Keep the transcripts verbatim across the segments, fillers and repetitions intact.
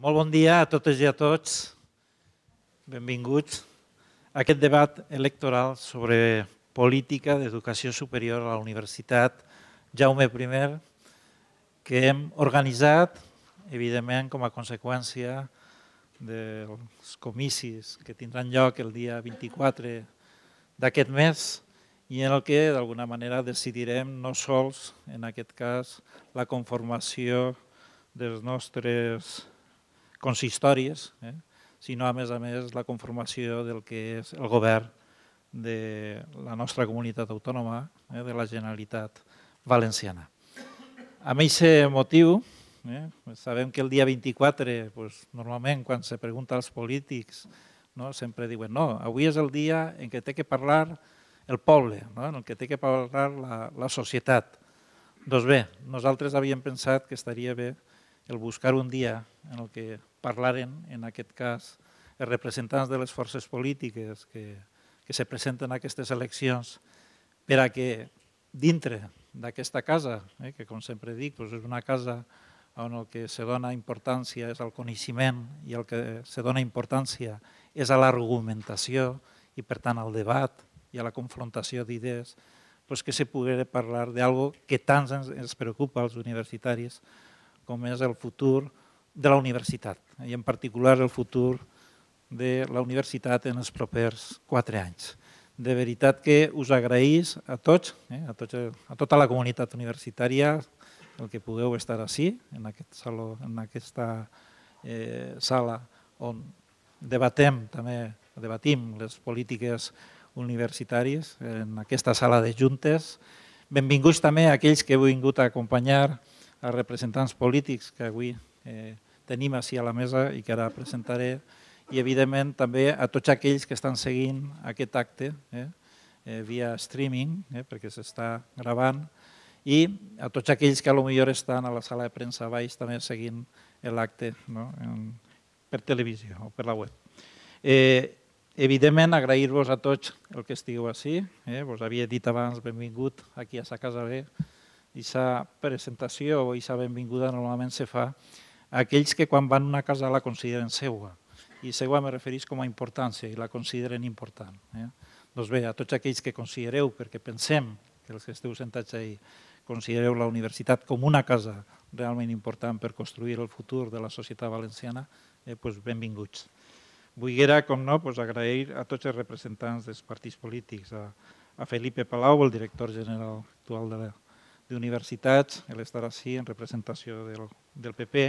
Molt bon dia a totes i a tots. Benvinguts a aquest debat electoral sobre política d'educació superior a la Universitat Jaume primer, que hem organitzat, evidentment, com a conseqüència dels comicis que tindran lloc el dia vint-i-quatre d'aquest mes i en el que, d'alguna manera, decidirem no sols, en aquest cas, la conformació dels nostres consistoris, eh? sinó, a més a més, la conformació del que és el govern de la nostra comunitat autònoma, eh? de la Generalitat Valenciana. Amb aquest motiu, eh? sabem que el dia vint-i-quatre, pues, normalment, quan se pregunta als polítics, no? sempre diuen no, avui és el dia en què té que parlar el poble, no? en el que té que parlar la, la societat. Doncs bé, nosaltres havíem pensat que estaria bé el buscar un dia en el que parlaren, en aquest cas, els representants de les forces polítiques que, que se presenten a aquestes eleccions, per a que dintre d'aquesta casa, eh, que com sempre dic, doncs és una casa on el que se dona importància és al coneixement i el que se dona importància és a l'argumentació i, per tant, al debat i a la confrontació d'idees, doncs que se pugui parlar d'algo que tant ens, ens preocupa als universitaris, com és el futur de la universitat, i en particular el futur de la universitat en els propers quatre anys. De veritat que us agraïs a tots, eh, a, tots a tota la comunitat universitària, el que pugueu estar ací, en, aquest saló, en aquesta eh, sala on debatem, també debatim les polítiques universitàries, en aquesta sala de juntes. Benvinguts també a aquells que heu vingut a acompanyar a representants polítics que avui eh, tenim així a la mesa i que ara presentaré, i evidentment també a tots aquells que estan seguint aquest acte eh, eh, via streaming, eh, perquè s'està gravant, i a tots aquells que potser estan a la sala de premsa baix també seguint l'acte, no? per televisió o per la web. Eh, evidentment, agrair-vos a tots el que estigueu així, eh, vos havia dit abans, benvingut aquí a sa casa bé. Aquesta presentació o aquesta benvinguda normalment se fa a aquells que quan van a una casa la consideren seua. I seua me referís com a importància i la consideren important. Eh? Doncs bé, a tots aquells que considereu, perquè pensem que els que esteu sentats ahí, considereu la universitat com una casa realment important per construir el futur de la societat valenciana, eh, doncs benvinguts. Vull, com no, doncs agrair a tots els representants dels partits polítics, a, a Felipe Palau, el director general actual de la d'universitats, l'estar així en representació del, del P P,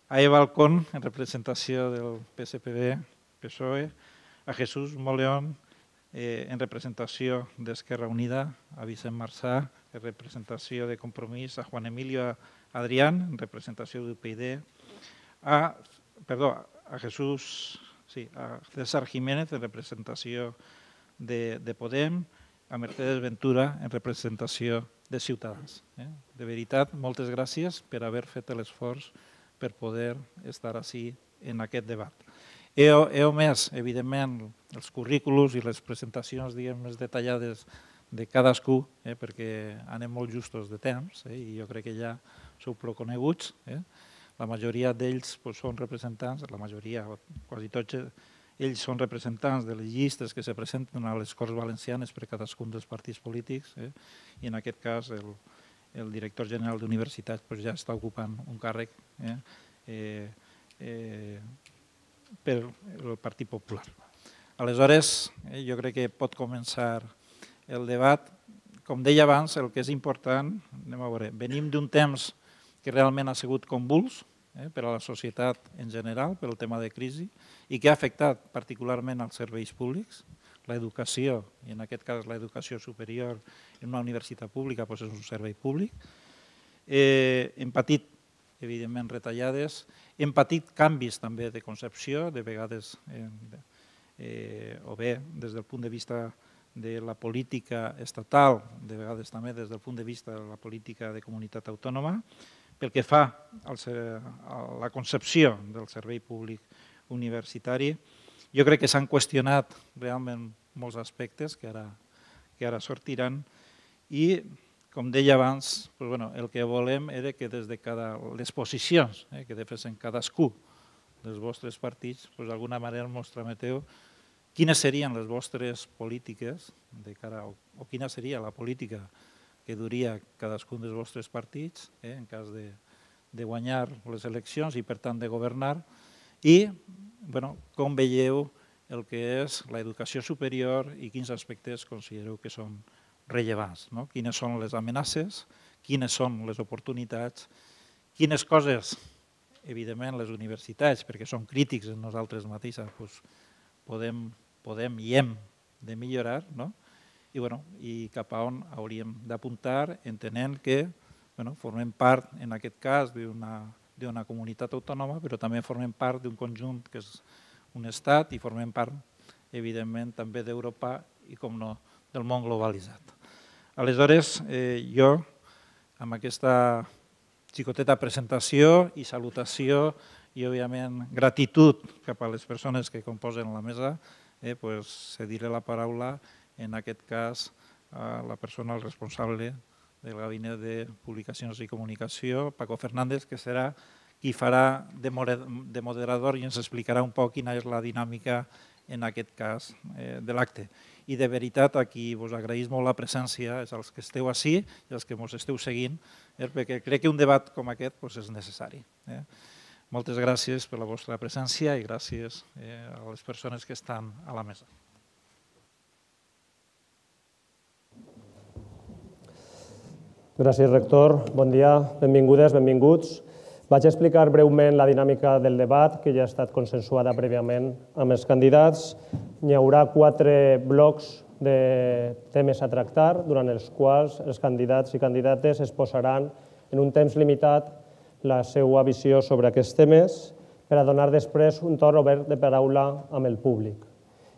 a Eva Alcón en representació del P S P D, P S O E, a Jesús Moleón eh, en representació d'Esquerra Unida, a Vicent Marçà en representació de Compromís, a Juan Emilio Adrián en representació d'U P I D, a, perdó, a Jesús, sí, a César Jiménez en representació de, de Podem, a Mercedes Ventura en representació de Ciutadans. Eh? De veritat, moltes gràcies per haver fet l'esforç per poder estar així en aquest debat. He, he omès, evidentment, els currículos i les presentacions diguem, més detallades de cadascú, eh? perquè anem molt justos de temps eh? i jo crec que ja sou prou coneguts. Eh? La majoria d'ells pues, són representants, la majoria, quasi tots, ells són representants de les llistes que se presenten a les Corts Valencianes per cadascun dels partits polítics eh? i en aquest cas el, el director general d'universitats pues, ja està ocupant un càrrec eh? Eh, eh, per el Partit Popular. Aleshores, eh, jo crec que pot començar el debat. Com deia abans, el que és important, anem a veure, venim d'un temps que realment ha sigut convuls, Eh, per a la societat en general, per al tema de crisi, i que ha afectat particularment els serveis públics, l'educació, i en aquest cas l'educació superior en una universitat pública doncs és un servei públic. Eh, hem patit, evidentment, retallades, hem patit canvis també de concepció, de vegades, eh, eh, o bé des del punt de vista de la política estatal, de vegades també des del punt de vista de la política de comunitat autònoma, pel que fa a la concepció del servei públic universitari. Jo crec que s'han qüestionat realment molts aspectes que ara, que ara sortiran i com deia abans, el que volem era que des de les posicions que defensen cadascú dels vostres partits, d'alguna manera ens trameteu quines serien les vostres polítiques de cara, o quina seria la política que duria cadascun dels vostres partits en cas de guanyar les eleccions i, per tant, de governar, i com veieu el que és l'educació superior i quins aspectes considereu que són rellevants, quines són les amenaces, quines són les oportunitats, quines coses, evidentment, les universitats, perquè som crítics en nosaltres mateixes, podem i hem de millorar, i cap a on hauríem d'apuntar, entenent que formem part, en aquest cas, d'una comunitat autònoma, però també formem part d'un conjunt que és un estat i formem part, evidentment, també d'Europa i, com no, del món globalitzat. Aleshores, jo, amb aquesta xicoteta presentació i salutació i, òbviament, gratitud cap a les persones que composen la mesa, cediré la paraula, en aquest cas, a la persona responsable del Gabinet de Publicacions i Comunicació, Paco Fernández, que serà qui farà de moderador i ens explicarà un poc quina és la dinàmica, en aquest cas, de l'acte. I de veritat, a qui us agraïs molt la presència, és als que esteu ací i als que ens esteu seguint, perquè crec que un debat com aquest és necessari. Moltes gràcies per la vostra presència i gràcies a les persones que estan a la mesa. Gràcies, rector. Bon dia, benvingudes, benvinguts. Vaig explicar breument la dinàmica del debat, que ja ha estat consensuada prèviament amb els candidats. Hi haurà quatre blocs de temes a tractar, durant els quals els candidats i candidates exposaran en un temps limitat la seva visió sobre aquests temes per a donar després un torn obert de paraula amb el públic.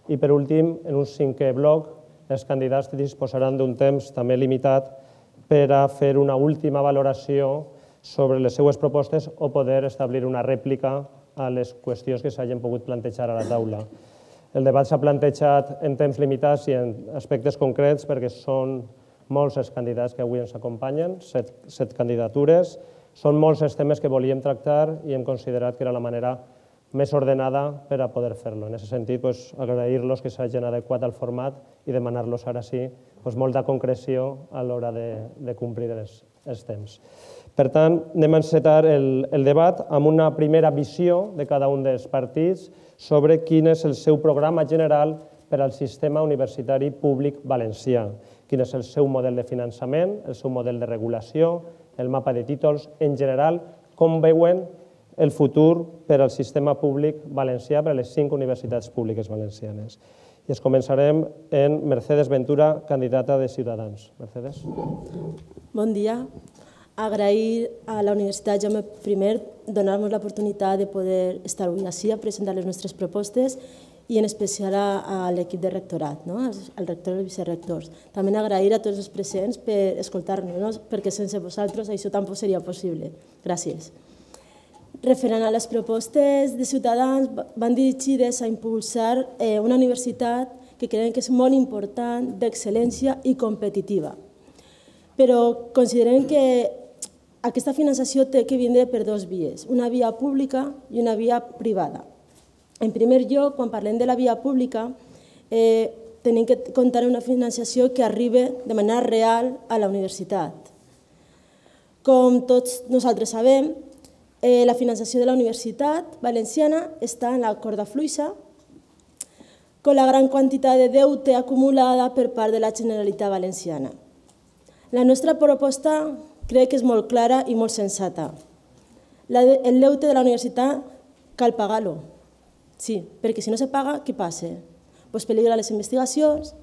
I per últim, en un cinquè bloc, els candidats disposaran d'un temps també limitat per a fer una última valoració sobre les seues propostes o poder establir una rèplica a les qüestions que s'hagin pogut plantejar a la taula. El debat s'ha plantejat en temps limitats i en aspectes concrets perquè són molts els candidats que avui ens acompanyen, set candidatures. Són molts els temes que volíem tractar i hem considerat que era la manera més ordenada per a poder fer-lo. En aquest sentit, agrair-los que s'hagin adequat al format i demanar-los ara sí molta concreció a l'hora de complir els temps. Per tant, anem a encetar el debat amb una primera visió de cada un dels partits sobre quin és el seu programa general per al sistema universitari públic valencià, quin és el seu model de finançament, el seu model de regulació, el mapa de títols, en general, com veuen el futur per al sistema públic valencià per a les cinc universitats públiques valencianes. I es començarem en Mercedes Ventura, candidata de Ciutadans. Mercedes. Bon dia. Agrair a la Universitat Jaume primer donar-nos l'oportunitat de poder estar avui ací a presentar les nostres propostes i en especial a l'equip de rectorat, al rector i els vicerectors. També agrair a tots els presents per escoltar-nos, perquè sense vosaltres això tampoc seria possible. Gràcies. Referent a les propostes de Ciutadans, van dirigides a impulsar una universitat que creiem que és molt important, d'excel·lència i competitiva. Però considerem que aquesta finançació té que vindre per dues vies, una via pública i una via privada. En primer lloc, quan parlem de la via pública, tenim que comptar amb una finançació que arribi de manera real a la universitat. Com tots nosaltres sabem, la finançació de la Universitat Valenciana està en la corda fluixa, amb la gran quantitat de deute acumulada per part de la Generalitat Valenciana. La nostra proposta crec que és molt clara i molt sensata. El deute de la universitat cal pagar-lo. Sí, perquè si no se paga, què passa? Doncs peligren les investigacions,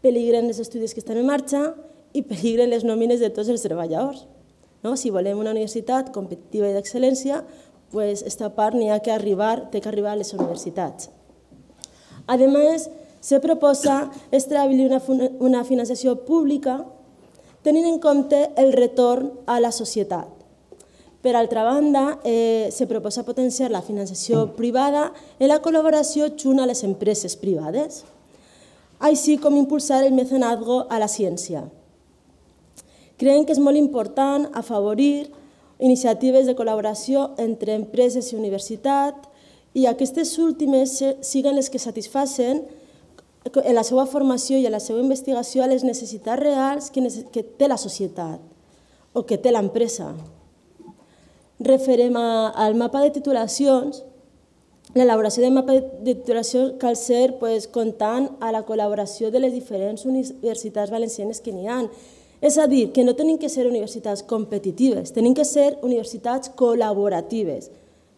peligren els estudis que estan en marxa i peligren les nòmines de tots els treballadors. Si volem una universitat competitiva i d'excel·lència, aquesta part n'hi ha que arribar, té que arribar a les universitats. A més, se proposa establir una finançació pública tenint en compte el retorn a la societat. Per altra banda, se proposa potenciar la finançació privada en la col·laboració junt a les empreses privades, així com impulsar el mecenatge a la ciència. Creiem que és molt important afavorir iniciatives de col·laboració entre empreses i universitat i aquestes últimes siguin les que satisfacen en la seva formació i en la seva investigació a les necessitats reals que té la societat o que té l'empresa. Referent al mapa de titulacions, l'elaboració del mapa de titulació cal ser comptant a la col·laboració de les diferents universitats valencianes que n'hi ha. És a dir, que no tenim que ser universitats competitives, tenim que ser universitats col·laboratives.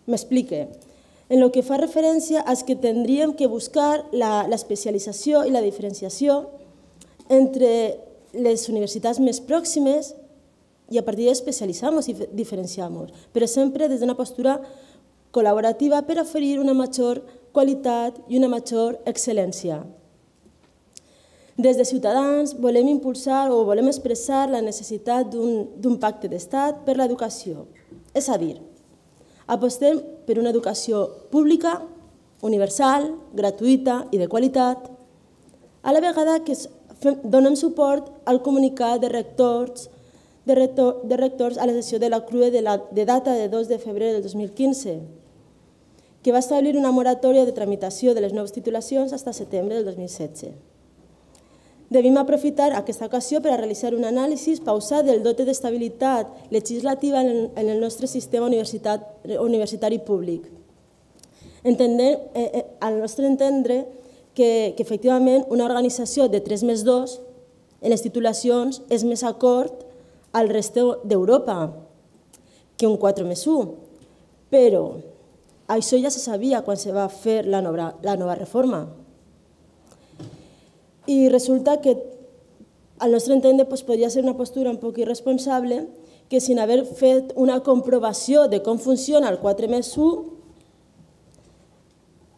M'explique. En el que fa referència als que tindríem que buscar l'especialització i la diferenciació entre les universitats més pròximes i a partir d'especialitzar-nos i diferenciar-nos, però sempre des d'una postura col·laborativa per oferir una major qualitat i una major excel·lència. Des de Ciutadans volem impulsar o volem expressar la necessitat d'un pacte d'estat per l'educació. És a dir, apostem per una educació pública, universal, gratuïta i de qualitat, a la vegada que donem suport al comunicat de rectors de rectors a la sessió de la C R U E de data de dos de febrer del dos mil quinze, que va establir una moratòria de tramitació de les noves titulacions fins a setembre del dos mil setze. Devim aprofitar aquesta ocasió per a realitzar un anàlisi pausat del dote d'estabilitat legislativa en el nostre sistema universitari públic. Al nostre entendre que efectivament una organització de tres més dos en les titulacions és més acord al reste d'Europa que un quatre més u, però això ja se sabia quan se va fer la nova reforma. I resulta que, al nostre entendre, podria ser una postura un poc irresponsable que, sin haver fet una comprovació de com funciona el quatre més u,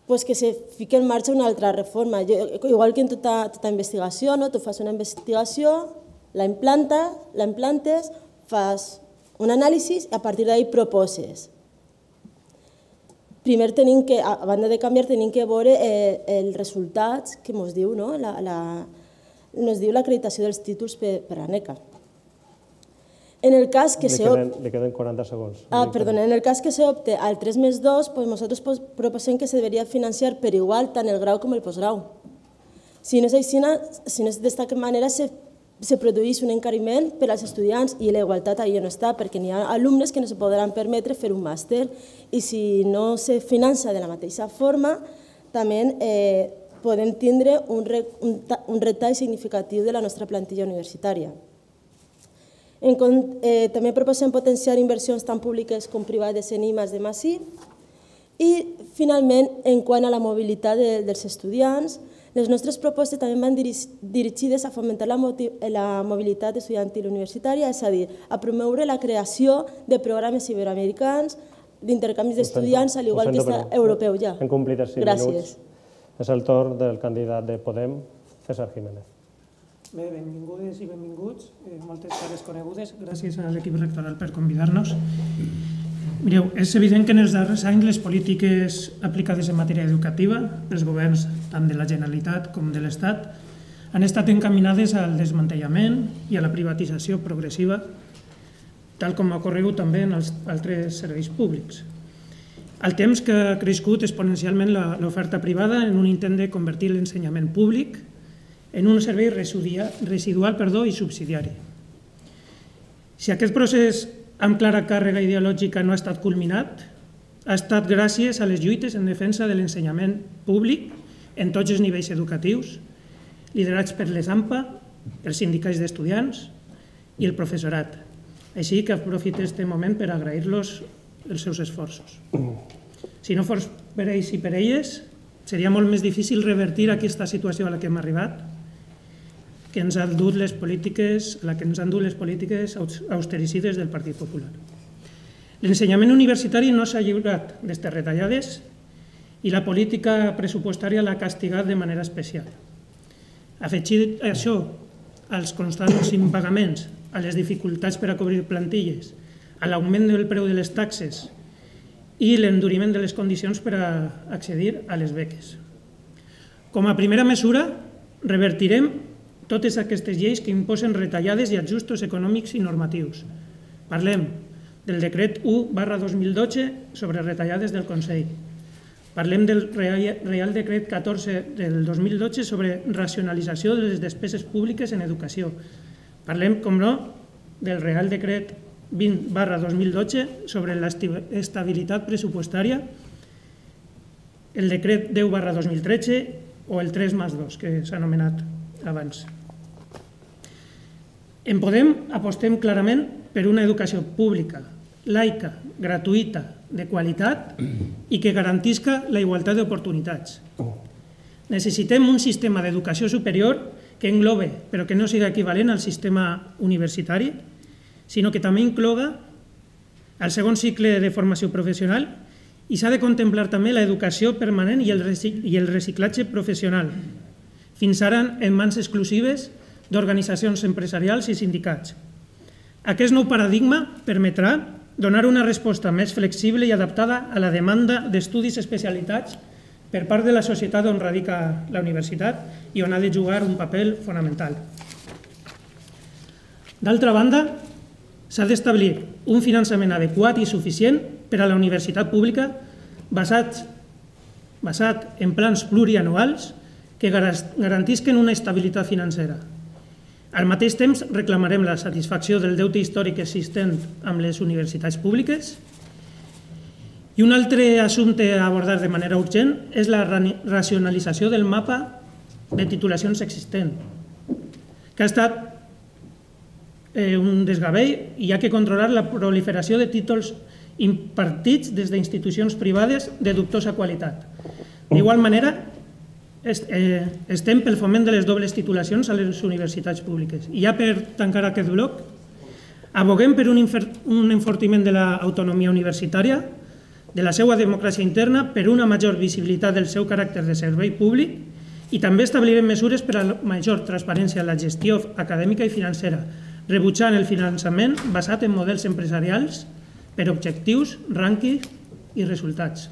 que se fiqui en marxa una altra reforma. Igual que en tota investigació, tu fas una investigació, la implantes, fas un anàlisi i a partir d'ahí proposes. Primer, a banda de canviar, tenim que veure els resultats que ens diu l'acreditació dels títols per a NECA. En el cas que se opte... Li queden quaranta segons. Ah, perdona. En el cas que se opte al tres més dos, nosaltres proposem que se deberia financiar per igual tant el grau com el postgrau. Si no és així, si no és d'aquesta manera, se produeix un encariment per als estudiants i la igualtat allà no està, perquè n'hi ha alumnes que no se podran permetre fer un màster i si no se finança de la mateixa forma, també podem tindre un retall significatiu de la nostra plantilla universitària. També proposem potenciar inversions tant públiques com privades en I+D+I i, finalment, en quant a la mobilitat dels estudiants, les nostres propostes també van dirigides a fomentar la mobilitat estudiantil universitària, és a dir, a promoure la creació de programes iberoamericans, d'intercanvis d'estudiants, al igual que està europeu ja. Hem complit els cinc minuts. És el torn del candidat de Podem, César Jiménez. Bé, benvingudes i benvinguts, moltes cares conegudes. Gràcies a l'equip rectoral per convidar-nos. Mireu, és evident que en els darrers anys les polítiques aplicades en matèria educativa pels governs tant de la Generalitat com de l'Estat han estat encaminades al desmantellament i a la privatització progressiva, tal com ha ocorregut també en els altres serveis públics. Al temps que ha crescut exponencialment l'oferta privada en un intent de convertir l'ensenyament públic en un servei residual i subsidiari. Si aquest procés amb clara càrrega ideològica no ha estat culminat, ha estat gràcies a les lluites en defensa de l'ensenyament públic en tots els nivells educatius, liderats per l'E S A M P A, els sindicats d'estudiants i el professorat. Així que aprofito aquest moment per agrair-los els seus esforços. Si no fos per ells i per elles, seria molt més difícil revertir aquesta situació a la que hem arribat, que ens han dut les polítiques, la que ens han dut les polítiques austericides del Partit Popular. L'ensenyament universitari no s'ha lliurat d'aquestes retallades i la política pressupostària l'ha castigat de manera especial. Afegit això als constants impagaments, a les dificultats per a cobrir plantilles, a l'augment del preu de les taxes i l'enduriment de les condicions per a accedir a les beques. Com a primera mesura, revertirem totes aquestes lleis que imposen retallades i ajustos econòmics i normatius. Parlem del decret u barra dos mil dotze sobre retallades del Consell. Parlem del Real Decret catorze del dos mil dotze sobre racionalització de les despeses públiques en educació. Parlem, com no, del Real Decret vint barra dos mil dotze sobre l'estabilitat pressupostària, el Decret deu barra dos mil tretze o el tres més dos, que s'ha anomenat abans. En Podem apostem clarament per una educació pública, laica, gratuïta, de qualitat i que garantisca la igualtat d'oportunitats. Necessitem un sistema d'educació superior que englobe, però que no sigui equivalent al sistema universitari, sinó que també incloga el segon cicle de formació professional i s'ha de contemplar també l'educació permanent i el reciclatge professional, fins ara en mans exclusives d'organitzacions empresarials i sindicats. Aquest nou paradigma permetrà donar una resposta més flexible i adaptada a la demanda d'estudis especialitats per part de la societat on radica la universitat i on ha de jugar un paper fonamental. D'altra banda, s'ha d'establir un finançament adequat i suficient per a la universitat pública basat, basat en plans plurianuals que garantisquen una estabilitat financera. Al mateix temps, reclamarem la satisfacció del deute històric existent amb les universitats públiques. I un altre assumpte a abordar de manera urgent és la racionalització del mapa de titulacions existent, que ha estat un desgavell i hi ha que controlar la proliferació de títols impartits des d'institucions privades de dubtosa qualitat. D'igual manera, estem pel foment de les dobles titulacions a les universitats públiques. I ja per tancar aquest bloc, aboguem per un enfortiment de l'autonomia universitària, de la seva democràcia interna, per una major visibilitat del seu caràcter de servei públic i també establirem mesures per a la major transparència en la gestió acadèmica i financera, rebutjant el finançament basat en models empresarials per objectius, rànquings i resultats.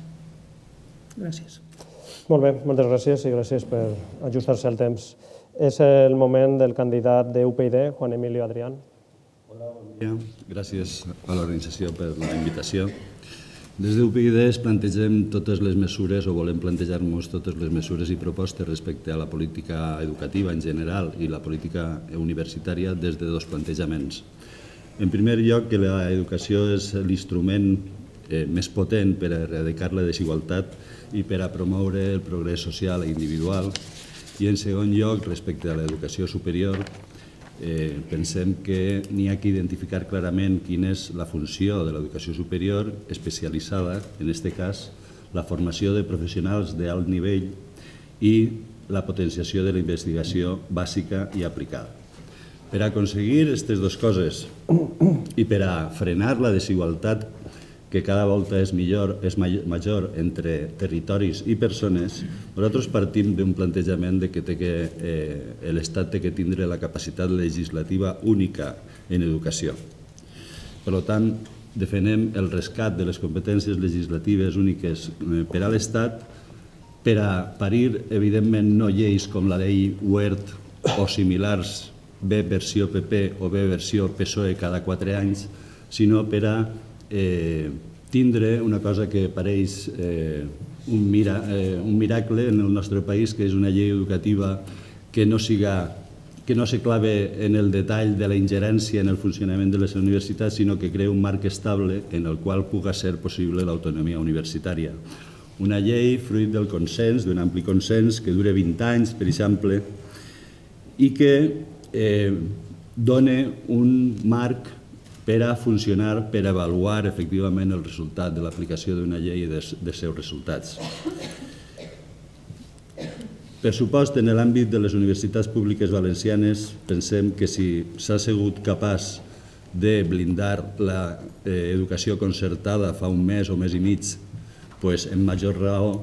Gràcies. Molt bé, moltes gràcies i gràcies per ajustar-se al temps. És el moment del candidat de U P y D, Juan Emilio Adrián. Hola, bon dia. Gràcies a l'organització per la invitació. Des de U P y D es plantegem totes les mesures o volem plantejar-nos totes les mesures i propostes respecte a la política educativa en general i la política universitària des de dos plantejaments. En primer lloc, que l'educació és l'instrument més potent per a erradicar la desigualtat i per a promoure el progrés social i individual. I en segon lloc, respecte a l'educació superior, pensem que n'hi ha que identificar clarament quina és la funció de l'educació superior especialitzada, en aquest cas, la formació de professionals d'alt nivell i la potenciació de la investigació bàsica i aplicada. Per a aconseguir aquestes dues coses i per a frenar la desigualtat que cada volta és millor, és major entre territoris i persones, nosaltres partim d'un plantejament que l'Estat té que tindre la capacitat legislativa única en educació. Per tant, defensem el rescat de les competències legislatives úniques per a l'Estat per a parir, evidentment, no lleis com la llei Wert o similars, B versió P P o B versió P S O E cada quatre anys, sinó per a tindre una cosa que pareix un miracle en el nostre país, que és una llei educativa que no se clave en el detall de la ingerència en el funcionament de les universitats, sinó que crea un marc estable en el qual pugui ser possible l'autonomia universitària. Una llei fruit del consens, d'un ampli consens, que dura vint anys, per exemple, i que dona un marc per a funcionar, per a avaluar efectivament el resultat de l'aplicació d'una llei i dels seus resultats. Per supost, en l'àmbit de les universitats públiques valencianes, pensem que si s'ha sigut capaç de blindar l'educació concertada fa un mes o mes i mig, en major raó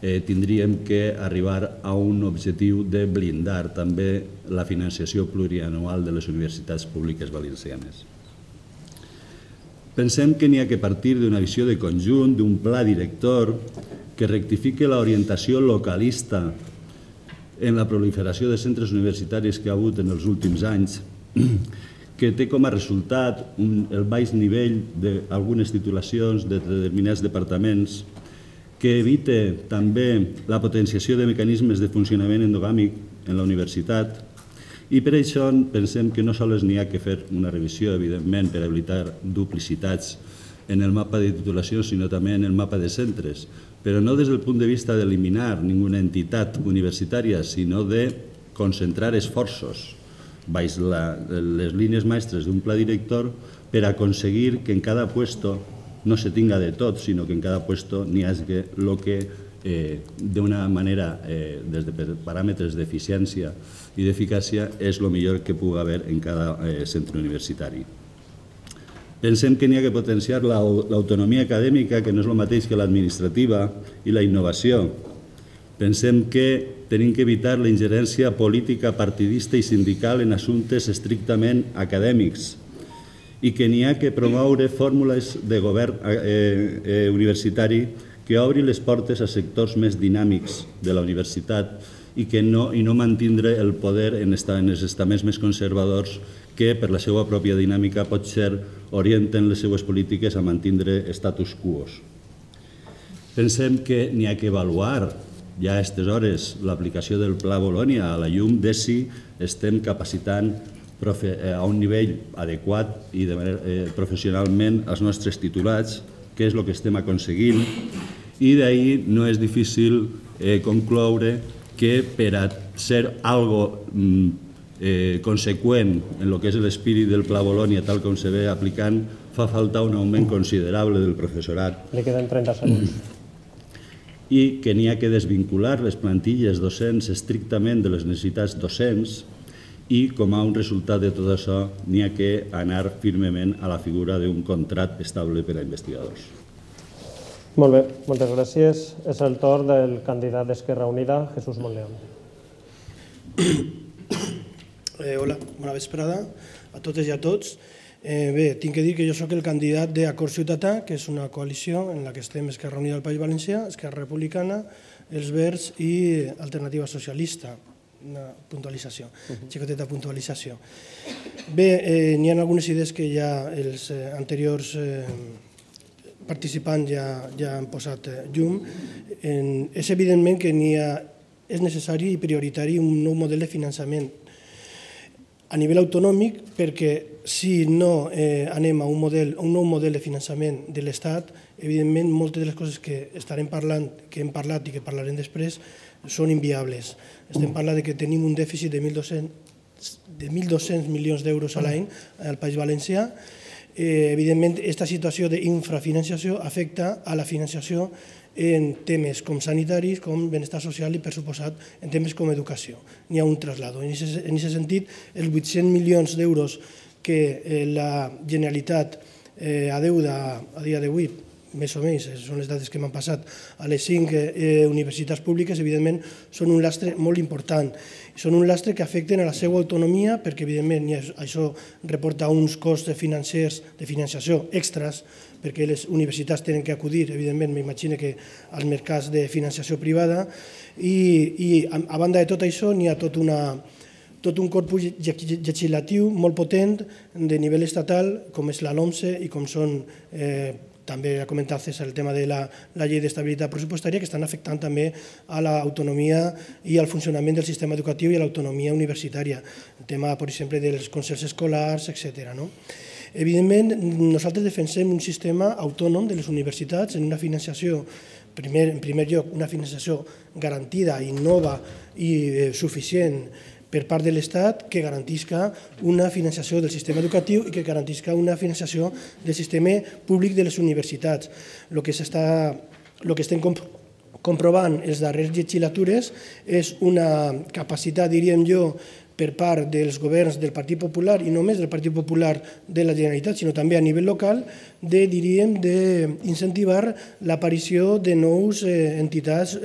tindríem que arribar a un objectiu de blindar també la financiació plurianual de les universitats públiques valencianes. Pensem que n'hi ha que partir d'una visió de conjunt, d'un pla director que rectifique l'orientació localista en la proliferació de centres universitaris que ha hagut en els últims anys, que té com a resultat el baix nivell d'algunes titulacions de determinats departaments, que evita també la potenciació de mecanismes de funcionament endogàmic en la universitat, i per això pensem que no sols n'hi ha que fer una revisió, evidentment, per evitar duplicitats en el mapa de titulacions, sinó també en el mapa de centres, però no des del punt de vista d'eliminar ninguna entitat universitària, sinó de concentrar esforços baix les línies mestres d'un pla director per aconseguir que en cada puesto no se tinga de tot, sinó que en cada puesto n'hi hagi el que d'una manera, des de paràmetres d'eficiència i d'eficàcia, és el millor que pugui haver en cada centre universitari. Pensem que n'hi ha que potenciar l'autonomia acadèmica, que no és el mateix que l'administrativa, i la innovació. Pensem que tenim que evitar la ingerència política, partidista i sindical en assumptes estrictament acadèmics i que n'hi ha que promoure fórmules de govern universitari que obri les portes a sectors més dinàmics de la universitat i no mantindre el poder en els estaments més conservadors que, per la seva pròpia dinàmica, potser orienten les seues polítiques a mantindre status quo. Pensem que n'hi ha que avaluar ja a aquestes hores l'aplicació del Pla Bolonya a la llum de si estem capacitant a un nivell adequat i professionalment els nostres titulats, que és el que estem aconseguint, i d'ahir no és difícil concloure que per a ser algo conseqüent en el que és l'espírit del Pla Bolonya tal com se ve aplicant, fa falta un augment considerable del professorat. Li queden trenta segons. I que n'hi ha que desvincular les plantilles docents estrictament de les necessitats docents i, com a un resultat de tot això, n'hi ha que anar firmement a la figura d'un contracte estable per a investigadors. Molt bé, moltes gràcies. És el torn del candidat d'Esquerra Unida, Jesús Monleón. Hola, bona vesprada a totes i a tots. Bé, tinc que dir que jo soc el candidat d'Acord Ciutadà, que és una coalició en la que estem Esquerra Unida del País Valencià, Esquerra Republicana, els Verds i Alternativa Socialista. Una puntualització, xicoteta puntualització. Bé, n'hi ha algunes idees que ja els anteriors participants ja han posat llum. És evidentment que és necessari i prioritari un nou model de finançament a nivell autonòmic, perquè si no anem a un nou model de finançament de l'Estat, evidentment moltes de les coses que estarem parlant, que hem parlat i que parlarem després, són inviables. Estem parlant que tenim un dèficit de mil dos-cents milions d'euros a l'any al País Valencià. Evidentment, aquesta situació d'infrafinanciació afecta a la financiació en temes com sanitaris, com benestar social i, per suposat, en temes com educació. N'hi ha un traslado. En aquest sentit, els vuit-cents milions d'euros que la Generalitat adeuda a dia d'avui, més o menys, són les dades que m'han passat, a les cinc universitats públiques, evidentment, són un lastre molt important. Són un lastre que afecten a la seva autonomia, perquè, evidentment, això reporta uns costs financers, de financiació extras, perquè les universitats tenen que acudir, evidentment, m'imagino que als mercats de financiació privada, i a banda de tot això n'hi ha tot una tot un corpus legislatiu molt potent de nivell estatal, com és la LOMSE i com són, també ha comentat César, el tema de la llei d'estabilitat pressupostària, que estan afectant també a l'autonomia i al funcionament del sistema educatiu i a l'autonomia universitària. El tema, per exemple, dels concerts escolars, etcètera. Evidentment, nosaltres defensem un sistema autònom de les universitats en una financiació, en primer lloc, una financiació garantida i nova i suficient per part de l'Estat, que garantisca una financiació del sistema educatiu i que garantisca una financiació del sistema públic de les universitats. El que estem comprovant en les darreres legislatures és una capacitat, diríem jo, per part dels governs del Partit Popular, i no només del Partit Popular de la Generalitat, sinó també a nivell local, de, diríem, d'incentivar l'aparició de nous entitats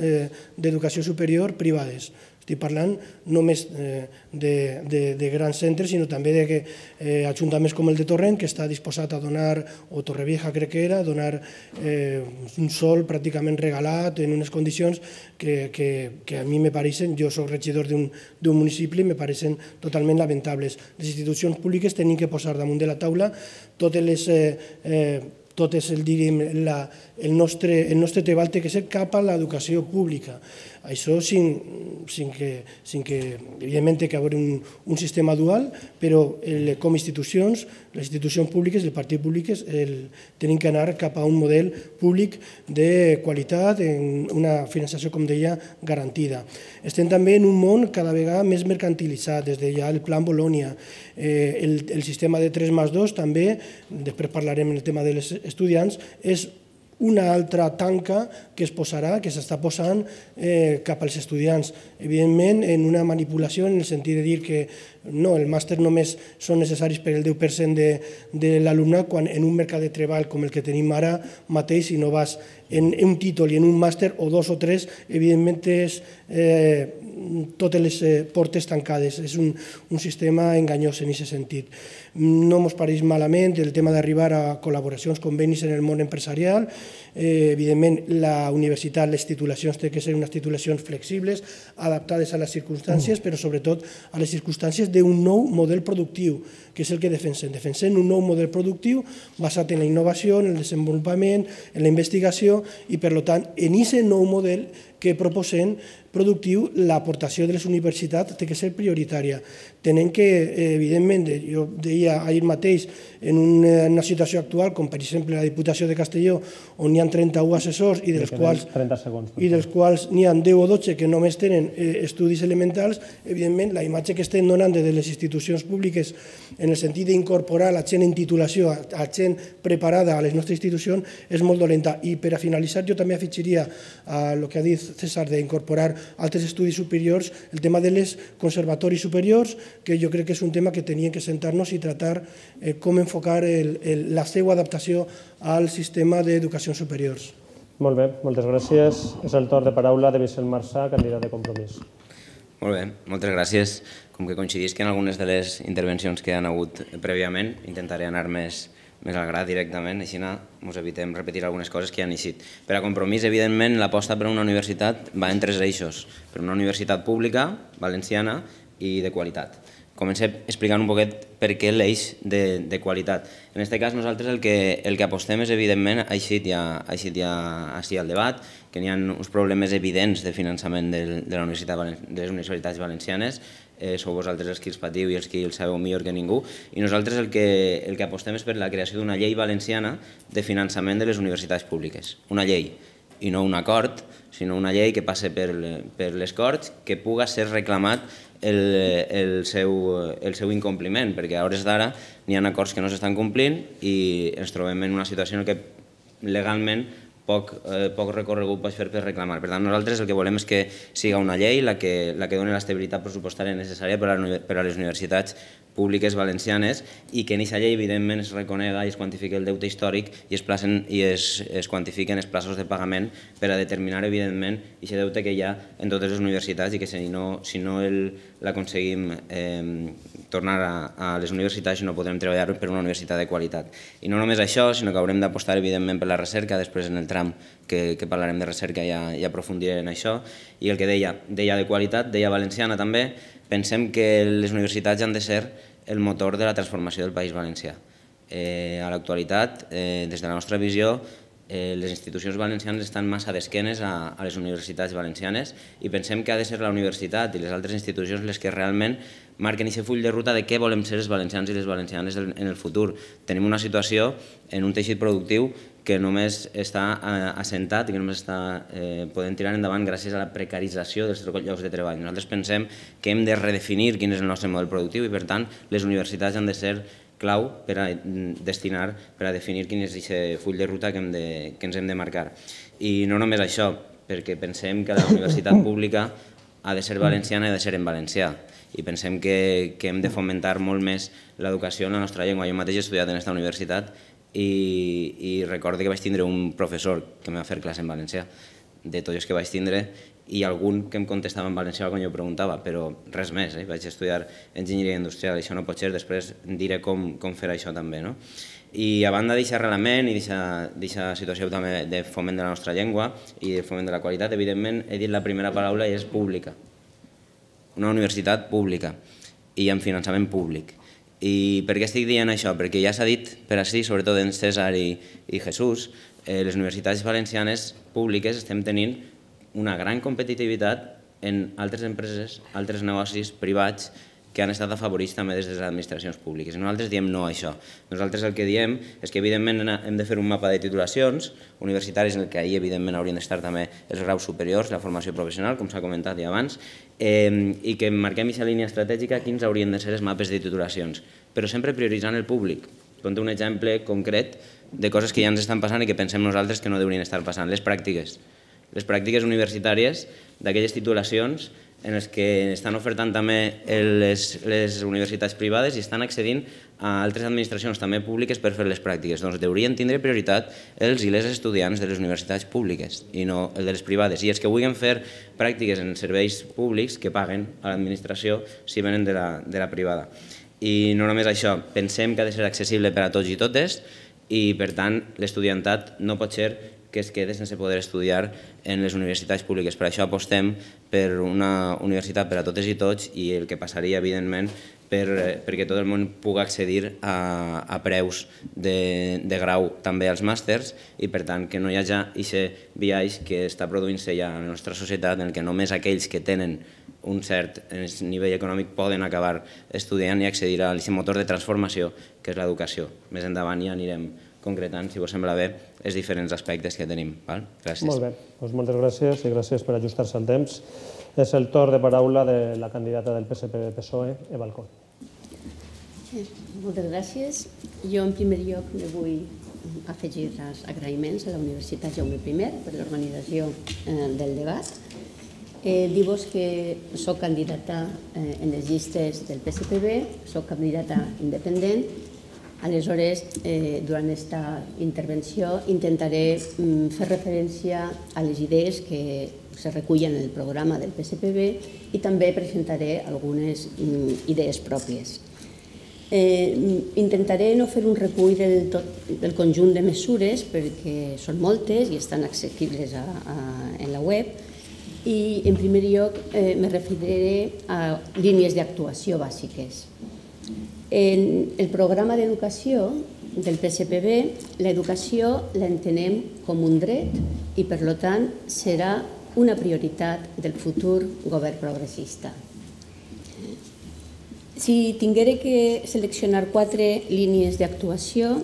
d'educació superior privades. Estic parlant només de grans centres, sinó també d'ajuntaments com el de Torrent, que està disposat a donar, o Torrevieja crec que era, a donar un sòl pràcticament regalat en unes condicions que a mi me pareixen, jo soc regidor d'un municipi, me pareixen totalment lamentables. Les institucions públiques tenim que posar damunt de la taula totes les tot és el, el nostre treball té que ser cap a l'educació pública. Això sin que, evidentment, té que haver un sistema dual, però com institucions, les institucions públiques, el partit públic, tenim que anar cap a un model públic de qualitat, una finançació, com deia, garantida. Estem també en un món cada vegada més mercantilitzat, des de ja el Plan Bolònia. El sistema de tres més dos també, després parlarem en el tema dels estudiants, és una altra tanca que es posarà, que s'està posant cap als estudiants. Evidentment, en una manipulació, en el sentit de dir que no, el màster només són necessaris per el deu per cent de l'alumnat, quan en un mercat de treball com el que tenim ara mateix, si no vas en un títol i en un màster, o dos o tres, evidentment és totes les portes tancades. És un sistema enganyós en aquest sentit. No ens pareix malament el tema d'arribar a col·laboracions, convenis en el món empresarial. Evidentment, la universitat, les titulacions, té que ser unes titulacions flexibles, adaptades a les circumstàncies, però sobretot a les circumstàncies d'un nou model productiu, que és el que defensem. Defensem un nou model productiu basat en la innovació, en el desenvolupament, en la investigació i, per tant, en aquest nou model que proposem productiu, l'aportació de les universitats té que ser prioritària. Tenen que, evidentment, jo deia ahir mateix, en una situació actual, com per exemple la Diputació de Castelló, on hi ha trenta-u assessors i dels quals n'hi ha deu o dotze que només tenen estudis elementals, evidentment, la imatge que estem donant de les institucions públiques en el sentit d'incorporar la gent en titulació, la gent preparada a les nostres institucions, és molt dolenta. I per a finalitzar, jo també afegiria el que ha dit César d'incorporar altres estudis superiors, el tema de les conservatoris superiors, que jo crec que és un tema que teníem que sentar-nos i tratar com enfocar la seva adaptació al sistema d'educació superiors. Molt bé, moltes gràcies. És el torn de paraula de Vicent Marçà, candidat de Compromís. Molt bé, moltes gràcies. Com que coincidisc en algunes de les intervencions que han hagut prèviament, intentaré anar més més al gra directament, així ens evitem repetir algunes coses que ja han eixit. Per a Compromís, evidentment, l'aposta per una universitat va en tres eixos. Per una universitat pública, valenciana i de qualitat. Comencem explicant un poquet per què l'eix de qualitat. En aquest cas, nosaltres el que apostem és, evidentment, ha eixit ja així al debat, que n'hi ha uns problemes evidents de finançament de les universitats valencianes. Sou vosaltres els que els patiu i els que el sabeu millor que ningú. I nosaltres el que apostem és per la creació d'una llei valenciana de finançament de les universitats públiques. Una llei, i no un acord, sinó una llei que passe per les Corts, que puga ser reclamat el seu incompliment, perquè a hores d'ara n'hi ha acords que no s'estan complint i ens trobem en una situació en què legalment poc recorregut pots fer per reclamar. Per tant, nosaltres el que volem és que siga una llei la que doni l'estabilitat pressupostària necessària per a les universitats públiques valencianes i que en aquesta llei, evidentment, es reconega i es quantifiqui el deute històric i es quantifiquen els plaços de pagament per a determinar, evidentment, aquest deute que hi ha en totes les universitats i que si no l'aconseguim tornar a les universitats no podrem treballar per una universitat de qualitat. I no només això, sinó que haurem d'apostar, evidentment, per la recerca, després en el tram que parlarem de recerca i aprofundiré en això. I el que deia, deia de qualitat, deia valenciana també, pensem que les universitats han de ser el motor de la transformació del País Valencià. A l'actualitat, des de la nostra visió, les institucions valencianes estan massa d'esquenes a les universitats valencianes i pensem que ha de ser la universitat i les altres institucions les que realment marquen aquest full de ruta de què volem ser els valencians i les valencianes en el futur. Tenim una situació en un teixit productiu que només està assentat i que només podem tirar endavant gràcies a la precarització dels llocs de treball. Nosaltres pensem que hem de redefinir quin és el nostre model productiu i, per tant, les universitats han de ser clau per a destinar, per a definir quin és aquest full de ruta que ens hem de marcar. I no només això, perquè pensem que la universitat pública ha de ser valenciana i ha de ser en valencià. I pensem que hem de fomentar molt més l'educació en la nostra llengua. Jo mateix he estudiat en aquesta universitat i recordo que vaig tindre un professor que em va fer classe en valencià. de tots els que vaig tindre, i algun que em contestava en valencià quan jo preguntava, però res més. Vaig estudiar enginyeria industrial, això no pot ser, després diré com fer això també. I a banda d'aquest arrelament i d'aquesta situació també de foment de la nostra llengua i de foment de la qualitat, evidentment he dit la primera paraula i és pública. Una universitat pública i amb finançament públic. I per què estic dient això? Perquè ja s'ha dit per així, sobretot en César i Jesús, les universitats valencianes públiques estem tenint una gran competitivitat en altres empreses, altres negocis privats que han estat afavorits també des de les administracions públiques. I nosaltres diem no a això. Nosaltres el que diem és que evidentment hem de fer un mapa de titulacions universitaris en el que ahir evidentment haurien d'estar també els graus superiors, la formació professional, com s'ha comentat ja abans, i que marquem aquesta línia estratègica quins haurien de ser els mapes de titulacions, però sempre prioritzant el públic. Conto un exemple concret de coses que ja ens estan passant i que pensem nosaltres que no haurien d'estar passant. Les pràctiques. Les pràctiques universitàries d'aquelles titulacions en les que estan ofertant també les universitats privades i estan accedint a altres administracions també públiques per fer les pràctiques. Doncs haurien tindre prioritat els i les estudiants de les universitats públiques i no el de les privades. I els que vulguin fer pràctiques en serveis públics que paguen a l'administració si venen de la privada. I no només això, pensem que ha de ser accessible per a tots i totes i, per tant, l'estudiantat no pot ser que es quede sense poder estudiar en les universitats públiques. Per això apostem per una universitat per a totes i tots i el que passaria, evidentment, perquè tot el món pugui accedir a preus de grau també als màsters i, per tant, que no hi hagi aquest biaix que està produint-se ja a la nostra societat en què només aquells que tenen un cert nivell econòmic poden acabar estudiant i accedir a aquest motor de transformació que és l'educació. Més endavant ja anirem concretant, si vos sembla bé, els diferents aspectes que tenim. Gràcies. Molt bé, moltes gràcies i gràcies per ajustar-se al temps. És el torn de paraula de la candidata del P S P P S O E, Eva Alcón. Moltes gràcies. Jo, en primer lloc, me vull afegir els agraïments a la Universitat Jaume primer per l'organització del debat. Dir-vos que soc candidata en les llistes del P S P B, soc candidata independent. Aleshores, durant aquesta intervenció intentaré fer referència a les idees que se recullen en el programa del P S P B i també presentaré algunes idees pròpies. Intentaré no fer un recull del conjunt de mesures perquè són moltes i estan accessibles en la web i, en primer lloc, me referiré a línies d'actuació bàsiques. En el programa d'educació del P S P B, l'educació l'entenem com un dret i, per tant, serà una prioritat del futur govern progressista. Si tinguera que seleccionar quatre línies d'actuació,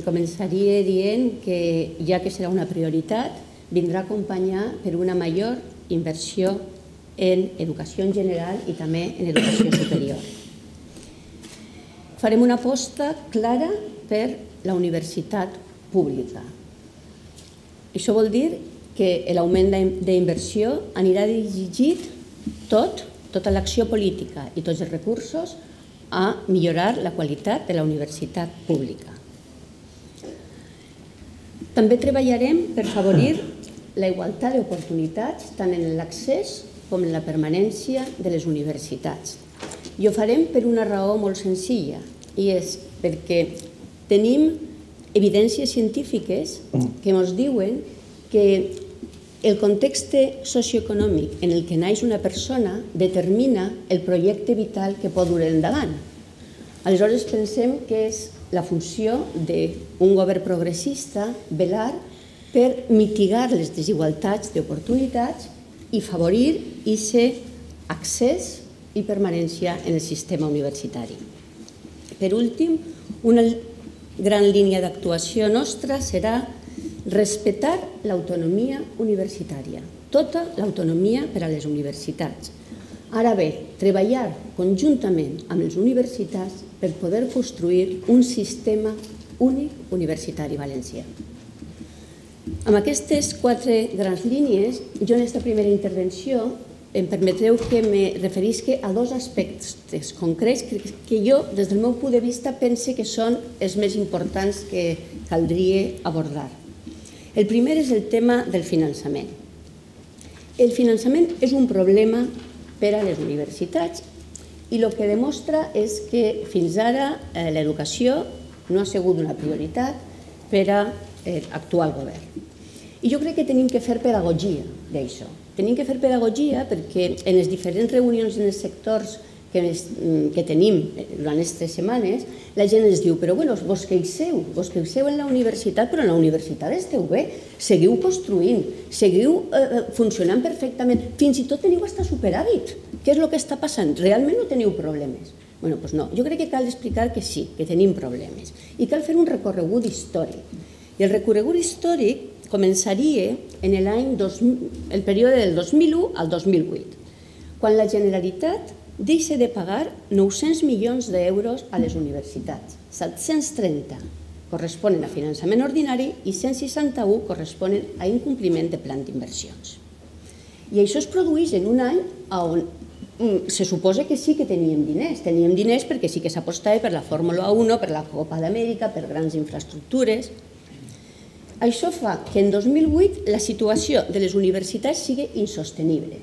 començaria dient que, ja que serà una prioritat, vindrà acompanyar per una major inversió en educació en general i també en educació superior. Farem una aposta clara per la universitat pública. Això vol dir que l'augment d'inversió anirà dirigit tot, tota l'acció política i tots els recursos a millorar la qualitat de la universitat pública. També treballarem per favorir la igualtat d'oportunitats tant en l'accés com en la permanència de les universitats. I ho farem per una raó molt senzilla, i és perquè tenim evidències científiques que ens diuen que el context socioeconòmic en el que naix una persona determina el projecte vital que pot dur endavant. Aleshores pensem que és la funció d'un govern progressista velar per mitigar les desigualtats d'oportunitats i favorir aquest accés i permanència en el sistema universitari. Per últim, una gran línia d'actuació nostra serà respectar l'autonomia universitària, tota l'autonomia per a les universitats. Ara bé, treballar conjuntament amb les universitats per poder construir un sistema únic universitari valencià. Amb aquestes quatre grans línies, jo en aquesta primera intervenció em permetreu que me referisca a dos aspectes concrets que jo, des del meu punt de vista, pense que són els més importants que caldria abordar. El primer és el tema del finançament. El finançament és un problema per a les universitats i el que demostra és que fins ara l'educació no ha sigut una prioritat per a l'actual govern. I jo crec que tenim que fer pedagogia d'això. Tenim que fer pedagogia perquè en les diferents reunions en els sectors que tenim durant aquestes setmanes, la gent ens diu, però bueno, vos queixeu, vos queixeu en la universitat, però en la universitat esteu bé, seguiu construint, seguiu funcionant perfectament, fins i tot teniu hasta superàvit. Què és el que està passant? Realment no teniu problemes? Bueno, doncs no, jo crec que cal explicar que sí, que tenim problemes i cal fer un recorregut històric. I el recorregut històric començaria en l'any, el període del dos mil u al dos mil vuit, quan la Generalitat deixa de pagar nou-cents milions d'euros a les universitats. set-cents trenta corresponen a finançament ordinari i cent seixanta-u corresponen a incompliment de plan d'inversions. I això es produeix en un any on se suposa que sí que teníem diners. Teníem diners perquè sí que s'apostava per la Fórmula un, per la Copa d'Amèrica, per grans infraestructures. Això fa que en dos mil vuit la situació de les universitats sigui insostenible.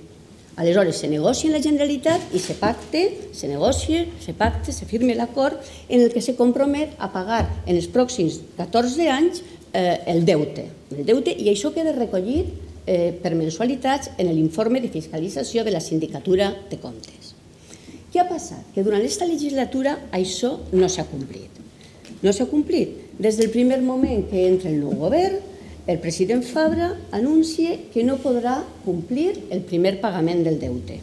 Aleshores, se negocia en la Generalitat i se pacte, se negocia, se pacte, se firma l'acord en el que se compromet a pagar en els pròxims catorze anys el deute. El deute i això queda recollit per mensualitats en l'informe de fiscalització de la Sindicatura de Comptes. Què ha passat? Que durant aquesta legislatura això no s'ha complit. No s'ha complit. Des del primer moment que entra el nou govern, el president Fabra anuncia que no podrà complir el primer pagament del deute.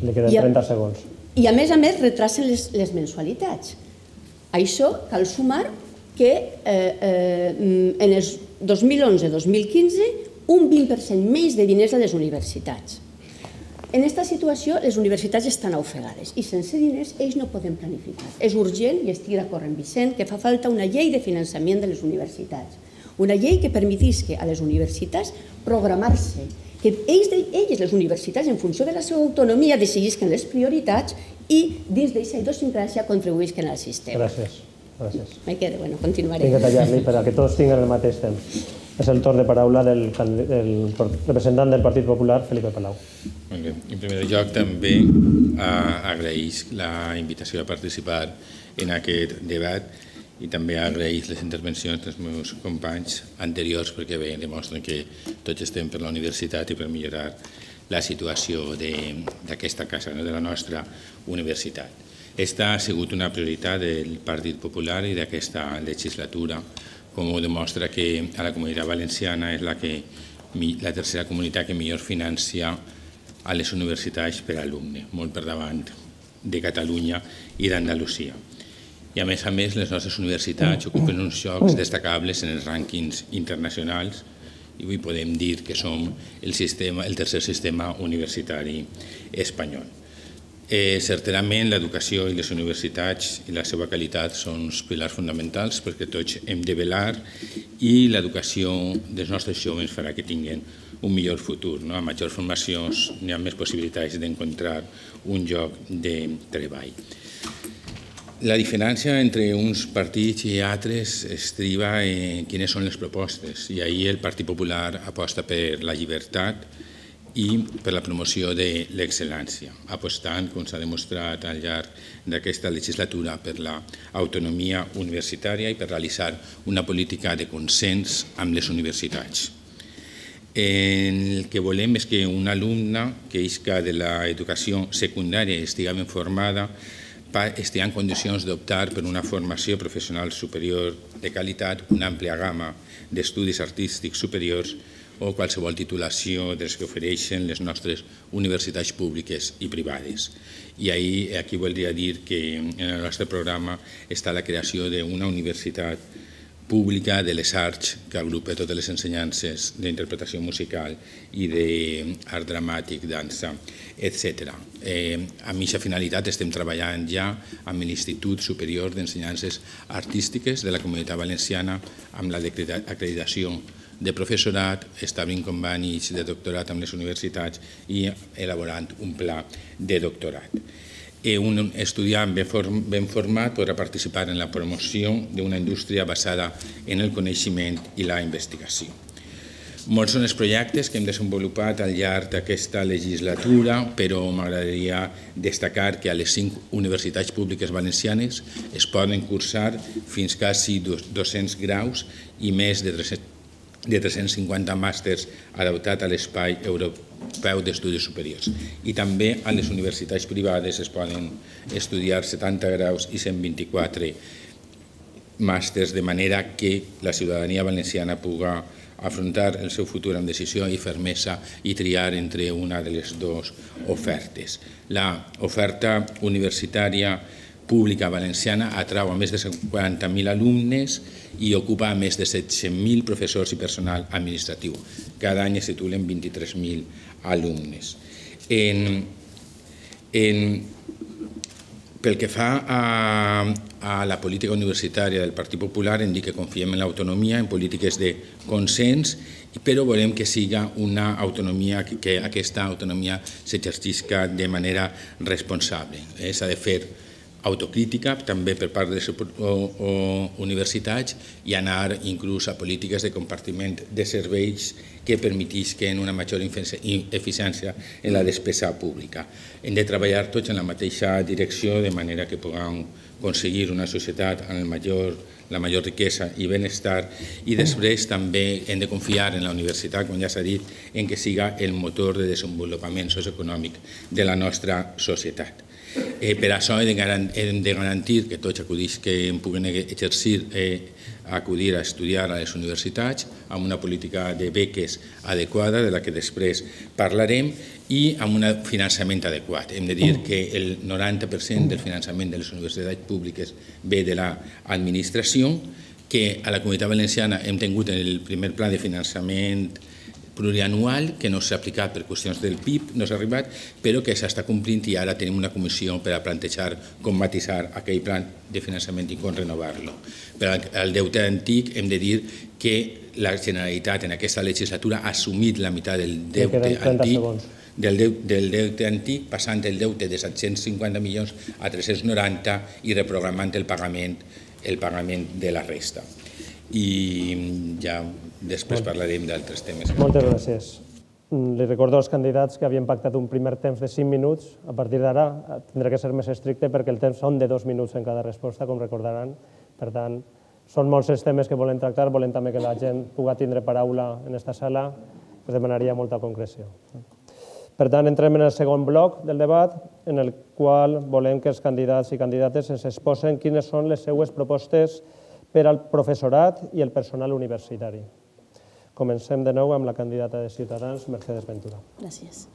Li queden trenta segons. I a més a més retracen les mensualitats. A això cal sumar que en els dos mil onze dos mil quinze un vint per cent més de diners a les universitats. En aquesta situació les universitats estan ofegades i sense diners ells no poden planificar. És urgent, i estic d'acord amb Vicent, que fa falta una llei de finançament de les universitats. Una llei que permetisca a les universitats programar-se, que ells, les universitats, en funció de la seva autonomia, decidisquen les prioritats i dins d'aquesta idiosincràsia contribuïsquen al sistema. Gràcies. Gràcies. Me quedo, bueno, continuaré. Tinc que tallar-li per a que tots tinguin el mateix temps. És el torn de paraula del representant del Partit Popular, Felipe Palau. En primer lloc, també agraeix la invitació a participar en aquest debat i també agraeix les intervencions dels meus companys anteriors perquè bé, demostren que tots estem per la universitat i per millorar la situació d'aquesta casa, de la nostra universitat. Aquesta ha sigut una prioritat del Partit Popular i d'aquesta legislatura, com ho demostra que a la Comunitat Valenciana és la tercera comunitat que millor financia a les universitats per alumne, molt per davant de Catalunya i d'Andalusia. I a més a més, les nostres universitats ocupen uns llocs destacables en els rànquings internacionals i avui podem dir que som el tercer sistema universitari espanyol. Certament, l'educació i les universitats i la seva qualitat són uns pilars fonamentals perquè tots hem de velar i l'educació dels nostres joves farà que tinguin un millor futur. A major formació hi ha més possibilitats d'encontrar un lloc de treball. La diferència entre uns partits i altres estriba en quines són les propostes i ahir el Partit Popular aposta per la llibertat i per la promoció de l'excel·lència, apostant, com s'ha demostrat al llarg d'aquesta legislatura, per l'autonomia universitària i per realitzar una política de consens amb les universitats. El que volem és que un alumne que isca de l'educació secundària i estigui ben formada estigui en condicions d'optar per una formació professional superior de qualitat, una àmplia gamma d'estudis artístics superiors o qualsevol titulació dels que ofereixen les nostres universitats públiques i privades. I aquí voldria dir que en el nostre programa està la creació d'una universitat pública de les arts que agrupa totes les ensenyances d'interpretació musical i d'art dramàtic, dansa, etcètera. Amb aquesta finalitat estem treballant ja amb l'Institut Superior d'Ensenyances Artístiques de la Comunitat Valenciana amb l'acreditació de professorat, establint convenis de doctorat amb les universitats i elaborant un pla de doctorat. Un estudiant ben format podrà participar en la promoció d'una indústria basada en el coneixement i la investigació. Molts són els projectes que hem desenvolupat al llarg d'aquesta legislatura, però m'agradaria destacar que a les cinc universitats públiques valencianes es poden cursar fins quasi dos-cents graus i més de tres-cents cinquanta màsters adaptats a l'espai europeu d'estudis superiors. I també a les universitats privades es poden estudiar setanta graus i cent vint-i-quatre màsters, de manera que la ciutadania valenciana pugui afrontar el seu futur amb decisió i fermesa i triar entre una de les dues ofertes. L'oferta universitària pública valenciana atrau a més de quaranta mil alumnes i ocupa a més de set-cents mil professors i personal administratiu. Cada any es titulen vint-i-tres mil alumnes. Pel que fa a la política universitària del Partit Popular, hem dit que confiem en l'autonomia, en polítiques de consens, però volem que siga una autonomia, que aquesta autonomia s'exercisca de manera responsable. S'ha de fer autocrítica també per part de les universitats i anar inclús a polítiques de compartiment de serveis que permetisquen una major eficiència en la despesa pública. Hem de treballar tots en la mateixa direcció de manera que puguem aconseguir una societat amb la major riquesa i benestar, i després també hem de confiar en la universitat, com ja s'ha dit, en que siga el motor de desenvolupament socioeconòmic de la nostra societat. Per això hem de garantir que tots acudits que puguin exercir acudir a estudiar a les universitats amb una política de beques adequada, de la que després parlarem, i amb un finançament adequat. Hem de dir que el noranta per cent del finançament de les universitats públiques ve de l'administració, que a la Comunitat Valenciana hem tingut el primer pla de finançament plurianual, que no s'ha aplicat per qüestions del P I B, no s'ha arribat, però que s'està complint i ara tenim una comissió per a plantejar com matisar aquell pla de finançament i com renovar-lo. Per al deute antic hem de dir que la Generalitat en aquesta legislatura ha assumit la meitat del deute antic, del deute antic, passant el deute de set-cents cinquanta milions a tres-cents noranta i reprogramant el pagament el pagament de la resta. I ja després parlarem d'altres temes. Moltes gràcies. Li recordo als candidats que havien pactat un primer temps de cinc minuts. A partir d'ara tindrà que ser més estricte perquè el temps són de dos minuts en cada resposta, com recordaran. Per tant, són molts els temes que volem tractar, volem també que la gent pugui tindre paraula en aquesta sala, us demanaria molta concreció. Per tant, entrem en el segon bloc del debat, en el qual volem que els candidats i candidates ens exposen quines són les seues propostes per al professorat i el personal universitari. Comencem de nou amb la candidata de Ciutadans, Mercedes Ventura. Gràcies.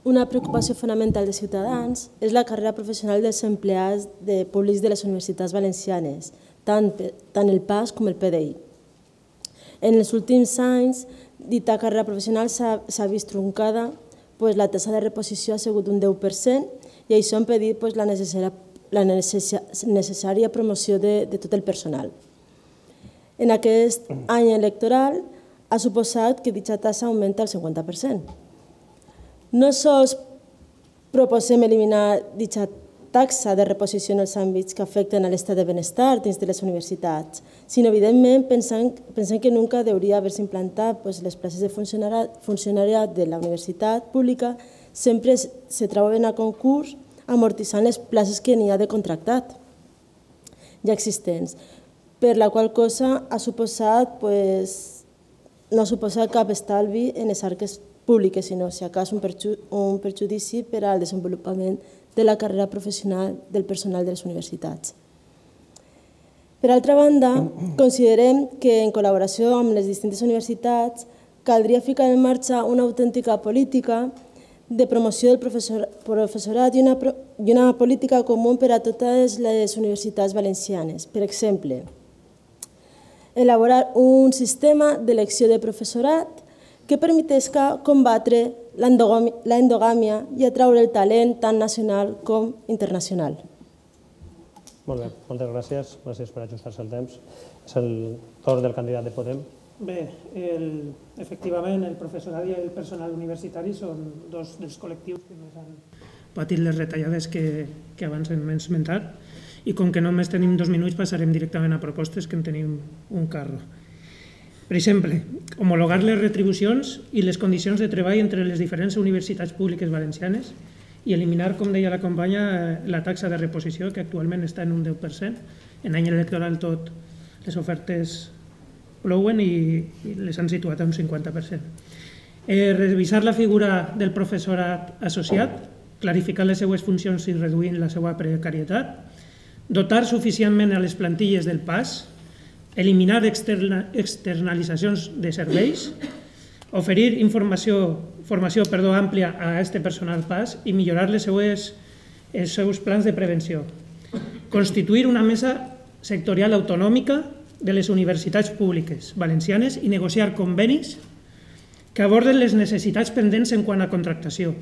Una preocupació fonamental de Ciutadans és la carrera professional dels empleats públics de les universitats valencianes, tant el P A S com el P D I. En els últims anys, dita carrera professional s'ha vist truncada, la taxa de reposició ha sigut un deu per cent i això ha impedit la necessària promoció de tot el personal. En aquest any electoral ha suposat que dicha taxa augmenta el cinquanta per cent. No sols proposem eliminar dicha taxa de reposició en els àmbits que afecten a l'estat de benestar dins de les universitats, sinó, evidentment, pensem que nunca hauria d'haver-se implantat les places de funcionariat de la universitat pública sempre se troben a concurs amortitzant les places que n'hi ha de contractat ja existents, per la qual cosa ha suposat, no ha suposat cap estalvi en les arques públiques, sinó, si acas, un perjudici per al desenvolupament de la carrera professional del personal de les universitats. Per altra banda, considerem que en col·laboració amb les distintes universitats caldria ficar en marxa una autèntica política de promoció del professorat i una política comú per a totes les universitats valencianes. Per exemple, elaborar un sistema d'elecció de professorat que permetesca combatre l'endogàmia i atraure el talent tant nacional com internacional. Molt bé, moltes gràcies. Gràcies per ajustar-se el temps. És el torn del candidat de Podem. Bé, efectivament, el professorat i el personal universitari són dos dels col·lectius que més han patit les retallades que abans hem esmentat, i com que només tenim dos minuts passarem directament a propostes, que en tenim un carro. Per exemple, homologar les retribucions i les condicions de treball entre les diferents universitats públiques valencianes i eliminar, com deia la companya, la taxa de reposició, que actualment està en un deu per cent. En any electoral tot les ofertes plouen i les han situat a un cinquanta per cent. Revisar la figura del professorat associat, clarificar les seues funcions i reduint la seva precarietat, dotar suficientment a les plantilles del P A S, eliminar externalitzacions de serveis, oferir informació, formació perdó, àmplia a aquest personal P A S i millorar les seues, els seus plans de prevenció. Constituir una mesa sectorial autonòmica de les universitats públiques valencianes i negociar convenis que aborden les necessitats pendents en quant a contractació.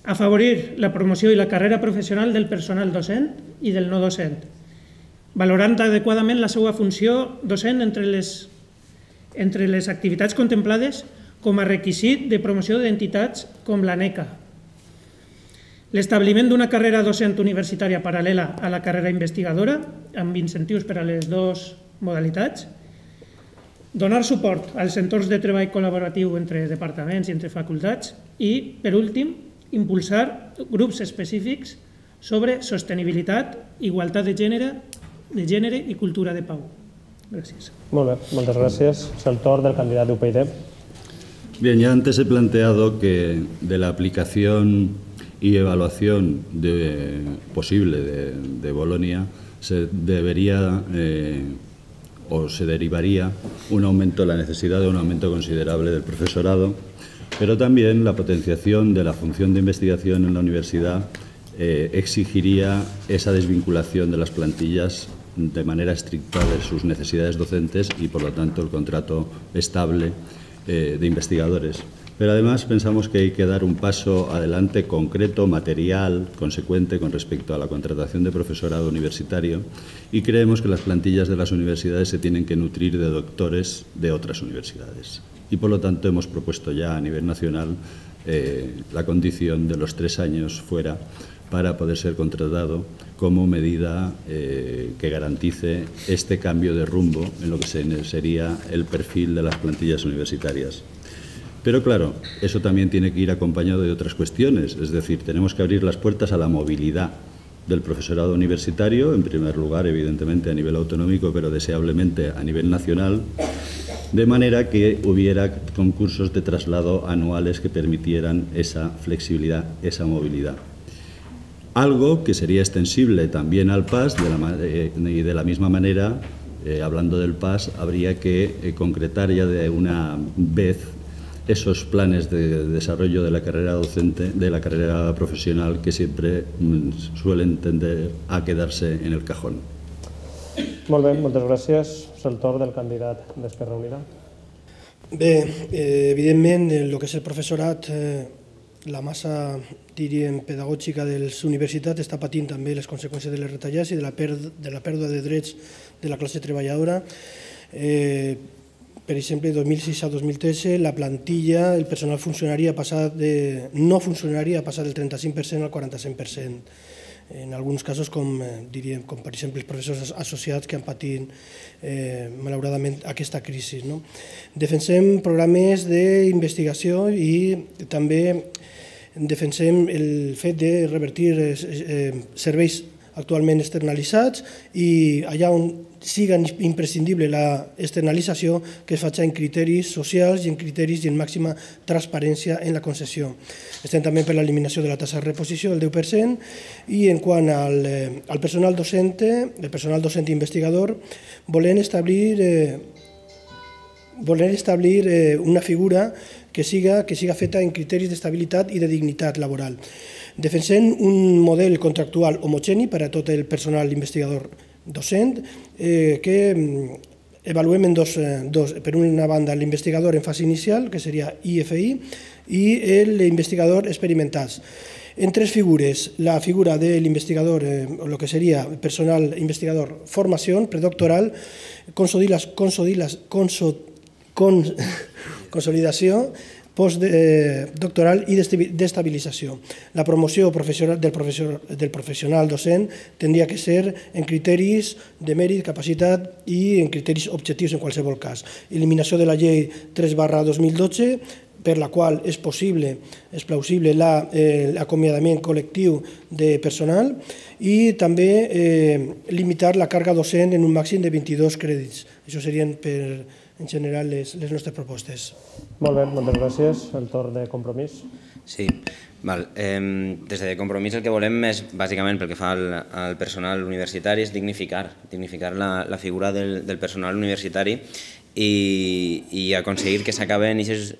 Afavorir la promoció i la carrera professional del personal docent i del no docent, valorant adequadament la seva funció docent entre les, entre les activitats contemplades com a requisit de promoció d'entitats com l'ANECA. L'establiment d'una carrera docent universitària paral·lela a la carrera investigadora, amb incentius per a les dues modalitats, donar suport als entorns de treball col·laboratiu entre departaments i entre facultats i, per últim, impulsar grups específics sobre sostenibilitat, igualtat de gènere, de gènere i cultura de pau. Gràcies. Molt bé, moltes gràcies. És el torn del candidat de U P y D. Bien, ya antes he planteado que de la aplicación y evaluación de, posible de, de Bolonia se debería eh, o se derivaría un aumento, la necesidad de un aumento considerable del profesorado, pero también la potenciación de la función de investigación en la universidad eh, exigiría esa desvinculación de las plantillas de manera estricta de sus necesidades docentes y, por lo tanto, el contrato estable eh, de investigadores. Pero además pensamos que hay que dar un paso adelante concreto, material, consecuente con respecto a la contratación de profesorado universitario y creemos que las plantillas de las universidades se tienen que nutrir de doctores de otras universidades. Y por lo tanto hemos propuesto ya a nivel nacional eh, la condición de los tres años fuera para poder ser contratado como medida eh, que garantice este cambio de rumbo en lo que sería el perfil de las plantillas universitarias. Pero claro, eso también tiene que ir acompañado de otras cuestiones, es decir, tenemos que abrir las puertas a la movilidad del profesorado universitario, en primer lugar, evidentemente, a nivel autonómico, pero deseablemente a nivel nacional, de manera que hubiera concursos de traslado anuales que permitieran esa flexibilidad, esa movilidad. Algo que sería extensible también al P A S, de la, eh, y de la misma manera, eh, hablando del P A S, habría que eh, concretar ya de una vez esos planes de desarrollo de la carrera docente, de la carrera profesional, que siempre mm, suelen tender a quedarse en el cajón. Molt bé, moltes gràcies. És el torn del candidat d'Esquerra Unida. Bé, eh, evidentment, el que és el professorat, eh, la massa, diríem, pedagògica de les universitats està patint també les conseqüències de les retallades i de la, de la pèrdua de drets de la classe treballadora. Eh, Per exemple, de dos mil sis a dos mil tretze, la plantilla, el personal funcionari ha passat de, no funcionari ha passat del trenta-cinc per cent al quaranta-cinc per cent. En alguns casos, com, diríem, com per exemple els professors associats que han patit eh, malauradament aquesta crisi. No? Defensem programes d'investigació i també defensem el fet de revertir eh, serveis actualment externalitzats i allà on siga imprescindible l'externalització que es faci en criteris socials i en criteris i en màxima transparència en la concessió. Estem també per l'eliminació de la taxa de reposició del deu per cent i en quant al, eh, al personal docent, el personal docent i investigador, volem establir, eh, volem establir eh, una figura que siga, que siga feta en criteris d'estabilitat i de dignitat laboral. Defensem un model contractual homogeni per a tot el personal investigador docent eh, que avaluem en dos, dos, per una banda l'investigador en fase inicial, que seria I F I, i l'investigador experimentat. En tres figures, la figura de l'investigador, eh, o el que seria personal investigador formació predoctoral, consolidació, consolidació postdoctoral i d'estabilització. La promoció del professional docent tindria que ser en criteris de mèrit, capacitat i en criteris objectius en qualsevol cas. Eliminació de la llei tres barra dos mil dotze, per la qual és possible, és plausible l'acomiadament col·lectiu de personal i també limitar la càrrega docent en un màxim de vint-i-dos crèdits. Això serien, en general, les nostres propostes. Molt bé, moltes gràcies. El torn de Compromís. Sí, des de Compromís el que volem és, bàsicament, pel que fa al personal universitari, és dignificar, dignificar la figura del personal universitari i aconseguir que s'acaben aquestes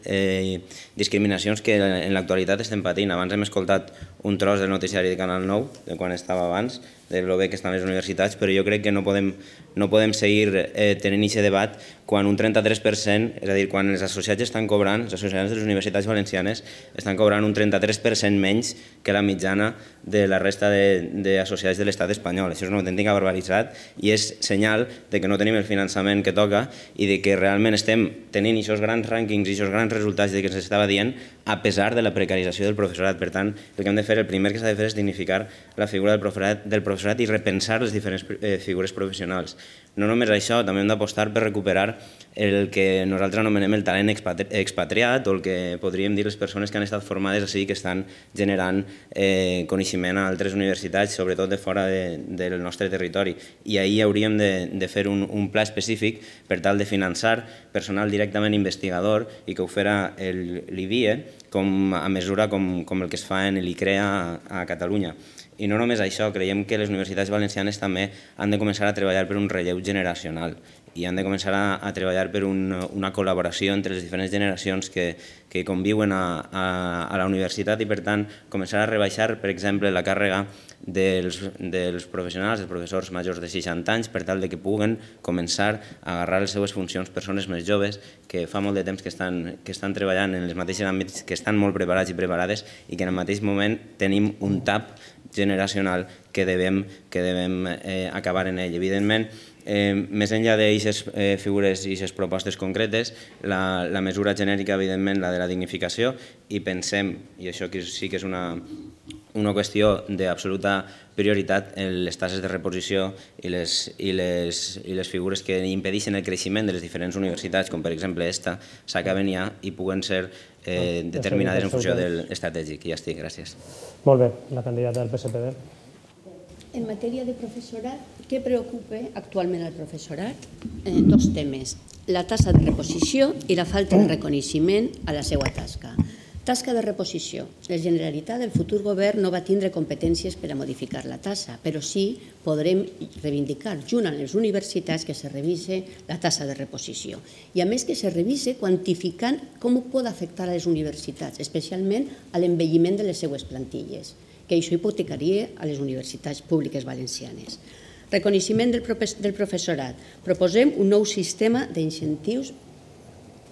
discriminacions que en l'actualitat estem patint. Abans hem escoltat un tros del noticiari de Canal nou, de quan estava abans, de lo bé que estan les universitats, però jo crec que no podem seguir tenint aquest debat quan un trenta-tres per cent, és a dir, quan els associats estan cobrant, els associats de les universitats valencianes estan cobrant un trenta-tres per cent menys que la mitjana de la resta d'associats de l'estat espanyol. Això és una autèntica barbaritat i és senyal de que no tenim el finançament que toca i de que realment estem tenint aquests grans rànquings i aquests grans resultats que ens estava dient a pesar de la precarització del professorat. Per tant, el que hem de fer, el primer que s'ha de fer és dignificar la figura del professorat i repensar les diferents figures professionals. No només això, també hem d'apostar per recuperar el que nosaltres anomenem el talent expatriat o el que podríem dir les persones que han estat formades així, que estan generant coneixement a altres universitats, sobretot de fora del nostre territori. I ahir hauríem de fer un pla específic per tal de finançar personal directament investigador i que ho farà l'I B I E a mesura com el que es fa en l'I C R E A a Catalunya. I no només això, creiem que les universitats valencianes també han de començar a treballar per un relleu generacional i han de començar a treballar per una col·laboració entre les diferents generacions que conviuen a la universitat i, per tant, començar a rebaixar, per exemple, la càrrega dels professionals, dels professors majors de seixanta anys, per tal que puguen començar a agarrar les seues funcions persones més joves que fa molt de temps que estan treballant en els mateixos àmbits, que estan molt preparats i preparades i que en el mateix moment tenim un tap generacional que devem acabar en ell. Evidentment, més enllà d'aquestes figures i aquestes propostes concretes, la mesura genèrica, evidentment, la de la dignificació, i pensem, i això sí que és una qüestió d'absoluta prioritat, les taxes de reposició i les figures que impedeixen el creixement de les diferents universitats, com per exemple esta, s'acaben ja i puguen ser determinades en funció de l'estratègic. Ja estic, gràcies. Molt bé, la candidata del P S P D. En matèria de professorat, què preocupa actualment al professorat? Dos temes, la tassa de reposició i la falta de reconeixement a la seva tasca. Tasca de reposició. La Generalitat del futur govern no va tindre competències per a modificar la tassa, però sí podrem reivindicar junt amb les universitats que se revise la tassa de reposició. I a més que se revise quantificant com ho pot afectar a les universitats, especialment a l'envelliment de les seues plantilles, que això hipotecaria a les universitats públiques valencianes. Reconeixement del professorat. Proposem un nou sistema d'incentius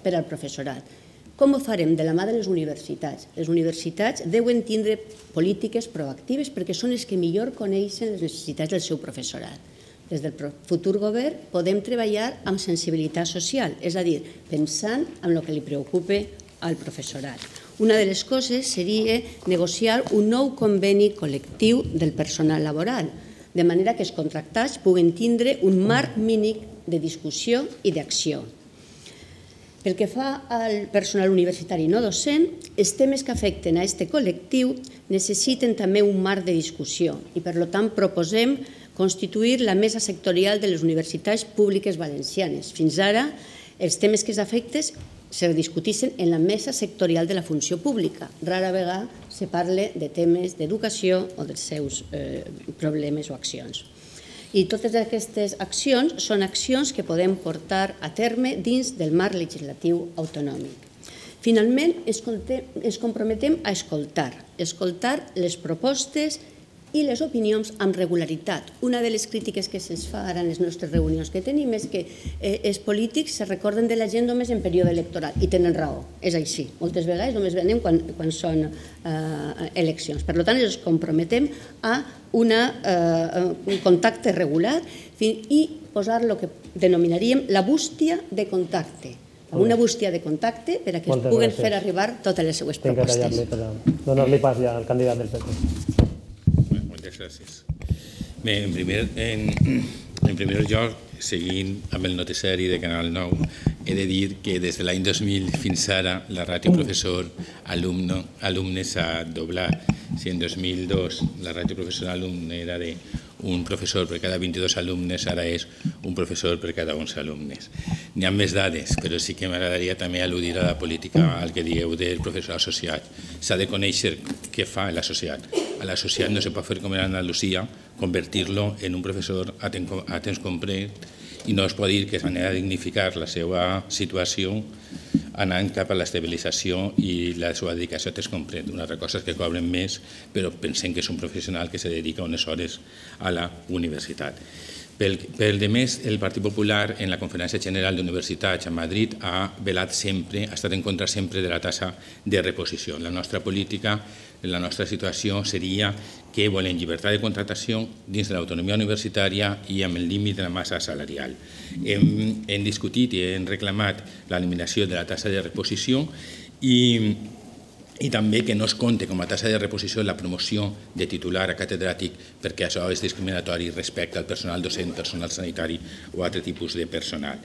per al professorat. Com ho farem? De la mà de les universitats. Les universitats deuen tindre polítiques proactives perquè són els que millor coneixen les necessitats del seu professorat. Des del futur govern podem treballar amb sensibilitat social, és a dir, pensant en el que li preocupa al professorat. Una de les coses seria negociar un nou conveni col·lectiu del personal laboral, de manera que els contractats puguen tindre un marc mínim de discussió i d'acció. Pel que fa al personal universitari no docent, els temes que afecten a aquest col·lectiu necessiten també un marc de discussió i, per tant, proposem constituir la mesa sectorial de les universitats públiques valencianes. Fins ara, els temes que s'afecten se discuteixen en la mesa sectorial de la funció pública. Rara vegada se parla de temes d'educació o dels seus problemes o accions. I totes aquestes accions són accions que podem portar a terme dins del marc legislatiu autonòmic. Finalment, ens comprometem a escoltar, escoltar les propostes i les opinions amb regularitat. Una de les crítiques que se'ns fa ara en les nostres reunions que tenim és que els polítics se recorden de la gent només en període electoral, i tenen raó, és així. Moltes vegades només venem quan són eleccions. Per tant, ens comprometem a un contacte regular i posar el que denominaríem la bústia de contacte. amb una bústia de contacte per a que es puguen fer arribar totes les seues propostes. Tinc que tallar-li per donar-li pas ja al candidat del P P. Moltes gràcies. Bé, en primer, en, en primer lloc, seguint amb el noticiari de Canal nou, he de dir que des de l'any dos mil fins ara la ràtio professor-alumne s'ha doblat. Si en dos mil dos la ràtio professor-alumne era d'un professor per cada vint-i-dos alumnes, ara és un professor per cada onze alumnes. N'hi ha més dades, però sí que m'agradaria també al·ludir a la política, al que dieu del professor associat. S'ha de conèixer què fa l'associat. A l'associat no se pot fer com en Andalusia, convertir-lo en un professor a temps complet i no es pot dir que és manera de dignificar la seva situació anant cap a l'estabilització i la seva dedicació a temps complet. Una altra cosa és que cobren més, però pensem que és un professional que se dedica unes hores a la universitat. Pel de més, el Partit Popular en la Conferència General d'Universitats a Madrid ha velat sempre, ha estat en contra sempre de la tassa de reposició. La nostra política, la nostra situació seria que volem llibertat de contractació dins de l'autonomia universitària i amb el límit de la massa salarial. Hem, hem discutit i hem reclamat l'eliminació de la tassa de reposició i i també que no es compte com a tassa de reposició la promoció de titular a catedràtic perquè això és discriminatori respecte al personal docent, personal sanitari o altre tipus de personal.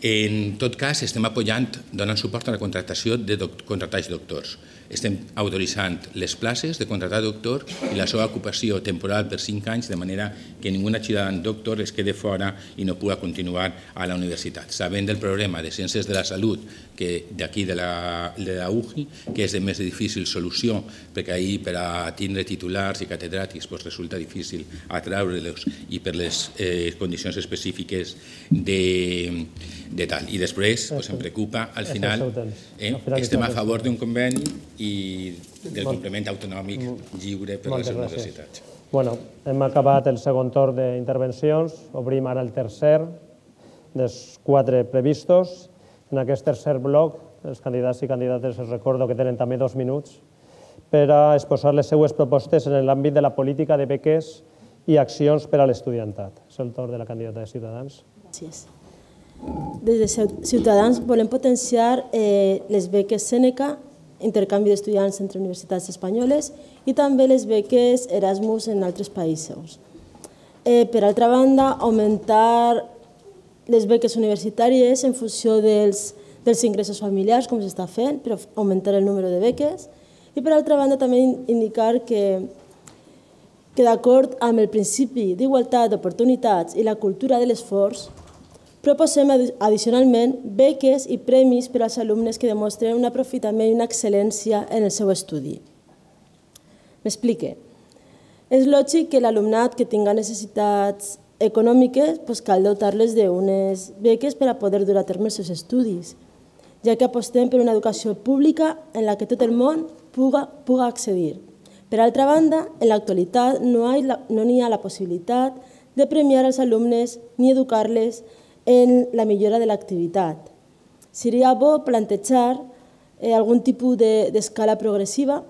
En tot cas, estem apoyant, donant suport a la contractació de contractats doctors. Estem autoritzant les places de contractat doctor i la seva ocupació temporal per cinc anys, de manera que ningú ciutadà doctor es quede fora i no pugui continuar a la universitat. Sabent del problema de ciències de la salut d'aquí de la U G I, que és de més difícil solució, perquè ahir per a tindre titulars i catedràtics resulta difícil atraure-los i per les condicions específiques de tal. I després em preocupa, al final, estem a favor d'un conveni i del complement autonòmic lliure per a les universitats. Bueno, hem acabat el segon torn d'intervencions, obrim ara el tercer dels quatre previstos. En aquest tercer bloc, els candidats i candidates els recordo que tenen també dos minuts per a exposar les seues propostes en l'àmbit de la política de beques i accions per a l'estudiantat. És el torn de la candidata de Ciutadans. Gràcies. Des de Ciutadans volem potenciar les beques Sèneca, intercanvi d'estudiants entre universitats espanyoles, i també les beques Erasmus en altres països. Per altra banda, augmentar les beques universitàries en funció dels ingressos familiars, com s'està fent, per augmentar el número de beques. I per altra banda, també indicar que d'acord amb el principi d'igualtat d'oportunitats i la cultura de l'esforç, proposem addicionalment beques i premis per als alumnes que demostren un aprofitament i una excel·lència en el seu estudi. M'explique. És lògic que l'alumnat que tinga necessitats econòmiques cal dotar-les d'unes beques per a poder dur a terme els seus estudis, ja que apostem per una educació pública en la que tot el món pugui accedir. Per altra banda, en l'actualitat no hi ha la possibilitat de premiar els alumnes ni educar-les en la millora de l'activitat. Seria bo plantejar algun tipus d'escala progressiva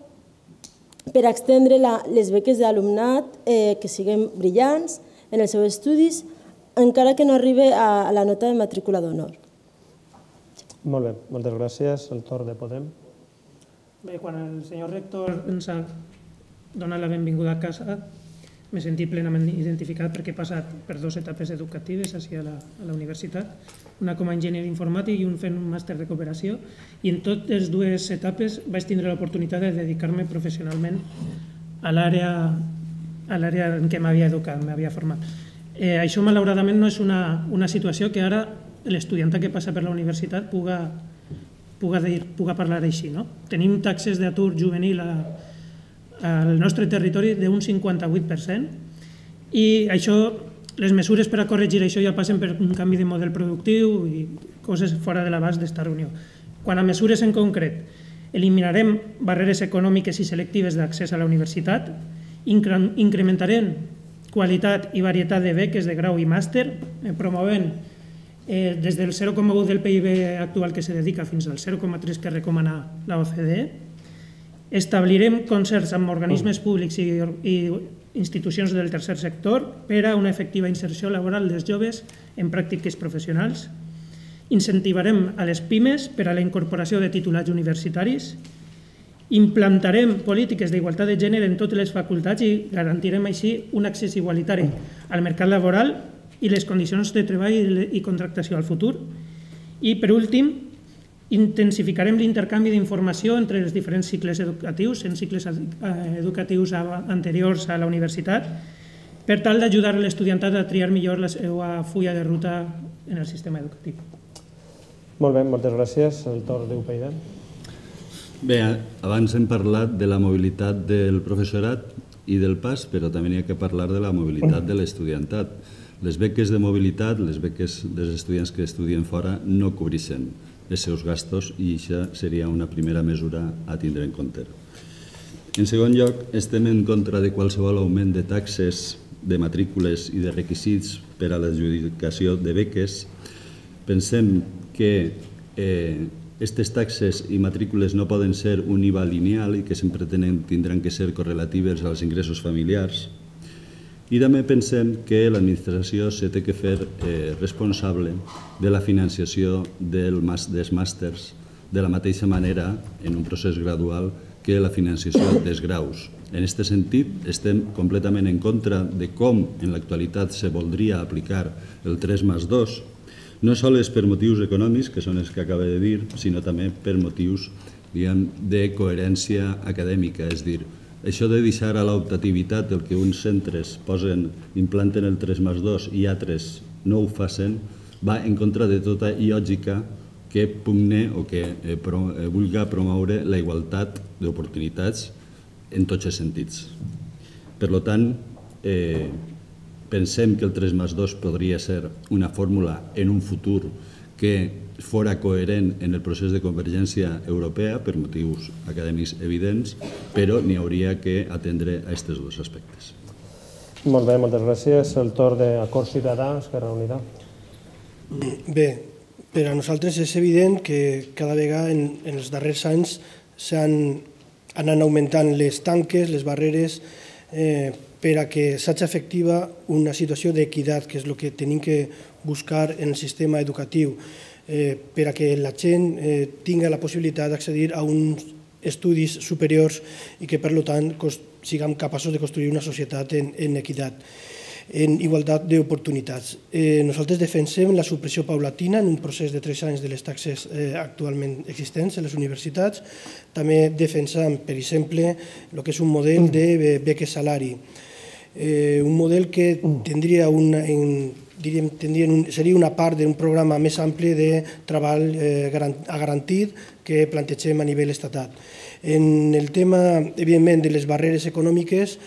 per a extendre les beques d'alumnat que siguin brillants en els seus estudis, encara que no arribi a la nota de matrícula d'honor. Molt bé, moltes gràcies. El torn de Podem. Bé, quan el senyor rector ens ha donat la benvinguda a casa, m'he sentit plenament identificat perquè he passat per dues etapes educatives a la universitat, una com a enginyer informàtic i un fent un màster de cooperació, i en totes les dues etapes vaig tindre l'oportunitat de dedicar-me professionalment a l'àrea en què m'havia educat, m'havia format. Això, malauradament, no és una situació que ara l'estudiant que passa per la universitat pugui parlar així. Tenim taxes d'atur juvenil al nostre territori d'un cinquanta vuit per cent i això, les mesures per a corregir això ja passen per un canvi de model productiu i coses fora de l'abast d'esta reunió. Quant a mesures en concret, eliminarem barreres econòmiques i selectives d'accés a la universitat, incrementarem qualitat i varietat de beques de grau i màster, promovent des del zero coma u del P I B actual que se dedica fins al zero coma tres que recomana la O C D E, establirem concerts amb organismes públics i institucions del tercer sector per a una efectiva inserció laboral dels joves en pràctiques professionals incentivarem a les pimes per a la incorporació de titulats universitaris, implantarem polítiques d'igualtat de gènere en totes les facultats i garantirem així un accés igualitari al mercat laboral i les condicions de treball i contractació al futur. I, per últim, intensificarem l'intercanvi d'informació entre els diferents cicles educatius, en cicles educatius anteriors a la universitat, per tal d'ajudar l'estudiantat a triar millor la seva fulla de ruta en el sistema educatiu. Molt bé, moltes gràcies. El torn d'U P I D. Bé, abans hem parlat de la mobilitat del professorat i del P A S, però també n'hi ha que parlar de la mobilitat de l'estudiantat. Les beques de mobilitat, les beques dels estudiants que estudien fora, no cobreixen els seus gastos i això seria una primera mesura a tindre en compte. En segon lloc, estem en contra de qualsevol augment de taxes, de matrícules i de requisits per a l'adjudicació de beques. Pensem que aquestes taxes i matrícules no poden ser un I V A lineal i que sempre tindran que ser correlatives als ingressos familiars. I també pensem que l'administració se té que fer responsable de la financiació dels màsters de la mateixa manera, en un procés gradual, que la financiació dels graus. En aquest sentit, estem completament en contra de com en l'actualitat se voldria aplicar el tres més dos, no sols per motius econòmics, que són els que acaba de dir, sinó també per motius de coherència acadèmica. És a dir, això de deixar a l'optativitat el que uns centres implanten el tres més dos i altres no ho facin, va en contra de tota lògica que pugne o que vulgui promoure la igualtat d'oportunitats en tots els sentits. Per tant, pensem que el tres més dos podria ser una fórmula en un futur que fora coherent en el procés de convergència europea per motius acadèmics evidents, però n'hi hauria que atendre a aquests dos aspectes. Molt bé, moltes gràcies. El torn d'Acord Ciutadà, Esquerra Unida. Bé, per a nosaltres és evident que cada vegada en els darrers anys s'han anat augmentant les tanques, les barreres, per a que s'hagi efectiva una situació d'equitat, que és el que tenim que buscar en el sistema educatiu, per a que la gent tingui la possibilitat d'accedir a uns estudis superiors i que, per tant, siguem capaços de construir una societat en equitat, en igualtat d'oportunitats. Nosaltres defensem la supressió paulatina en un procés de tres anys de les taxes actualment existents a les universitats. També defensem, per exemple, el que és un model de beques salari, un model que tindria una, seria una part d'un programa més ampli de treball garantit que plantegem a nivell estatal. En el tema, evidentment, de les barreres econòmiques,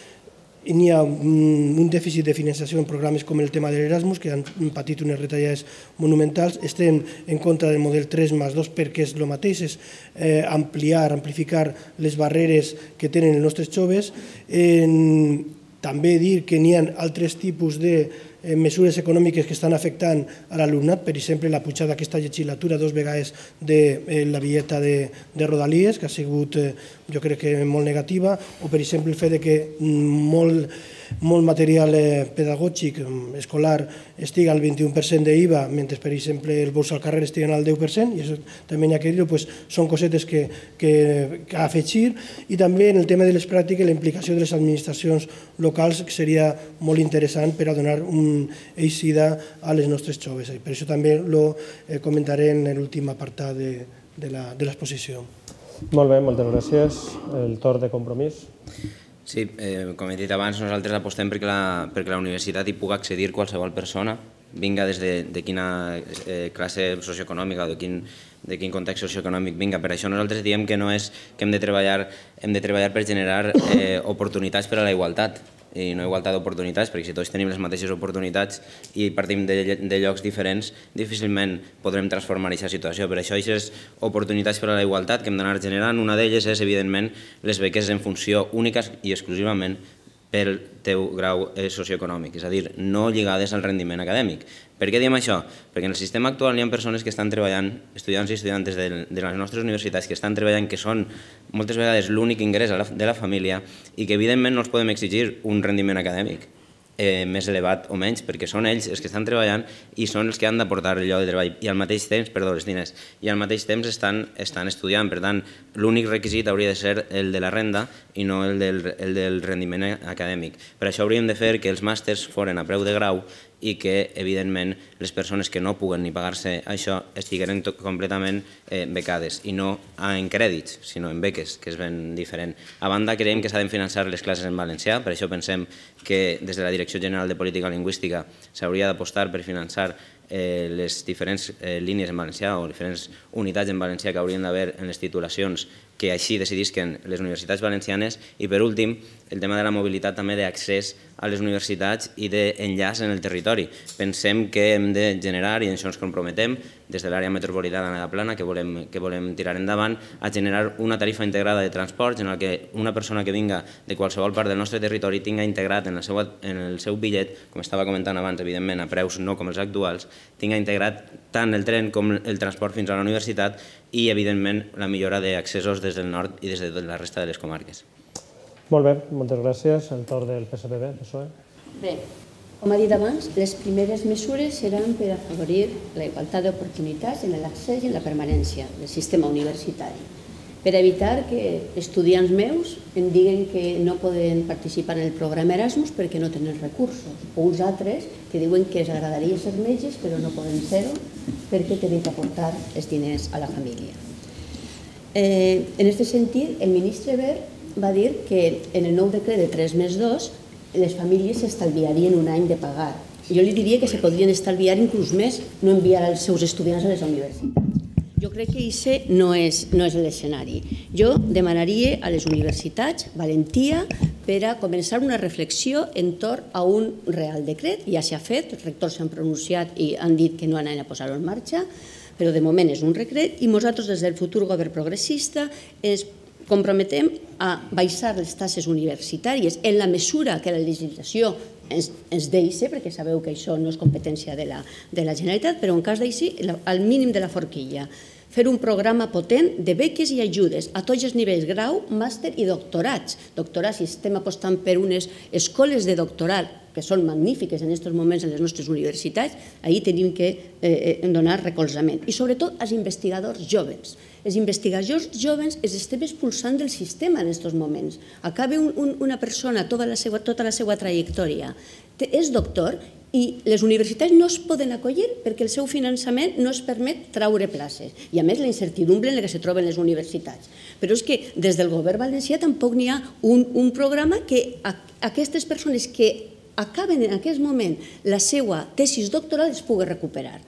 n'hi ha un dèficit de finançació en programes com el tema de l'Erasmus, que han patit unes retallades monumentals. Estem en contra del model tres més dos perquè és el mateix, és ampliar, amplificar les barreres que tenen els nostres joves. També dir que n'hi ha altres tipus de mesures econòmiques que estan afectant a l'alumnat, per exemple, la pujada d'aquesta legislatura dos vegades de la bitlleta de Rodalies, que ha sigut, jo crec que molt negativa, o per exemple el fet que molt molt material pedagògic escolar estigui al vint-i-u per cent d'I V A, mentre, per exemple, els vols al carrer estiguen al deu per cent, i això també n'hi ha que dir-ho, són cosetes que ha afegir. I també en el tema de les pràctiques, la implicació de les administracions locals seria molt interessant per a donar una eixida a les nostres joves. Per això també ho comentaré en l'últim apartat de l'exposició. Molt bé, moltes gràcies. El torn de Compromís. Sí, com he dit abans, nosaltres apostem perquè la universitat hi pugui accedir qualsevol persona, vinga des de quina classe socioeconòmica o de quin context socioeconòmic vinga. Per això nosaltres diem que no és que hem de treballar per generar oportunitats per a la igualtat, i no igualtat d'oportunitats, perquè si tots tenim les mateixes oportunitats i partim de llocs diferents, difícilment podrem transformar aquesta situació. Per això, aquestes oportunitats per a la igualtat que hem d'anar generant, una d'elles és, evidentment, les beques en funció única i exclusivament pel teu grau socioeconòmic, és a dir, no lligades al rendiment acadèmic. Per què diem això? Perquè en el sistema actual hi ha persones que estan treballant, estudiants i estudiantes de les nostres universitats que estan treballant, que són moltes vegades l'únic ingrés de la família i que evidentment no els podem exigir un rendiment acadèmic. més elevat o menys, perquè són ells els que estan treballant i són els que han d'aportar el lloc de treball i al mateix temps, perdó, els diners, i al mateix temps estan estudiant. Per tant, l'únic requisit hauria de ser el de la renda i no el del rendiment acadèmic. Per això hauríem de fer que els màsters foren a preu de grau i que, evidentment, les persones que no puguen ni pagar-se això estigueren completament becades, i no en crèdits, sinó en beques, que és ben diferent. A banda, creiem que s'ha de finançar les classes en valencià, per això pensem que des de la Direcció General de Política Lingüística s'hauria d'apostar per finançar les diferents línies en valencià o diferents unitats en valencià que haurien d'haver en les titulacions que així decidisquen les universitats valencianes. I per últim, el tema de la mobilitat també d'accés a les universitats i d'enllaç en el territori. Pensem que hem de generar, i en això ens comprometem, des de l'àrea metropolitana de la Plana, que volem tirar endavant, a generar una tarifa integrada de transports en què una persona que vinga de qualsevol part del nostre territori tinga integrat en el seu bitllet, com estava comentant abans, evidentment, a preus no com els actuals, tinga integrat tant el tren com el transport fins a la universitat i, evidentment, la millora d'accessos des del nord i des de la resta de les comarques. Molt bé, moltes gràcies. El torn del P S P B, P S O E. Bé, com ha dit abans, les primeres mesures seran per afavorir la igualtat d'oportunitats en l'accés i en la permanència del sistema universitari, per evitar que estudiants meus em diguen que no poden participar en el programa Erasmus perquè no tenen recursos, o uns altres que diuen que els agradaria ser metges però no poden ser-ho perquè tenen que aportar els diners a la família. En aquest sentit, el ministre Wert va dir que en el nou decret de tres més dos les famílies s'estalviarien un any de pagar. Jo li diria que se podrien estalviar inclús més, no enviar els seus estudiants a les universitats. Jo crec que aquest no és l'escenari. Jo demanaria a les universitats valentia per a començar una reflexió entorn a un real decret. Ja s'ha fet, els rectors s'han pronunciat i han dit que no anaven a posar-ho en marxa, però de moment és un decret i nosaltres des del futur govern progressista ens comprometem a baixar les taxes universitàries en la mesura que la legislació ens deixa, perquè sabeu que això no és competència de la Generalitat, però en cas d'així, al mínim de la forquilla. Fer un programa potent de beques i ajudes a tots els nivells, grau, màster i doctorats. Doctorats, si estem apostant per unes escoles de doctorat que són magnífiques en aquests moments en les nostres universitats, ahir tenim que donar recolzament. I sobretot als investigadors joves. Els investigadors joves els estem expulsant del sistema en aquests moments. Acaba una persona tota la seva trajectòria, és doctor, i les universitats no es poden acollir perquè el seu finançament no es permet traure places. I a més la incertidumbre en la que es troben les universitats. Però és que des del govern valencià tampoc n'hi ha un programa que aquestes persones que acaben en aquest moment la seva tesis doctoral es pugui recuperar.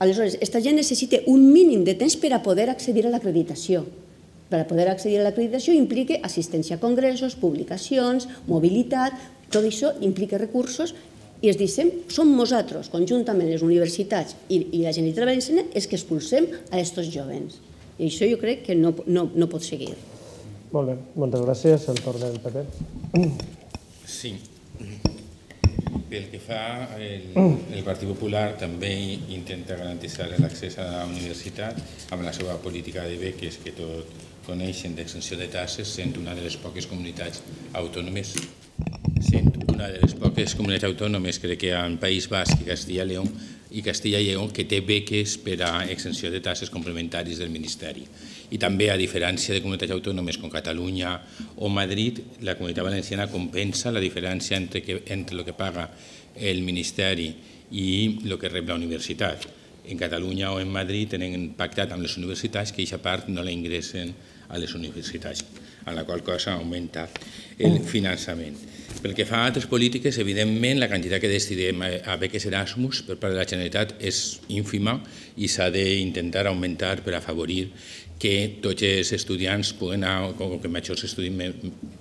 Aleshores, aquesta gent necessita un mínim de temps per a poder accedir a l'acreditació. Per a poder accedir a l'acreditació implica assistència a congressos, publicacions, mobilitat, tot això implica recursos i es dicem, som nosaltres, conjuntament les universitats i la Generalitat Valenciana, els que expulsem a aquests joves. I això jo crec que no pot seguir. Molt bé, moltes gràcies. El torn del P P. Sí. Pel que fa, el Partit Popular també intenta garantir l'accés a la universitat amb la seva política de beques que tot coneixen d'extensió de taxes, sent una de les poques comunitats autònomes sent una de les poques comunitats autònomes, crec que en País Basc i Castilla i Lleó, i Castilla i Lleó, que té beques per a extensió de taxes complementaris del Ministeri. I també, a diferència de comunitats autònomes com Catalunya o Madrid, la Comunitat Valenciana compensa la diferència entre el que paga el Ministeri i el que rep la universitat. En Catalunya o en Madrid tenen pactat amb les universitats que aquesta part no la ingressen a les universitats, a la qual cosa augmenta el finançament. Pel que fa a altres polítiques, evidentment, la quantitat que destinem a beques Erasmus per part de la Generalitat és ínfima i s'ha d'intentar augmentar per afavorir que tots els estudiants o que majors estudis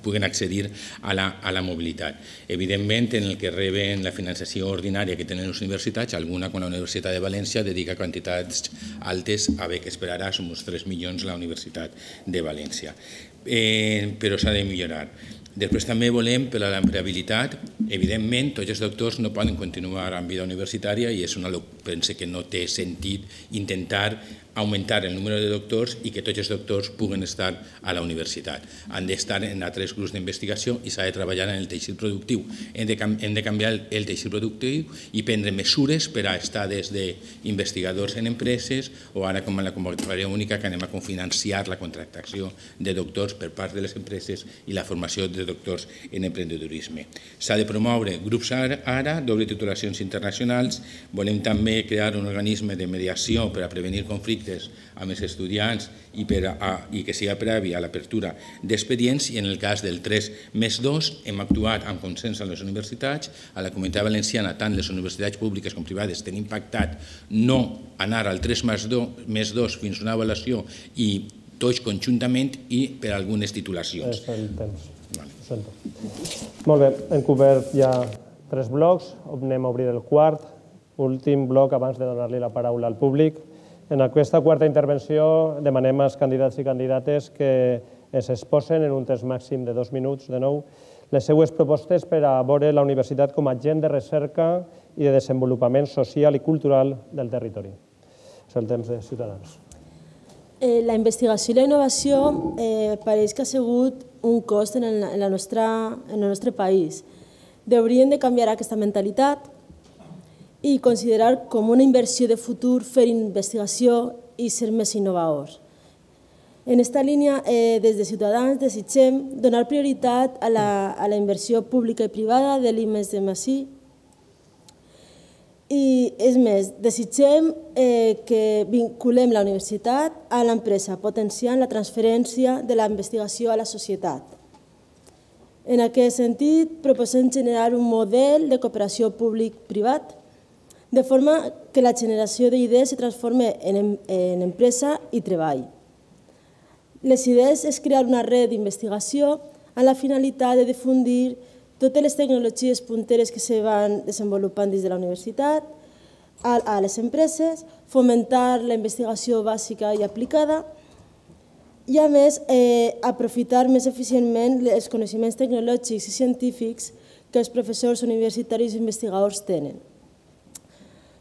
puguen accedir a la mobilitat. Evidentment, en el que reben la finançació ordinària que tenen les universitats, alguna com la Universitat de València dedica quantitats altes a beques per Erasmus, tres milions a la Universitat de València. Però s'ha de millorar. Després també volem, per a l'empleabilitat, evidentment, tots els doctors no poden continuar en vida universitària i és una pense que no té sentit intentar augmentar el número de doctors i que tots els doctors puguen estar a la universitat. Han d'estar en altres grups d'investigació i s'ha de treballar en el teixit productiu. Hem de, hem de canviar el, el teixit productiu i prendre mesures per a estar des d'investigadors en empreses o ara com en la convocatòria única que anem a cofinanciar la contractació de doctors per part de les empreses i la formació de doctors en emprendedorisme. S'ha de promoure grups ara, doble titulacions internacionals. Volem també crear un organisme de mediació per a prevenir conflictes amb els estudiants i, per a, i que sigui previ a l'apertura d'expedients, i en el cas del tres més dos hem actuat amb consens a les universitats. A la Comunitat Valenciana, tant les universitats públiques com privades tenim pactat no anar al tres més dos fins a una avaluació i tots conjuntament i per algunes titulacions. És el temps. Vale. Molt bé, hem cobert ja tres blocs, anem a obrir el quart, últim bloc abans de donar-li la paraula al públic. En aquesta quarta intervenció demanem als candidats i candidates que es exposen en un temps màxim de dos minuts, de nou, les seues propostes per a veure la universitat com a agent de recerca i de desenvolupament social i cultural del territori. És el temps de Ciutadans. Eh, la investigació i la innovació eh, pareix que ha sigut un cost en el, en la nostra, en el nostre país. Hauríem de canviar aquesta mentalitat i considerar com una inversió de futur fer investigació i ser més innovadors. En aquesta línia, eh, des de Ciutadans, desitgem donar prioritat a la, a la inversió pública i privada de l'I més D més I. I, és més, desitgem eh, que vinculem la universitat a l'empresa, potenciant la transferència de la investigació a la societat. En aquest sentit, proposem generar un model de cooperació públic-privat de forma que la generació d'idees se transformi en, en empresa i treball. Les idees és crear una red d'investigació amb la finalitat de difundir totes les tecnologies punteres que se van desenvolupant dins de la universitat a, a les empreses, fomentar la investigació bàsica i aplicada i, a més, eh, aprofitar més eficientment els coneixements tecnològics i científics que els professors universitaris i investigadors tenen.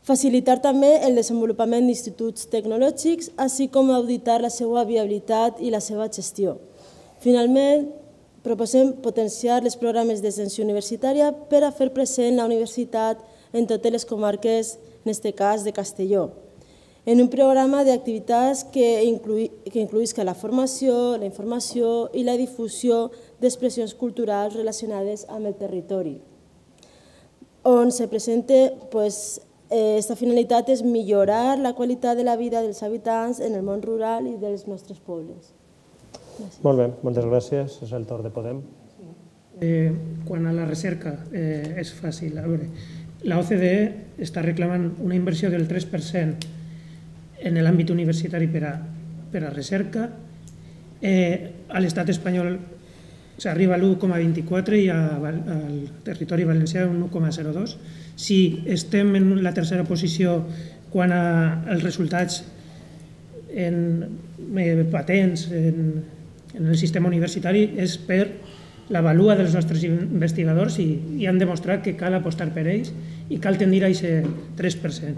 Facilitar també el desenvolupament d'instituts tecnològics, així com auditar la seva viabilitat i la seva gestió. Finalment, proposem potenciar els programes d'extensió universitària per a fer present la universitat en totes les comarques, en aquest cas de Castelló, en un programa d'activitats que incluïsca la formació, la informació i la difusió d'expressions culturals relacionades amb el territori, on se presenta aquesta finalitat és millorar la qualitat de la vida dels habitants en el món rural i dels nostres pobles. Molt bé, moltes gràcies. És el torn de Podem. Quant a la recerca, és fàcil. A veure, la O C D E està reclamant una inversió del tres per cent en l'àmbit universitari per a recerca. A l'estat espanyol s'arriba a l'u coma vint-i-quatre i al territori valencià un u coma zero dos. Si estem en la tercera posició quant als resultats en patents en el sistema universitari és per la valua dels nostres investigadors i han demostrat que cal apostar per ells i cal tendir a aquest tres per cent.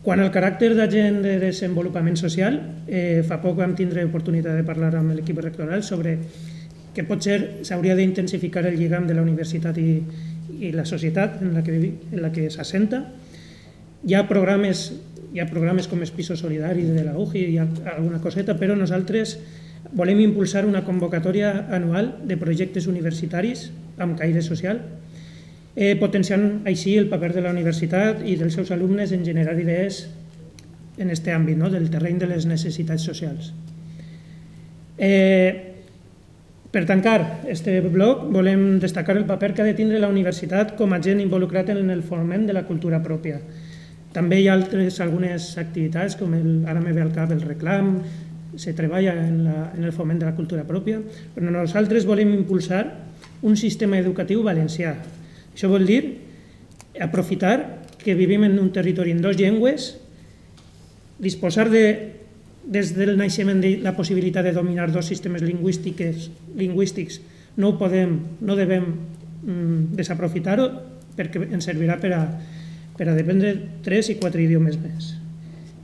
Quant al caràcter d'agent de desenvolupament social, fa poc vam tindre oportunitat de parlar amb l'equip rectoral sobre que potser s'hauria d'intensificar el lligam de la universitat i, i la societat en la que, en la que s'assenta. Hi ha programes, hi ha programes com els pisos solidaris de la U J I, hi ha alguna coseta, però nosaltres volem impulsar una convocatòria anual de projectes universitaris amb caire social, eh, potenciant així el paper de la universitat i dels seus alumnes en generar idees en aquest àmbit, no? Del terreny de les necessitats socials. Eh, Per tancar aquest bloc, volem destacar el paper que ha de tindre la universitat com a agent involucrat en el foment de la cultura pròpia. També hi ha altres, algunes activitats, com el, ara me ve al cap el reclam, se treballa en, la, en el foment de la cultura pròpia, però nosaltres volem impulsar un sistema educatiu valencià. Això vol dir aprofitar que vivim en un territori en dues llengües, disposar de des del naixement de la possibilitat de dominar dos sistemes lingüístics no ho podem, no devem desaprofitar-ho perquè ens servirà per a, per a dependre tres i quatre idiomes més.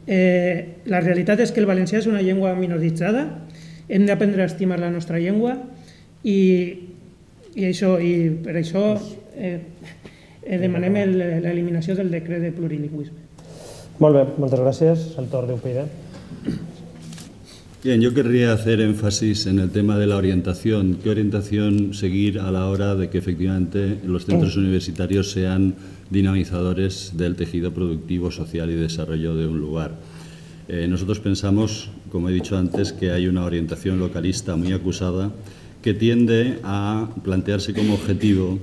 La realitat és que el valencià és una llengua minoritzada, hem d'aprendre a estimar la nostra llengua i per això demanem l'eliminació del decret de plurilingüisme. Molt bé, moltes gràcies. El torn d'U P I D. Bien, yo querría hacer énfasis en el tema de la orientación. ¿Qué orientación seguir a la hora de que efectivamente los centros universitarios sean dinamizadores del tejido productivo, social y desarrollo de un lugar? Eh, nosotros pensamos, como he dicho antes, que hay una orientación localista muy acusada que tiende a plantearse como objetivo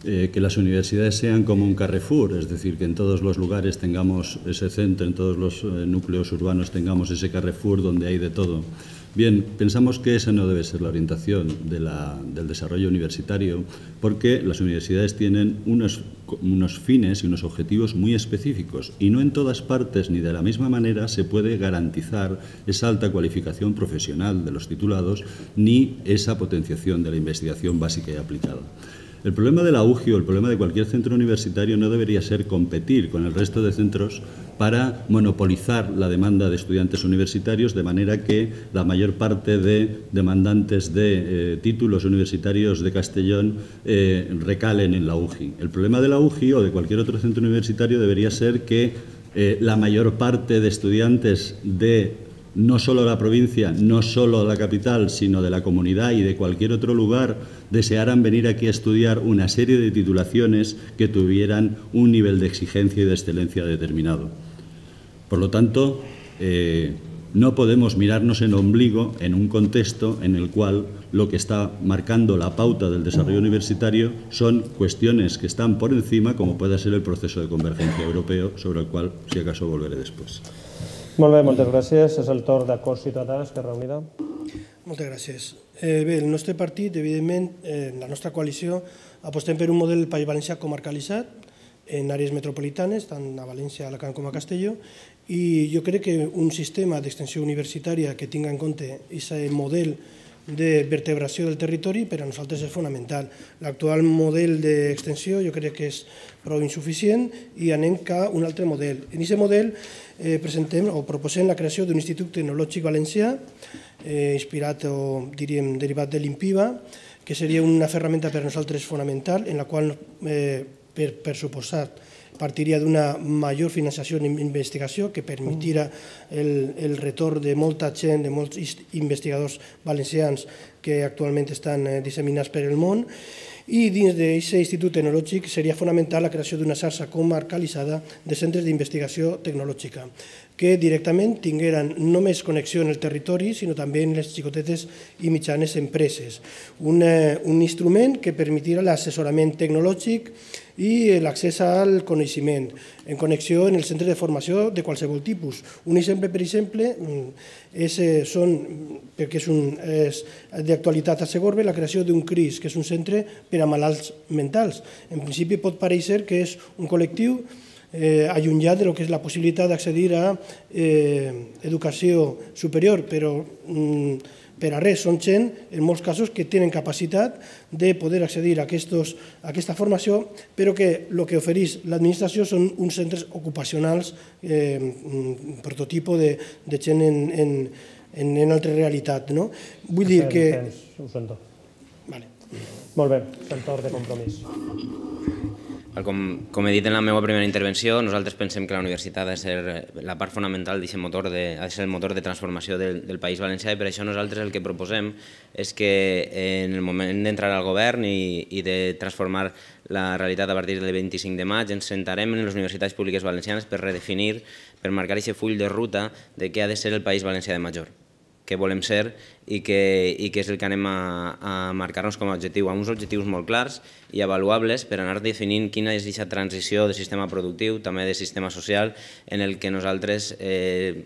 Eh, que las universidades sean como un Carrefour, es decir, que en todos los lugares tengamos ese centro, en todos los eh, núcleos urbanos tengamos ese Carrefour donde hay de todo. Bien, pensamos que esa no debe ser la orientación de la, del desarrollo universitario, porque las universidades tienen unos, unos fines y unos objetivos muy específicos y no en todas partes ni de la misma manera se puede garantizar esa alta cualificación profesional de los titulados ni esa potenciación de la investigación básica y aplicada. El problema de la U G I o el problema de cualquier centro universitario no debería ser competir con el resto de centros para monopolizar la demanda de estudiantes universitarios, de manera que la mayor parte de demandantes de eh, títulos universitarios de Castellón eh, recalen en la U G I. El problema de la U G I o de cualquier otro centro universitario debería ser que eh, la mayor parte de estudiantes de no solo la provincia, no solo la capital, sino de la comunidad y de cualquier otro lugar, desearan venir aquí a estudiar una serie de titulaciones que tuvieran un nivel de exigencia y de excelencia determinado. Por lo tanto, eh, no podemos mirarnos en ombligo en un contexto en el cual lo que está marcando la pauta del desarrollo universitario son cuestiones que están por encima, como puede ser el proceso de convergencia europeo, sobre el cual, si acaso, volveré después. Molt bé, moltes gràcies. És el torn d'Acord Ciutadà, Esquerra Unida. Moltes gràcies. Eh, bé, el nostre partit, evidentment, eh, la nostra coalició, apostem per un model del País Valencià comarcalitzat en àrees metropolitanes, tant a València, Alacant com a Castelló, i jo crec que un sistema d'extensió universitària que tinga en compte aquest model de vertebració del territori per a nosaltres és fonamental. L'actual model d'extensió jo crec que és prou insuficient i anem cap a un altre model. En aquest model eh, presentem o proposem la creació d'un Institut Tecnològic Valencià eh, inspirat o diríem derivat de l'INPIVA, que seria una ferramenta per a nosaltres fonamental en la qual eh, per, per suposat partiria d'una major finançació en investigació que permetirà el, el retorn de molta gent, de molts investigadors valencians que actualment estan disseminats per el món. I dins d'aquest institut tecnològic seria fonamental la creació d'una xarxa comarcalitzada de centres d'investigació tecnològica que directament tingueren no només connexió en el territori, sinó també en les xicotetes i mitjanes empreses. Un, un instrument que permetirà l'assessorament tecnològic i l'accés al coneixement, en connexió en el centre de formació de qualsevol tipus. Un exemple, per exemple, és, són, perquè és, un, és d'actualitat a Segorbe, la creació d'un C R I S, que és un centre per a malalts mentals. En principi pot parèixer que és un col·lectiu eh, allunyat de lo que és la possibilitat d'accedir a eh, educació superior, però mm, per a res, són gent, en molts casos, que tenen capacitat de poder accedir a, aquestos, a aquesta formació, però que el que ofereix l'administració són uns centres ocupacionals, eh, prototipo de, de gent en, en, en, en altra realitat. No? Vull dir que... Ho sento. Vale. Molt bé, el torn de Compromís. Com, com he dit en la meva primera intervenció, nosaltres pensem que la universitat ha de ser la part fonamental d'aquest motor, de, ha de ser el motor de transformació del, del País Valencià i per això nosaltres el que proposem és que en el moment d'entrar al govern i, i de transformar la realitat a partir del vint-i-cinc de maig ens sentarem en les universitats públiques valencianes per redefinir, per marcar aquest full de ruta de què ha de ser el País Valencià de major, què volem ser i què, i què és el que anem a, a marcar-nos com a objectiu, amb uns objectius molt clars i avaluables per anar definint quina és aquesta transició de sistema productiu, també de sistema social, en el que nosaltres eh,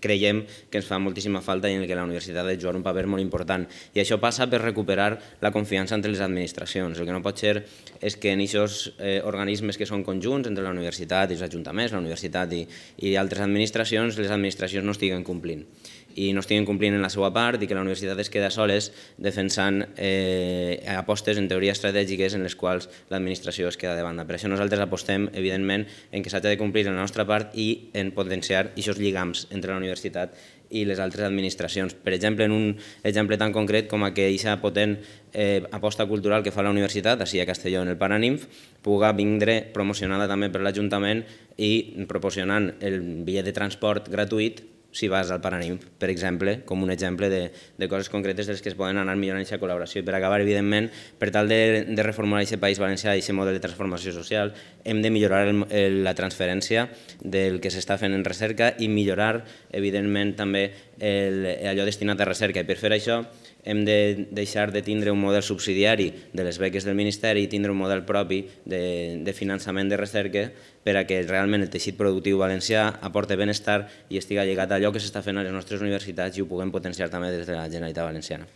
creiem que ens fa moltíssima falta i en el que la universitat ha de jugar un paper molt important. I això passa per recuperar la confiança entre les administracions. El que no pot ser és que en aquests eh, organismes que són conjunts entre la universitat i els ajuntaments, la universitat i, i altres administracions, les administracions no estiguen complint. i no estiguin complint en la seva part i que la universitat es queda soles defensant apostes en teoria estratègiques en les quals l'administració es queda de banda. Per això nosaltres apostem, evidentment, en que s'ha de complir en la nostra part i en potenciar aquests lligams entre la universitat i les altres administracions. Per exemple, en un exemple tan concret com aquesta potent aposta cultural que fa la universitat, així a Castelló, en el Paranimf, puga vindre promocionada també per l'Ajuntament i proporcionant el bitllet de transport gratuït si vas al Paranimf, per exemple, com un exemple de coses concretes de les que es poden anar millorant aquesta col·laboració. I per acabar, evidentment, per tal de reformular aquest País Valencià i aquest model de transformació social, hem de millorar la transferència del que s'està fent en recerca i millorar, evidentment, també allò destinat a recerca. I per fer això hem de deixar de tindre un model subsidiari de les beques del Ministeri i tindre un model propi de finançament de recerca per a que realment el teixit productiu valencià aporti benestar i estiga lligat a allò que s'està fent a les nostres universitats i ho puguem potenciar també des de la Generalitat Valenciana.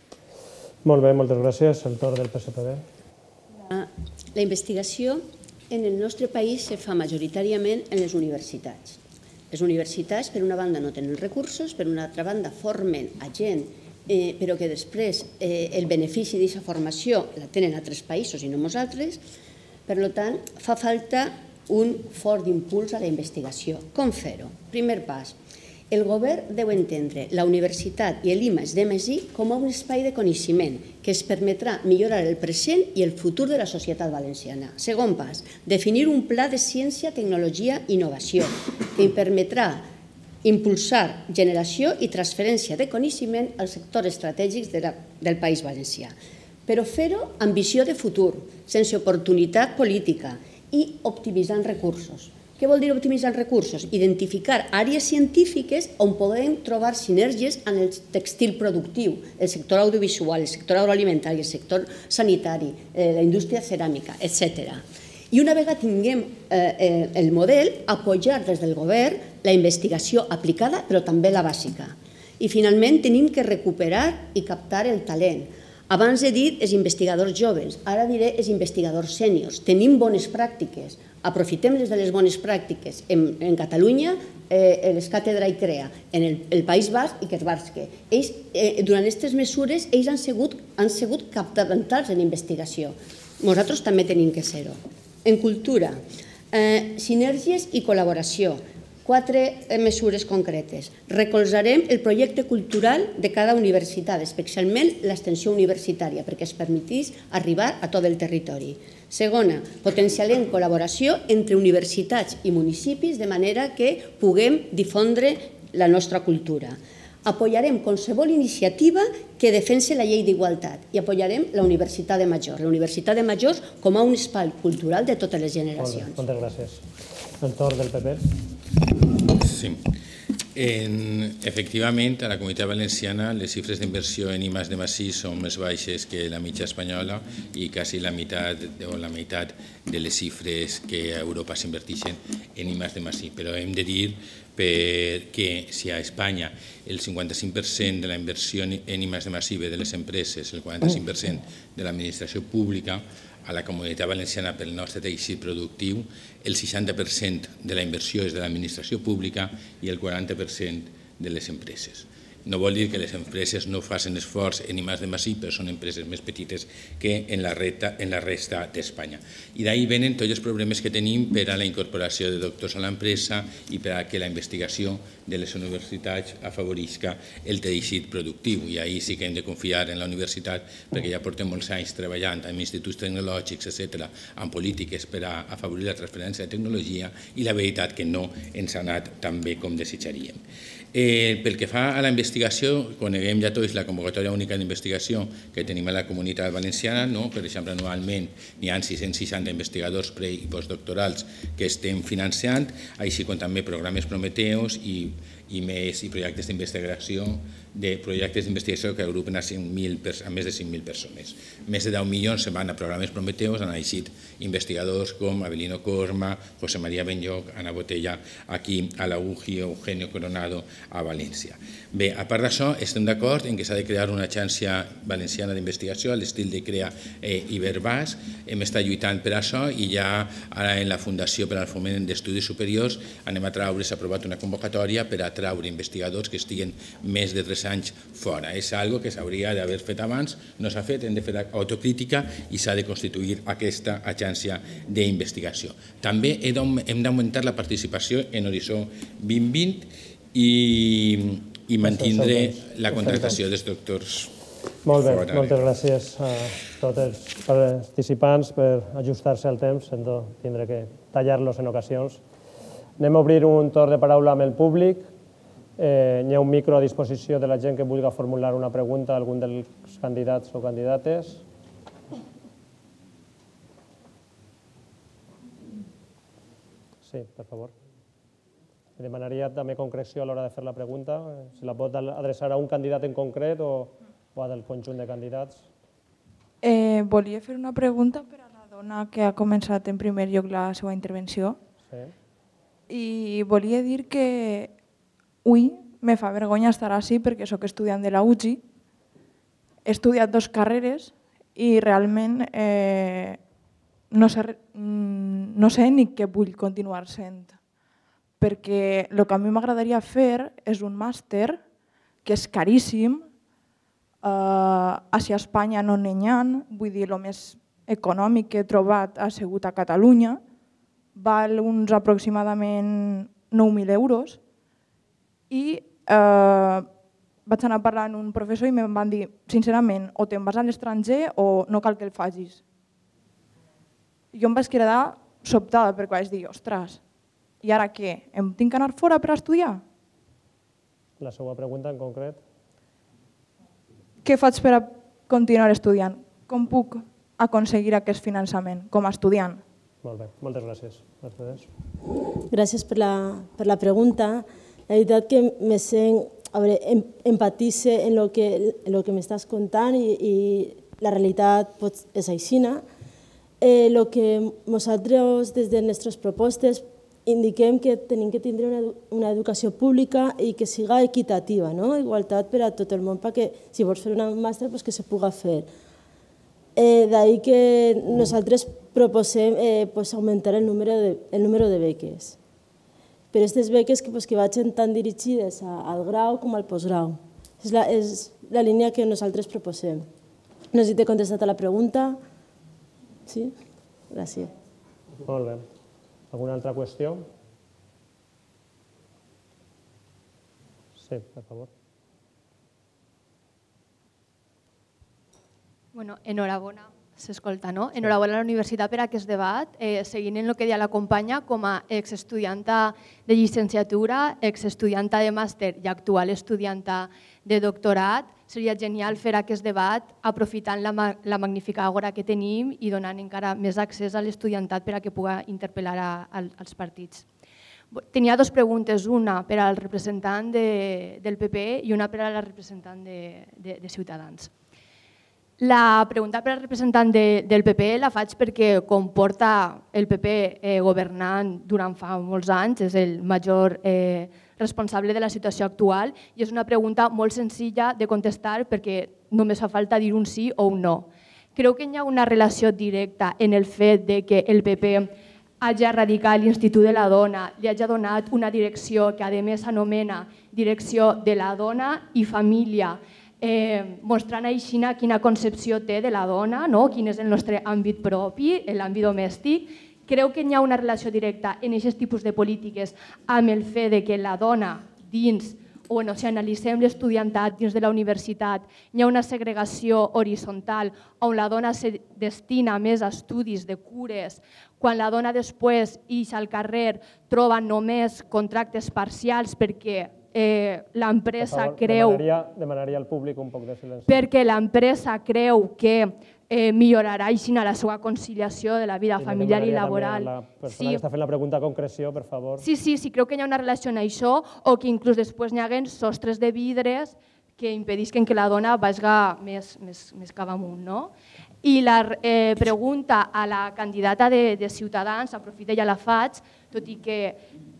Molt bé, moltes gràcies. El torn del P S P B. La investigació en el nostre país se fa majoritàriament en les universitats. Les universitats, per una banda, no tenen recursos, per una altra banda, formen a gent però que després el benefici d'aquesta formació la tenen altres països i no nosaltres. Per tant, fa falta un fort impuls a la investigació. Com fer-ho? Primer pas, el govern deu entendre la universitat i l'I M A S d'M S I com un espai de coneixement que es permetrà millorar el present i el futur de la societat valenciana. Segon pas, definir un pla de ciència, tecnologia i innovació que permetrà impulsar generació i transferència de coneixement als sectors estratègics del País Valencià. Però fer-ho amb visió de futur, sense oportunitat política i optimitzant recursos. Què vol dir optimitzar recursos? Identificar àrees científiques on podem trobar sinergies en el textil productiu, el sector audiovisual, el sector agroalimentari, el sector sanitari, la indústria ceràmica, etcètera. I una vegada tinguem el model, apoyar des del govern la investigació aplicada, però també la bàsica. I finalment tenim que recuperar i captar el talent. Abans he dit els investigadors joves, ara diré els investigadors sèniors. Tenim bones pràctiques, aprofitem-les de les bones pràctiques. En Catalunya, l'Escàtedra i CREA, en el País Basc i Querbarske. Durant aquestes mesures, ells han sigut capdavantals en investigació. Nosaltres també tenim que ser-ho. En cultura, sinergies i col·laboració. Quatre mesures concretes. Recolzarem el projecte cultural de cada universitat, especialment l'extensió universitària, perquè es permetís arribar a tot el territori. Segona, potenciarem col·laboració entre universitats i municipis de manera que puguem difondre la nostra cultura. Apoyarem qualsevol iniciativa que defensi la llei d'igualtat i apoyarem la Universitat de Majors, la Universitat de Majors com a un espai cultural de totes les generacions. Moltes gràcies. El torn del P P. Sí. Efectivament, a la Comunitat Valenciana les xifres d'inversió en I más D más I són més baixes que la mitja espanyola i quasi la meitat o la meitat de les xifres que a Europa s'inverteixen en I más D más I. Però hem de dir que si a Espanya el cinquanta-cinc per cent de la inversió en I más D más I ve de les empreses, el quaranta-cinc per cent de l'administració pública, a la Comunitat Valenciana pel nostre teixit productiu el seixanta per cent de la inversió és de l'administració pública i el quaranta per cent de les empreses. No vol dir que les empreses no facin esforç en I más D más I, però són empreses més petites que en la resta d'Espanya. I d'ahí venen tots els problemes que tenim per a la incorporació de doctors a l'empresa i per a que la investigació de les universitats afavorisca el teixit productiu. I ahí sí que hem de confiar en la universitat perquè ja portem molts anys treballant amb instituts tecnològics, etcètera, amb polítiques per a afavorir la transferència de tecnologia i la veritat que no ens ha anat tan bé com desitjaríem. Pel que fa a la investigació, coneguem ja tots la convocatòria única d'investigació que tenim a la Comunitat Valenciana. Per exemple, anualment hi ha sis-cents seixanta investigadors pre- i postdoctorals que estem finançant, així com també programes Prometeus i més projectes d'investigació de projectes d'investigació que agrupen a més de cinc mil persones. Més de deu milions se van a programes Prometeus, han eixit investigadors com Abelino Corma, José María Benlloc, Ana Botella, aquí a la U G I, Eugenio Coronado, a València. Bé, a part d'això, estem d'acord en que s'ha de crear una agència valenciana d'investigació a l'estil de CREA i Verbàs. Hem estat lluitant per això i ja ara en la Fundació per al Foment d'Estudis Superiors anem a traure, s'ha aprovat una convocatòria per a atraure investigadors que estiguen més de tres anys fora. És algo que s'hauria d'haver fet abans, no s'ha fet, hem de fer autocrítica i s'ha de constituir aquesta agència d'investigació. També hem d'augmentar la participació en Horitzó vint vint i mantindre la contractació dels doctors. Molt bé, moltes gràcies a tots els participants per ajustar-se al temps, sense tindre que tallar-los en ocasions. Anem a obrir un torn de paraula amb el públic. Hi ha un micro a disposició de la gent que vulgui formular una pregunta a algun dels candidats o candidates. Sí, per favor. Demanaria també concreció a l'hora de fer la pregunta. Si la pot adreçar a un candidat en concret o o del conjunt de candidats. Eh, volia fer una pregunta per a la dona que ha començat en primer lloc la seva intervenció. Sí. I volia dir que avui me fa vergonya estar així perquè sóc estudiant de la U G I, he estudiat dues carreres i realment eh, no, sé, no sé ni què vull continuar sent. Perquè el que a mi m'agradaria fer és un màster que és caríssim. Uh, Així a Espanya no n'hi ha, vull dir, el més econòmic que he trobat ha sigut a Catalunya, val uns aproximadament nou mil euros i uh, vaig anar a parlar amb un professor i em van dir, sincerament, o te'n vas a l'estranger o no cal que el facis. Jo em vaig quedar sobtada perquè vaig dir, ostres, i ara què? Em tinc que anar fora per estudiar? La seva pregunta en concret? Què faig per a continuar estudiant? Com puc aconseguir aquest finançament com a estudiant? Molt bé, moltes gràcies. Gràcies per la, per la pregunta. La veritat que me sent, a veure, em, empatice en lo que, en lo que m'estàs contant i, i la realitat pot, és aixina. Eh, lo que nosaltres des de les nostres propostes indiquem que tenim que tindre una, una educació pública i que siga equitativa, no? Igualtat per a tot el món, perquè si vols fer un màster pues que se puga fer. Eh, D'ahí que nosaltres proposem eh, pues augmentar el número de, el número de beques. Però aquestes beques que, pues, que vagin tan dirigides a, al grau com al postgrau. És la, és la línia que nosaltres proposem. No sé si t'he contestat a la pregunta. Sí? Gràcies. Molt bé. ¿Alguna altra qüestió? Sí, per favor. Bueno, enhorabona, s'escolta, no? Enhorabona a la universitat per aquest debat, eh, seguint en el que deia la companya, com a exestudianta de llicenciatura, exestudianta de màster i actual estudianta de doctorat, seria genial fer aquest debat aprofitant la, la magnífica àgora que tenim i donant encara més accés a l'estudiantat per a que pugui interpel·lar a, a, als partits. Tenia dues preguntes, una per al representant de, del P P i una per a la representant de, de, de Ciutadans. La pregunta per al representant de, del P P la faig perquè com porta el P P eh, governant durant fa molts anys, és el major eh, responsable de la situació actual i és una pregunta molt senzilla de contestar perquè només fa falta dir un sí o un no. Creu que hi ha una relació directa en el fet de que el P P hagi erradicat l'Institut de la Dona, li hagi donat una direcció que a més s'anomena Direcció de la Dona i Família, eh, mostrant així quina concepció té de la dona, no? Quin és el nostre àmbit propi, l'àmbit domèstic. Creu que hi ha una relació directa en aquests tipus de polítiques amb el fet de que la dona dins, o bueno, si analitzem l'estudiantat dins de la universitat, hi ha una segregació horitzontal on la dona se destina més a estudis de cures, quan la dona després ix al carrer troba només contractes parcials perquè eh, l'empresa creu... Demanaria, demanaria al públic un poc de silenci. Perquè l'empresa creu que eh, millorarà així la seva conciliació de la vida familiar i laboral. La persona sí. que està fent la pregunta a concreció, per favor. Sí, sí, sí, creu que hi ha una relació en això o que inclús després n'hi haguen sostres de vidres que impedisquen que la dona vagi més, més, més cap amunt, no? I la eh, pregunta a la candidata de, de Ciutadans, aprofita i ja la faig, tot i que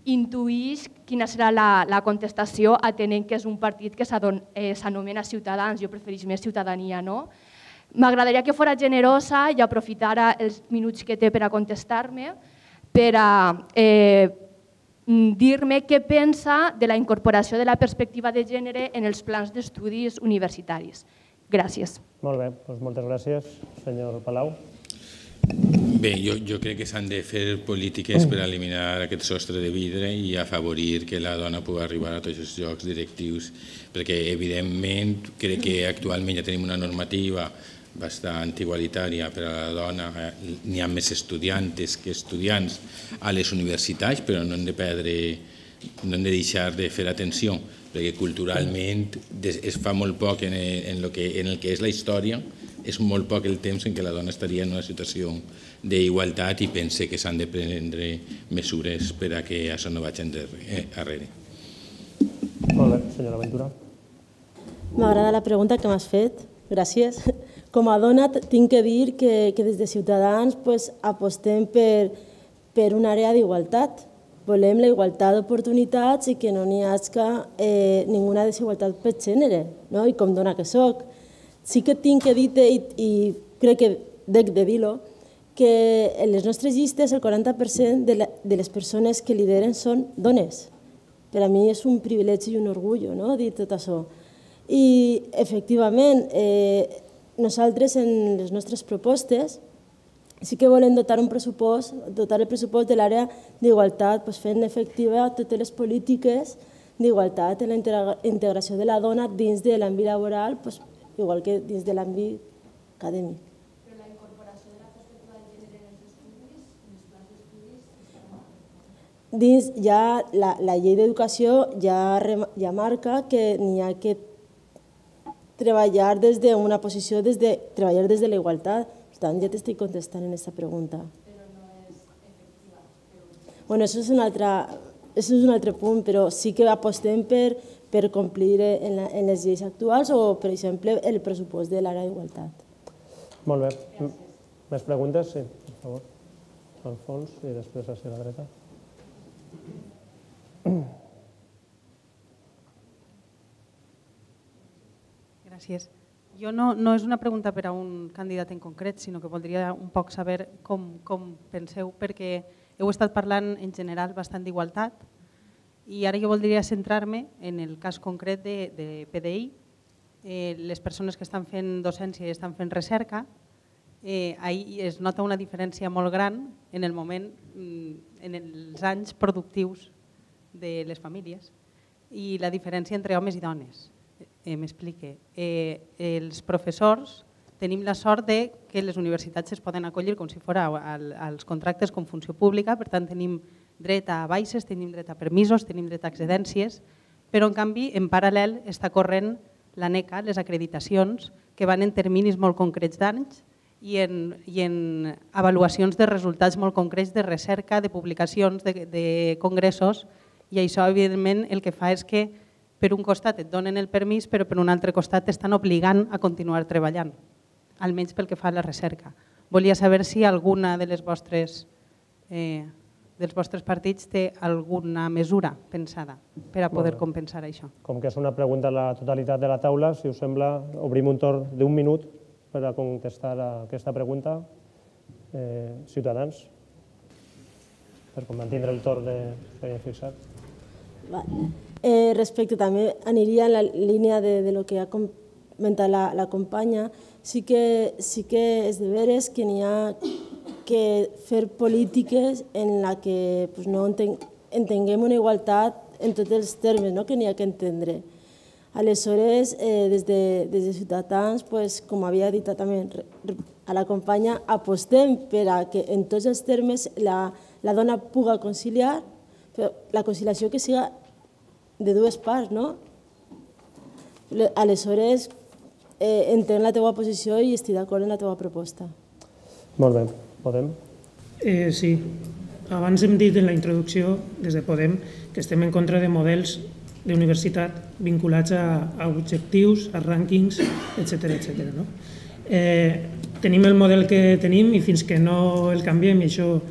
intuïx quina serà la, la contestació atenent que és un partit que s'anomena eh, Ciutadans, jo prefereix més Ciutadania, no? M'agradaria que fos generosa i aprofitara els minuts que té per a contestar-me per a eh, dir-me què pensa de la incorporació de la perspectiva de gènere en els plans d'estudis universitaris. Gràcies. Molt bé, doncs moltes gràcies, senyor Palau. Bé, jo, jo crec que s'han de fer polítiques per eliminar aquest sostre de vidre i afavorir que la dona pugui arribar a tots els llocs directius, perquè evidentment crec que actualment ja tenim una normativa bastant igualitària per a la dona, n'hi ha més estudiantes que estudiants a les universitats, però no hem de perdre, no hem de deixar de fer atenció, perquè culturalment es fa molt poc en el que és la història, és molt poc el temps en què la dona estaria en una situació d'igualtat i pense que s'han de prendre mesures per a que això no vagi enrere. Molt bé, senyora Ventura. M'agrada la pregunta que m'has fet, gràcies. Com a dona tinc que dir que des de Ciutadans apostem per una àrea d'igualtat. Volem la igualtat d'oportunitats i que no n'hi hagi ninguna desigualtat per gènere, i com dona que soc. Sí que tinc que dir-te, i crec que dec de dir-ho, que en les nostres llistes el quaranta per cent de les persones que lideren són dones. Per a mi és un privilegi i un orgull dir tot això. I, efectivament, nosaltres en les nostres propostes sí que volem dotar un pressupost, dotar el pressupost de l'àrea d'igualtat, fent efectiva totes les polítiques d'igualtat en la integració de la dona dins de l'àmbit laboral, igual que dins de l'àmbit acadèmic. Però la incorporació de la perspectiva de gènere en els estudis, en els plans d'estudis... Dins ja la llei d'educació ja marca que n'hi ha que treballar des d'una posició, treballar des de la igualtat. Per tant, ja t'estic contestant en aquesta pregunta. Però no és efectiva. Bueno, això és un altre punt, però sí que apostem per per complir en les lleis actuals o, per exemple, el pressupost de l'àrea d'igualtat. Molt bé. Més preguntes? Sí, per favor. Al fons i després hacia la dreta. Gràcies. Jo no és una pregunta per a un candidat en concret, sinó que voldria un poc saber com penseu, perquè heu estat parlant en general bastant d'igualtat, i ara jo voldria centrar-me en el cas concret de P D I. Les persones que estan fent docència i estan fent recerca, ahí es nota una diferència molt gran en el moment, en els anys productius de les famílies i la diferència entre homes i dones. M'explique. Els professors tenim la sort que les universitats es poden acollir com si fos als contractes com funció pública, per tant tenim dret a baixes, tenim dret a permisos, tenim dret a excedències, però en canvi en paral·lel està corrent l'ANECA, les acreditacions, que van en terminis molt concrets d'anys i en avaluacions de resultats molt concrets de recerca, de publicacions, de congressos, i això evidentment el que fa és que per un costat et donen el permís, però per un altre costat t'estan obligant a continuar treballant, almenys pel que fa a la recerca. Volia saber si alguna de les vostres dels vostres partits té alguna mesura pensada per a poder compensar això. Com que és una pregunta a la totalitat de la taula, si us sembla, obrim un torn d'un minut per a contestar a aquesta pregunta. Ciutadans, per mantindre el torn que havíem fixat. Respecte també, aniria en la línia del que ha comentat la companya, sí que és de veres que n'hi ha que fer polítiques en la que no entenguem una igualtat en tots els termes que n'hi ha que entendre. Aleshores, des de Ciutadans, com havia dit també a la companya, apostem per a que en tots els termes la dona pugui conciliar, però la conciliació que siga de dues parts, no? Aleshores, entenc la teva posició i estic d'acord amb la teva proposta. Molt bé. Podem? Sí. Abans hem dit en la introducció, des de Podem, que estem en contra de models d'universitat vinculats a objectius, a rànquings, etcètera. Tenim el model que tenim i fins que no el canviem, i això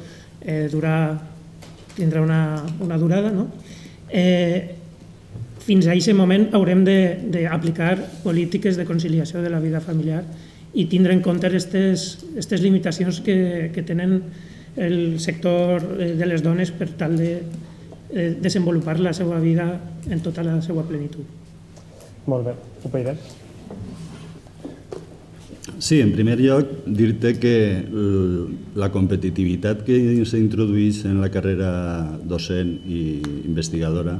tindrà una durada, fins a aquest moment haurem d'aplicar polítiques de conciliació de la vida familiar i tindre en compte aquestes limitacions que tenen el sector de les dones per tal desenvolupar la seva vida en tota la seva plenitud. Molt bé. U P Ydet. Sí, en primer lloc, dir-te que la competitivitat que s'introdueix en la carrera docent i investigadora,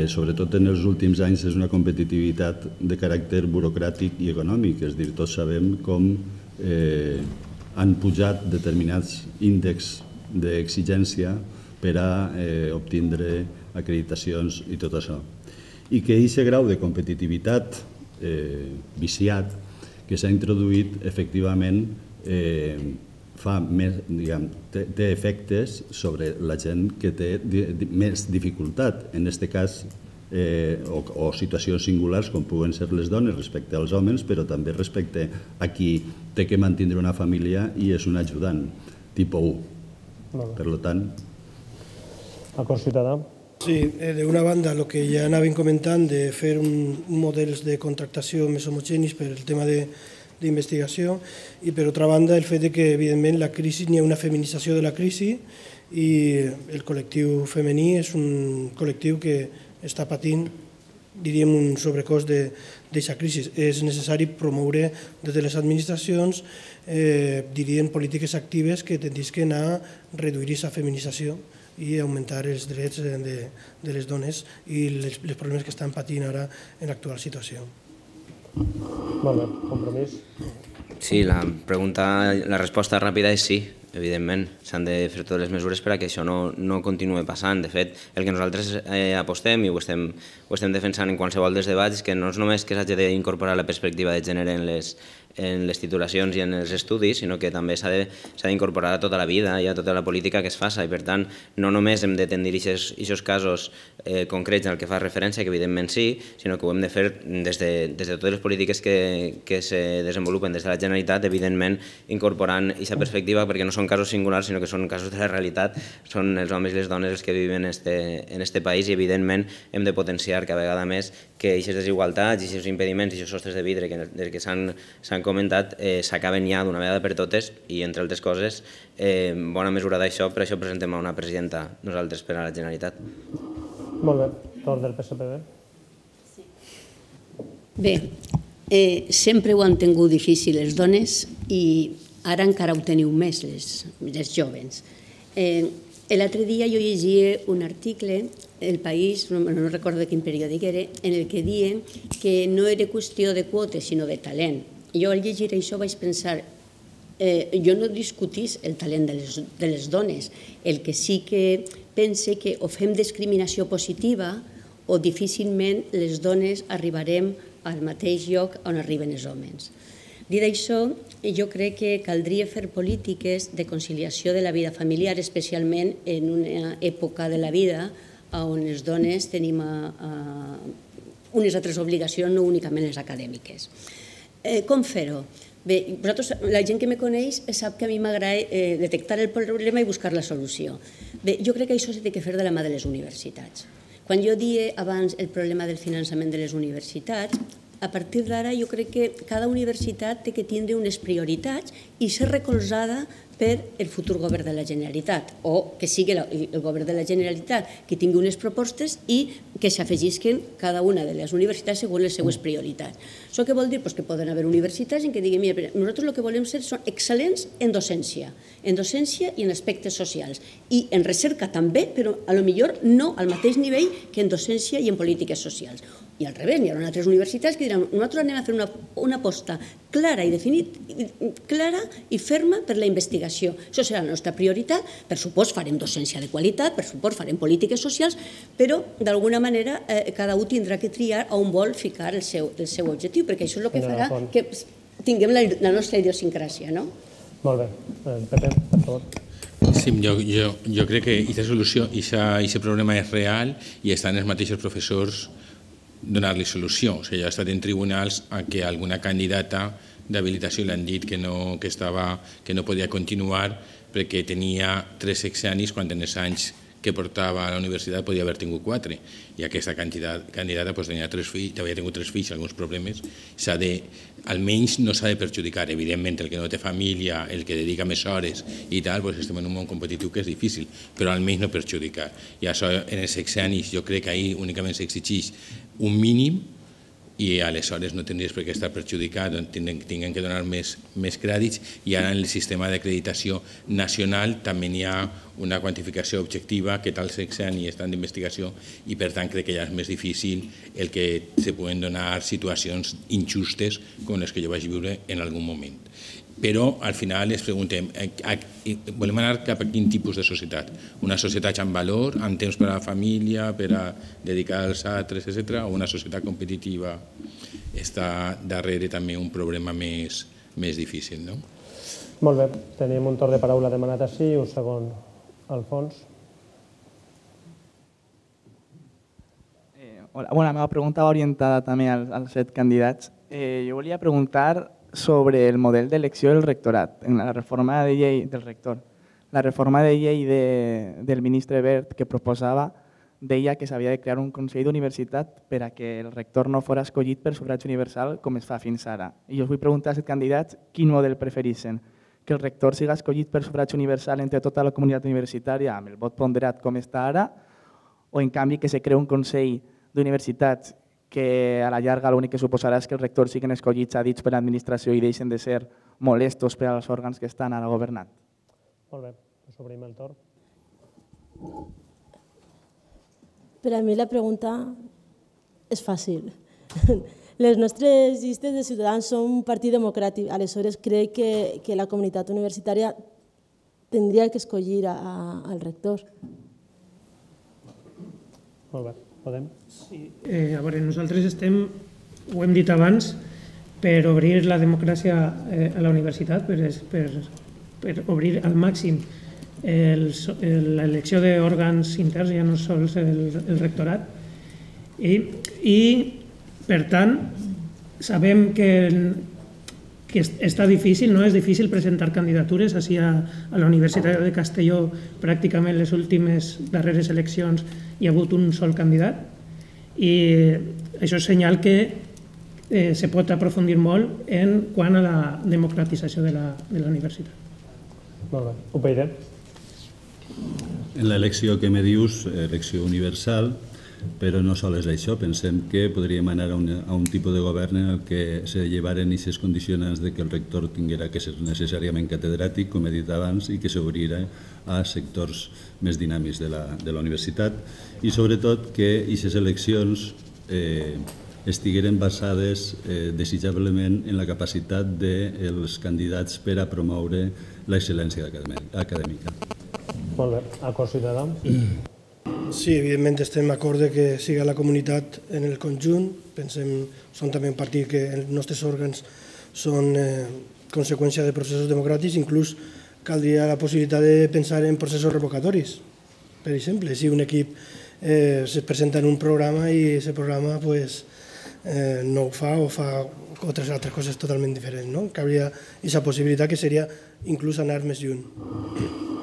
sobretot en els últims anys, és una competitivitat de caràcter burocràtic i econòmic. És a dir, tots sabem com han pujat determinats índexs d'exigència per a obtindre acreditacions i tot això. I que aquest grau de competitivitat viciat que s'ha introduït, efectivament, té efectes sobre la gent que té més dificultat, en aquest cas, o situacions singulars com puguen ser les dones respecte als homes, però també respecte a qui té que mantenir una família i és un ajudant, tipus u. Per tant... Acord ciutadà. Sí, d'una banda, el que ja anàvem comentant de fer models de contractació més homogenis per el tema d'investigació i, per altra banda, el fet que, evidentment, la crisi, n'hi ha una feminització de la crisi i el col·lectiu femení és un col·lectiu que està patint, diríem, un sobrecost d'aquesta crisi. És necessari promoure des de les administracions, diríem, polítiques actives que tendisquen a reduir aquesta feminització i augmentar els drets de les dones i els problemes que estan patint ara en l'actual situació. Molt bé, Compromís. Sí, la pregunta, la resposta ràpida és sí, evidentment. S'han de fer totes les mesures perquè això no continuï passant. De fet, el que nosaltres apostem i ho estem defensant en qualsevol dels debats és que no és només que s'hagi d'incorporar la perspectiva de gènere en les en les titulacions i en els estudis, sinó que també s'ha d'incorporar a tota la vida i a tota la política que es faça i, per tant, no només hem de tendir aquests casos concrets al que fa referència, que evidentment sí, sinó que ho hem de fer des de totes les polítiques que se desenvolupen des de la Generalitat, evidentment incorporant aquesta perspectiva, perquè no són casos singulars, sinó que són casos de la realitat, són els homes i les dones els que viven en aquest país i, evidentment, hem de potenciar cada vegada més que aquestes desigualtats, aquests impediments i aquests sostres de vidre que s'han comentat s'acaben ja d'una vegada per totes i, entre altres coses, bona mesura d'això, per això presentem a una presidenta nosaltres per a la Generalitat. Molt bé. Torn del P S P B. Bé, sempre ho han tingut difícil les dones i ara encara ho teniu més les joves. L'altre dia jo llegia un article, El País, no recordo de quin periòdic era, en el que diuen que no era qüestió de quotes, sinó de talent. Jo al llegir això vaig pensar, jo no discutís el talent de les dones, el que sí que pense que o fem discriminació positiva o difícilment les dones arribarem al mateix lloc on arriben els homes. Dit això, jo crec que caldria fer polítiques de conciliació de la vida familiar, especialment en una època de la vida on les dones tenim unes altres obligacions, no únicament les acadèmiques. Com fer-ho? Bé, la gent que me coneix sap que a mi m'agrada detectar el problema i buscar la solució. Bé, jo crec que això s'ha de fer de la mà de les universitats. Quan jo dia abans el problema del finançament de les universitats, a partir d'ara jo crec que cada universitat té que tindre unes prioritats i ser recolzada per el futur govern de la Generalitat o que sigui el govern de la Generalitat que tingui unes propostes i que s'afegisquen cada una de les universitats segons les seues prioritats. Això què vol dir? Que poden haver universitats en què diguin, mira, nosaltres el que volem ser són excel·lents en docència, en docència i en aspectes socials i en recerca també, però a lo millor no al mateix nivell que en docència i en polítiques socials. I al revés, hi haurà altres universitats que diran nosaltres anem a fer una aposta clara i definida, clara i ferma per la investigació. Això serà la nostra prioritat. Per supost farem docència de qualitat, per supost farem polítiques socials, però d'alguna manera cada un tindrà que triar on vol ficar el seu objectiu, perquè això és el que farà que tinguem la nostra idiosincràsia, no? Molt bé. Pepe, per favor. Sí, jo crec que aquesta solució, aquest problema és real i estan els mateixos professors donar-li solució. O sigui, ha estat en tribunals a que alguna candidata d'habilitació li han dit que no podia continuar perquè tenia tres sexennis quan en els anys que portava a la universitat podia haver tingut quatre, i aquesta candidata tenia tres fills, havia tingut tres fills, alguns problemes, s'ha de, almenys no s'ha de perjudicar. Evidentment, el que no té família, el que dedica més hores i tal, estem en un món competitiu que és difícil, però almenys no perjudicar. I això en els sexennis jo crec que ahir únicament s'exigeix un mínim i aleshores no tindries per què estar perjudicat, tinguem que donar més crèdits, i ara en el sistema d'acreditació nacional també hi ha una quantificació objectiva que tal sexenni està en investigació i per tant crec que ja és més difícil el que se poden donar situacions injustes com les que jo vaig viure en algun moment. Però al final ens preguntem, volem anar cap a quin tipus de societat? Una societat amb valor, amb temps per a la família, per a dedicar als altres, etcètera, o una societat competitiva? Està darrere també un problema més difícil, no? Molt bé, tenim un torn de paraula demanat així i un segon al fons. La meva pregunta va orientada també als set candidats. Jo volia preguntar sobre el model d'elecció del rectorat, en la reforma de llei del rector. La reforma de llei del ministre Wert que proposava deia que s'havia de crear un consell d'universitat per a que el rector no fos escollit per sufragi universal com es fa fins ara. I jo us vull preguntar als candidats quin model prefereixen, que el rector sigui escollit per sufragi universal entre tota la comunitat universitària amb el vot ponderat com està ara, o en canvi que se crei un consell d'universitats que a la llarga l'únic que suposarà és que els rectors siguin escollits a dits per l'administració i deixen de ser molestos per als òrgans que estan ara governant. Molt bé, us obrim el torn. Per a mi la pregunta és fàcil. Les nostres llistes de Ciutadans són un partit democràtic, aleshores crec que la comunitat universitària tindria que escollir al rector. Molt bé. Podem? Sí, a veure, nosaltres estem, ho hem dit abans, per obrir la democràcia a la universitat, per obrir al màxim l'elecció d'òrgans interns, ja no sols el rectorat, i per tant sabem que està difícil, no és difícil presentar candidatures. Així a la Universitat de Castelló pràcticament les últimes darreres eleccions hi ha hagut un sol candidat i això és senyal que se pot aprofundir molt en quant a la democratització de la universitat. Molt bé. U P Y D. En l'elecció que me dius, elecció universal, però no sols és això, pensem que podríem anar a un tipus de govern en el que se llevaren aquestes condicionants de que el rector tinguera que ser necessàriament catedràtic, com he dit abans, i que s'obrira a sectors més dinàmics de la universitat i sobretot que aquestes eleccions estigueren basades desitjablement en la capacitat dels candidats per a promoure l'excel·lència acadèmica. Molt bé. Acord ciutadà? Sí, evidentment estem d'acord que siga la comunitat en el conjunt. Pensem, som també un partit que els nostres òrgans són conseqüència de processos democràtics, inclús caldria la possibilitat de pensar en processos revocatoris. Per exemple, si un equip es presenta en un programa i aquest programa no ho fa o fa altres coses totalment diferents. Caldria aquesta possibilitat que seria inclús anar més lluny.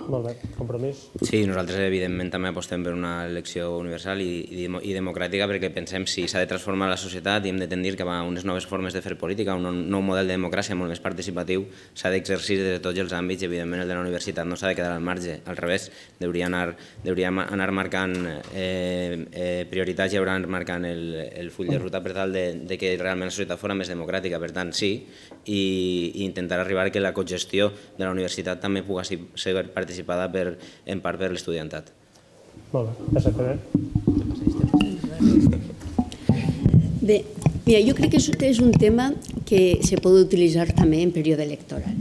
Molt bé. Compromís? Sí, nosaltres evidentment també apostem per una elecció universal i democràtica perquè pensem si s'ha de transformar la societat i hem de tendir cap a unes noves formes de fer política, un nou model de democràcia molt més participatiu, s'ha d'exercir des de tots els àmbits i evidentment el de la universitat no s'ha de quedar al marge, al revés, hauria anar marcant prioritats i hauria d'anar marcant el full de ruta per tal de que realment la societat fos més democràtica, per tant sí, i intentar arribar que la cogestió de la universitat també pugui ser participativa en part per l'estudiantat. Molt bé. S P D. Bé, mira, jo crec que és un tema que se pot utilitzar també en període electoral.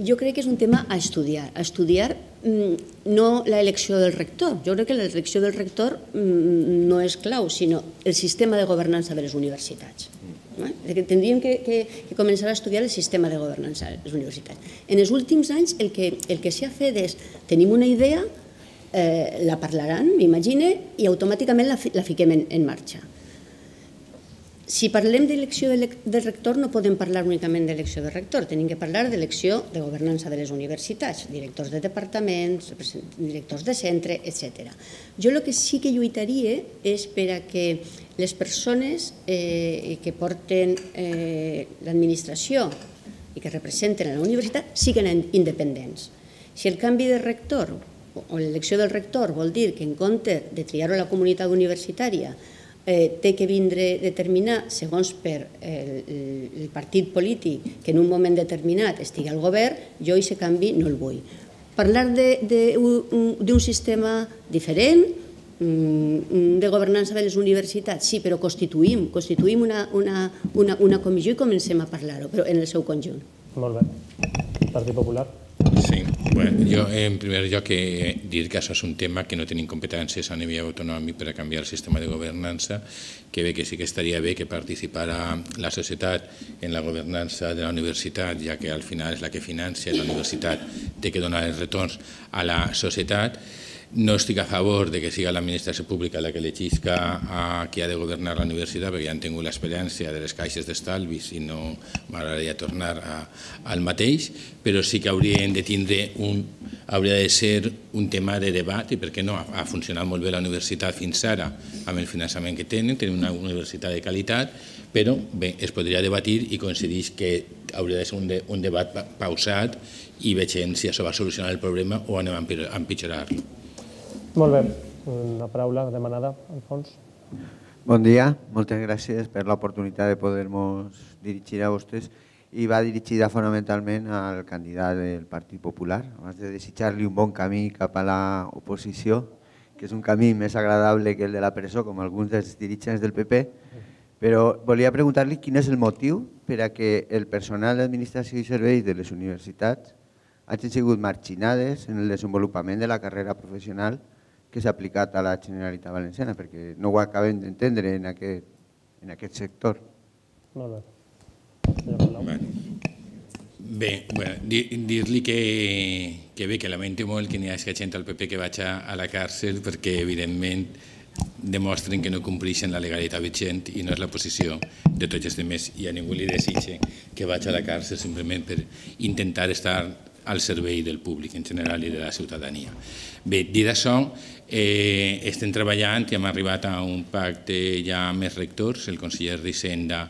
Jo crec que és un tema a estudiar, a estudiar no l'elecció del rector. Jo crec que l'elecció del rector no és clau, sinó el sistema de governança de les universitats. Tindríem que començar a estudiar el sistema de governança de les universitats. En els últims anys el que s'ha fet és, tenim una idea, la parlaran, m'imagine, i automàticament la fiquem en marxa. si parlem d'elecció de rector, no podem parlar únicament d'elecció de rector, tenim que parlar d'elecció de governança de les universitats, directors de departaments, directors de centre, etcètera. Jo el que sí que lluitaria és per a que les persones que porten l'administració i que representen la universitat siguin independents. Si el canvi de rector o l'elecció del rector vol dir que en compte de triar-ho a la comunitat universitària té que vindre determinar segons per el partit polític que en un moment determinat estigui al govern, jo aquest canvi no el vull. Parlar d'un sistema diferent, de governança de les universitats, sí, però constituïm una comissió i comencem a parlar-ho, però en el seu conjunt. Molt bé. Partit Popular. Sí, bueno, jo en primer lloc dir que això és un tema que no tenim competències a nivell autonòmic per a canviar el sistema de governança, que bé que sí que estaria bé que participara la societat en la governança de la universitat, ja que al final és la que financia la universitat, té que donar els retorns a la societat. No estic a favor de que sigui l'administració pública la que elegisca a qui ha de governar la universitat, perquè ja han tingut l'experiència de les caixes d'estalvis i no m'agradaria tornar al mateix, però sí que haurien de tindre un, hauria de ser un tema de debat i per què no, ha funcionat molt bé la universitat fins ara amb el finançament que tenen, tenen una universitat de qualitat, però bé, es podria debatir i coincideix que hauria de ser un debat pausat i vegem si això va solucionar el problema o anem a empitjorar-lo. Molt bé. Una paraula demanada, Alfons. Bon dia. Moltes gràcies per l'oportunitat de poder-nos dirigir a vostès i va dirigida fonamentalment al candidat del Partit Popular. Abans de desitjar-li un bon camí cap a l'oposició, que és un camí més agradable que el de la presó, com alguns dels dirigents del P P, però volia preguntar-li quin és el motiu per a que el personal d'administració i serveis de les universitats hagin sigut marginades en el desenvolupament de la carrera professional que s'ha aplicat a la Generalitat Valenciana, perquè no ho acabem d'entendre en aquest sector. Molt bé. Bé, dir-li que bé, que lamento molt que n'hi hagi gent al P P que vagi a la càrcel perquè, evidentment, demostren que no compleixen la legalitat vigent i no és la posició de tots els altres i a ningú li desitge que vagi a la càrcel simplement per intentar estar al servei del públic en general i de la ciutadania. Bé, dit això, estem treballant i hem arribat a un pacte ja amb els rectors, el conseller d'Hisenda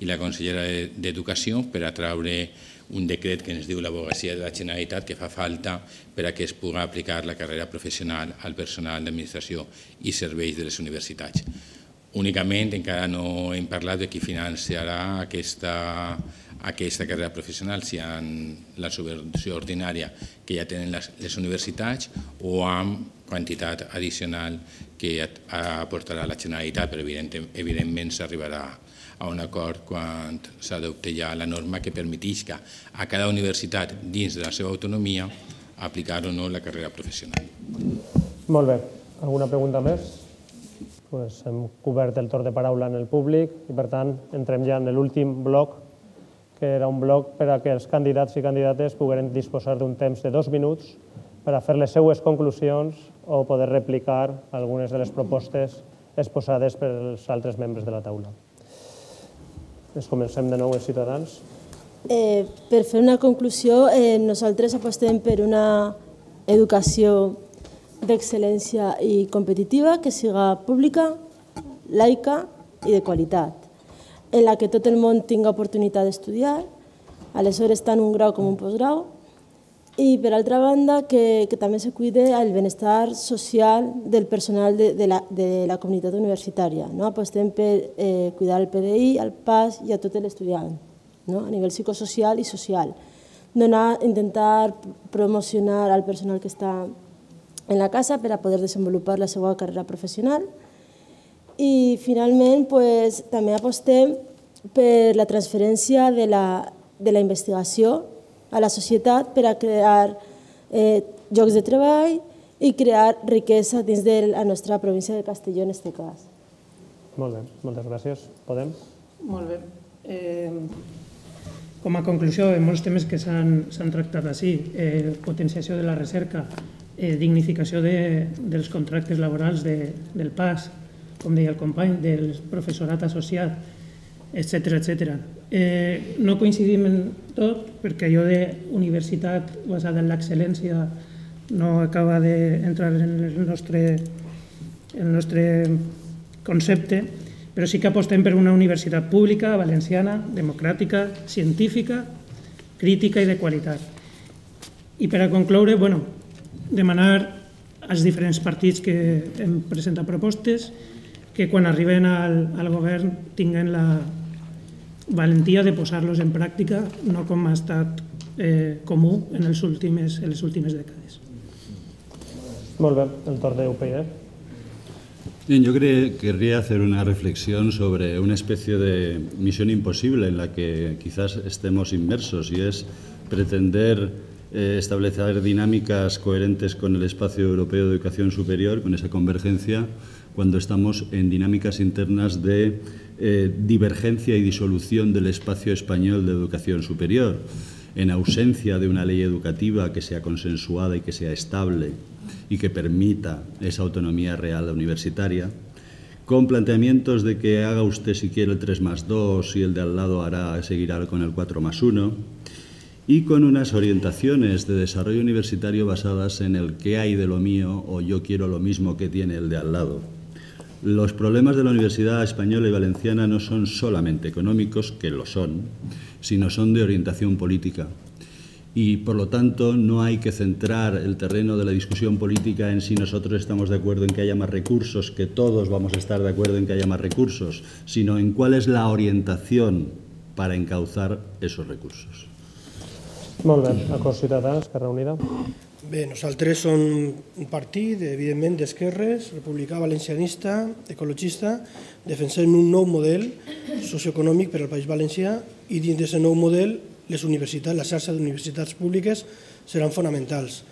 i la consellera d'Educació, per a traure un decret que ens diu l'advocacia de la Generalitat que fa falta per a que es pugui aplicar la carrera professional al personal d'administració i serveis de les universitats. Únicament encara no hem parlat de qui financiarà aquesta aquesta carrera professional, si amb la subvenció ordinària que ja tenen les universitats o amb quantitat addicional que aportarà la Generalitat, però evidentment s'arribarà a un acord quan s'adopti ja la norma que permetisca a cada universitat dins de la seva autonomia aplicar o no la carrera professional. Molt bé. Alguna pregunta més? Hem cobert el torn de paraula en el públic i, per tant, entrem ja en l'últim bloc, que era un bloc per a que els candidats i candidates pogueren disposar d'un temps de dos minuts per a fer les seues conclusions o poder replicar algunes de les propostes exposades pels altres membres de la taula. Comencem de nou els ciutadans. Per fer una conclusió, nosaltres apostem per una educació d'excel·lència i competitiva que siga pública, laica i de qualitat, en la que tot el món tingui oportunitat d'estudiar, aleshores tant un grau com un postgrau, i per altra banda que també se cuide el benestar social del personal de la comunitat universitària. Apostem per cuidar el P D I, el pas i a tot l'estudiant, a nivell psicosocial i social. Intentar promocionar el personal que està en la casa per a poder desenvolupar la seva carrera professional. I finalment també apostem per la transferència de la investigació a la societat per a crear llocs de treball i crear riquesa dins de la nostra província de Castelló en aquest cas. Molt bé, moltes gràcies. Podem? Molt bé. Com a conclusió de molts temes que s'han tractat així, potenciació de la recerca, dignificació dels contractes laborals del P A S, com deia el company, del professorat associat, etcètera, etcètera. No coincidim en tot, perquè allò d'universitat basada en l'excel·lència no acaba d'entrar en el nostre concepte, però sí que apostem per una universitat pública, valenciana, democràtica, científica, crítica i de qualitat. I per a concloure, demanar als diferents partits que hem presentat propostes que quan arriben al govern tinguen la valentia de posar-los en pràctica, no com ha estat comú en les últimes dècades. Molt bé, el torn de U P y D. Bien, yo querría hacer una reflexión sobre una especie de misión imposible en la que quizás estemos inmersos, y es pretender eh, establecer dinámicas coherentes con el espacio europeo de educación superior, con esa convergencia, cuando estamos en dinámicas internas de eh, divergencia y disolución del espacio español de educación superior, en ausencia de una ley educativa que sea consensuada y que sea estable y que permita esa autonomía real universitaria, con planteamientos de que haga usted si quiere el tres más dos y el de al lado hará, seguirá con el cuatro más uno, y con unas orientaciones de desarrollo universitario basadas en el qué hay de lo mío o yo quiero lo mismo que tiene el de al lado. Los problemas de la Universidad Española y Valenciana no son solamente económicos, que lo son, sino son de orientación política. Y, por lo tanto, no hay que centrar el terreno de la discusión política en si nosotros estamos de acuerdo en que haya más recursos, que todos vamos a estar de acuerdo en que haya más recursos, sino en cuál es la orientación para encauzar esos recursos. Molt bé. Acord Ciutadà, Esquerra Unida. Bé, nosaltres som un partit, evidentment, d'esquerres, republicà, valencianista, ecologista, defensem un nou model socioeconòmic per al País Valencià i dins d'aquest nou model les universitats, la xarxa d'universitats públiques seran fonamentals.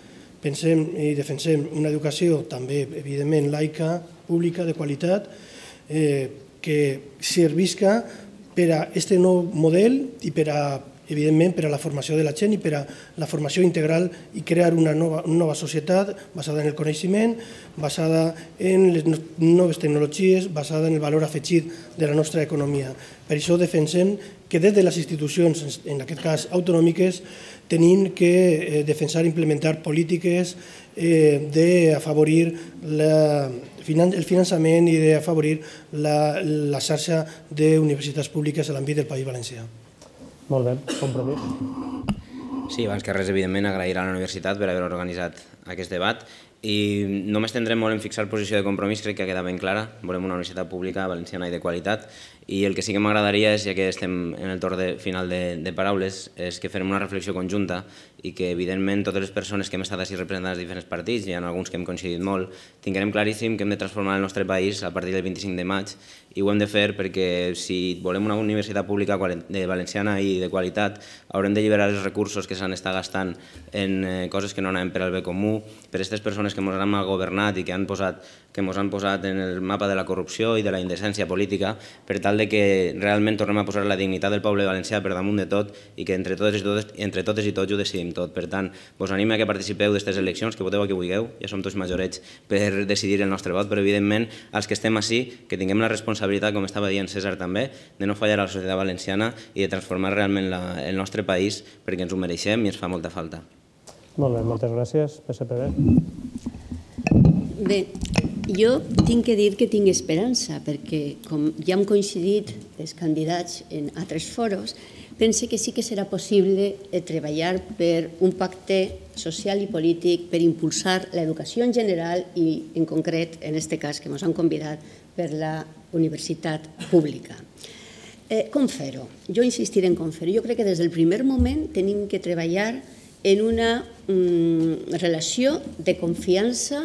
Pensem i defensem una educació també, evidentment, laica, pública, de qualitat, que servisca per a aquest nou model i per a, evidentment, per a la formació de la gent i per a la formació integral i crear una nova societat basada en el coneixement, basada en les noves tecnologies, basada en el valor afegit de la nostra economia. Per això defensem que des de les institucions, en aquest cas autonòmiques, tenim que defensar i implementar polítiques d'afavorir el finançament i d'afavorir la xarxa d'universitats públiques a l'àmbit del País Valencià. Molt bé, Compromís. Sí, abans que res, evidentment, agrair a la universitat per haver organitzat aquest debat i no m'estendrem molt en fixar posició de Compromís, crec que ha quedat ben clara. Volem una universitat pública, valenciana i de qualitat, i el que sí que m'agradaria és, ja que estem en el torn final de paraules, és que farem una reflexió conjunta i que, evidentment, totes les persones que hem estat així representades de diferents partits, hi ha alguns que hem coincidit molt, tinguem claríssim que hem de transformar el nostre país a partir del vint-i-cinc de maig i ho hem de fer perquè si volem una universitat pública valenciana i de qualitat haurem de alliberar els recursos que s'han estat gastant en coses que no anaven per al bé comú, per aquestes persones que ens han mal governat i que ens han posat en el mapa de la corrupció i de la indecència política, per tal que realment tornem a posar la dignitat del poble valencià per damunt de tot i que entre totes i tots ho decidim tot. Per tant, vos animo que participeu d'aquestes eleccions, que voteu a qui vulgueu, ja som tots majorets per decidir el nostre vot, però evidentment els que estem així, que tinguem la responsabilitat, com estava dient César també, de no fallar a la societat valenciana i de transformar realment el nostre país perquè ens ho mereixem i ens fa molta falta. Molt bé, moltes gràcies. P S P B. Bé, jo tinc que dir que tinc esperança, perquè com ja hem coincidit els candidats en altres foros, pense que sí que serà possible treballar per un pacte social i polític per impulsar l'educació en general i, en concret, en aquest cas que ens han convidat per la universitat pública. Com fer-ho? Jo insistiré en com fer-ho. Jo crec que des del primer moment tenim que treballar en una relació de confiança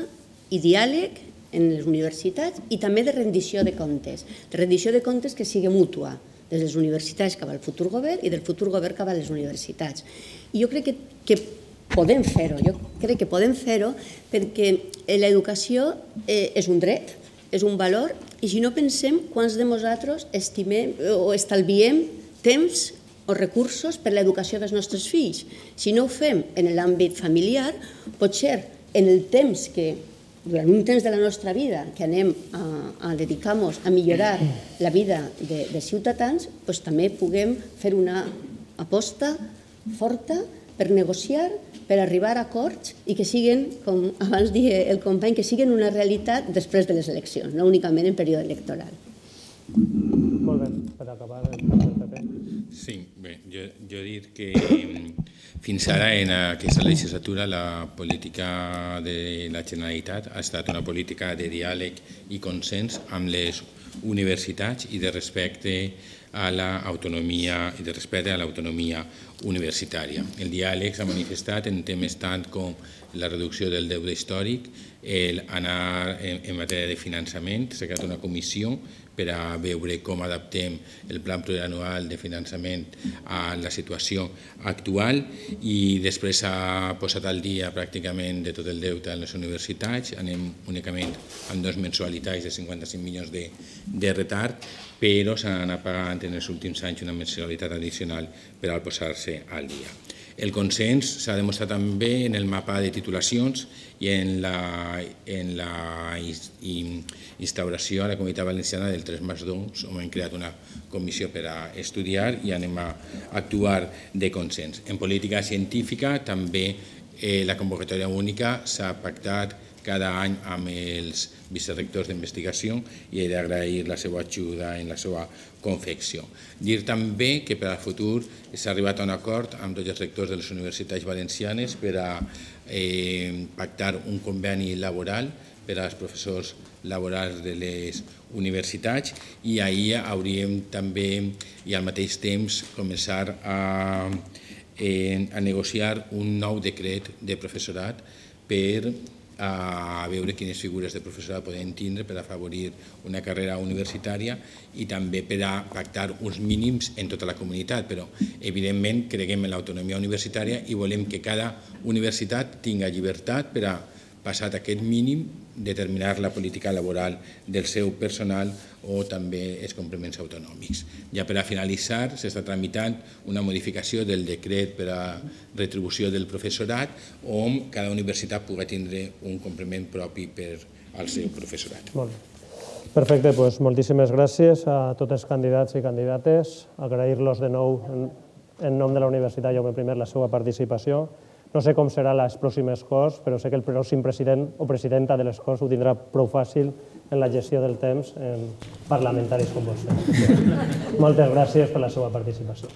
i diàleg en les universitats i també de rendició de comptes. De rendició de comptes que sigui mútua, des de les universitats cap al futur govern i del futur govern cap a les universitats. I jo crec que podem fer-ho, jo crec que podem fer-ho perquè l'educació és un dret, és un valor, i si no pensem quants de nosaltres estimem o estalviem temps o recursos per l'educació dels nostres fills. Si no ho fem en l'àmbit familiar, potser en el temps que durant un temps de la nostra vida que anem a dedicar-nos a millorar la vida de ciutadans, també puguem fer una aposta forta per negociar, per arribar a acords i que siguin, com abans deia el company, que siguin una realitat després de les eleccions, no únicament en període electoral. Molt bé, per acabar el P P. Sí, bé, jo dir que fins ara en aquesta legislatura la política de la Generalitat ha estat una política de diàleg i consens amb les universitats i de respecte a l'autonomia i de respecte a l'autonomia universitària. El diàleg s'ha manifestat en temes tant com la reducció del deute històric, anar en matèria de finançament, s'ha creat una comissió per a veure com adaptem el pla plurianual de finançament a la situació actual i després s'ha posat al dia pràcticament de tot el deute en les universitats, anem únicament amb dues mensualitats de cinquanta-cinc milions de retard, però s'han anat pagant en els últims anys una mensualitat addicional per al posar-se al dia. El consens s'ha demostrat també en el mapa de titulacions i en la instauració a la Comunitat Valenciana del tres més dos, on hem creat una comissió per a estudiar i anem a actuar de consens. En política científica també la convocatòria única s'ha pactat cada any amb els vicerectors d'investigació i he d'agrair la seva ajuda en la seva confecció. Dir també que per al futur s'ha arribat a un acord amb tots els rectors de les universitats valencianes per a pactar un conveni laboral per als professors laborals de les universitats i ahir hauríem també i al mateix temps començar a negociar un nou decret de professorat per a veure quines figures de professorat podem tindre per afavorir una carrera universitària i també per a pactar uns mínims en tota la comunitat, però evidentment creguem en l'autonomia universitària i volem que cada universitat tingui llibertat per a, passat aquest mínim, determinar la política laboral del seu personal o també els complements autonòmics. Ja per a finalitzar, s'està tramitant una modificació del decret per a retribució del professorat on cada universitat pugui tindre un complement propi per al seu professorat. Molt bé. Perfecte, doncs moltíssimes gràcies a tots els candidats i candidates. Agrair-los de nou en nom de la Universitat Jaume primer la seva participació. No sé com serà les pròximes Corts, però sé que el pròxim president o presidenta de les Corts ho tindrà prou fàcil en la gestió del temps en parlamentaris com vostè. Moltes gràcies per la seva participació.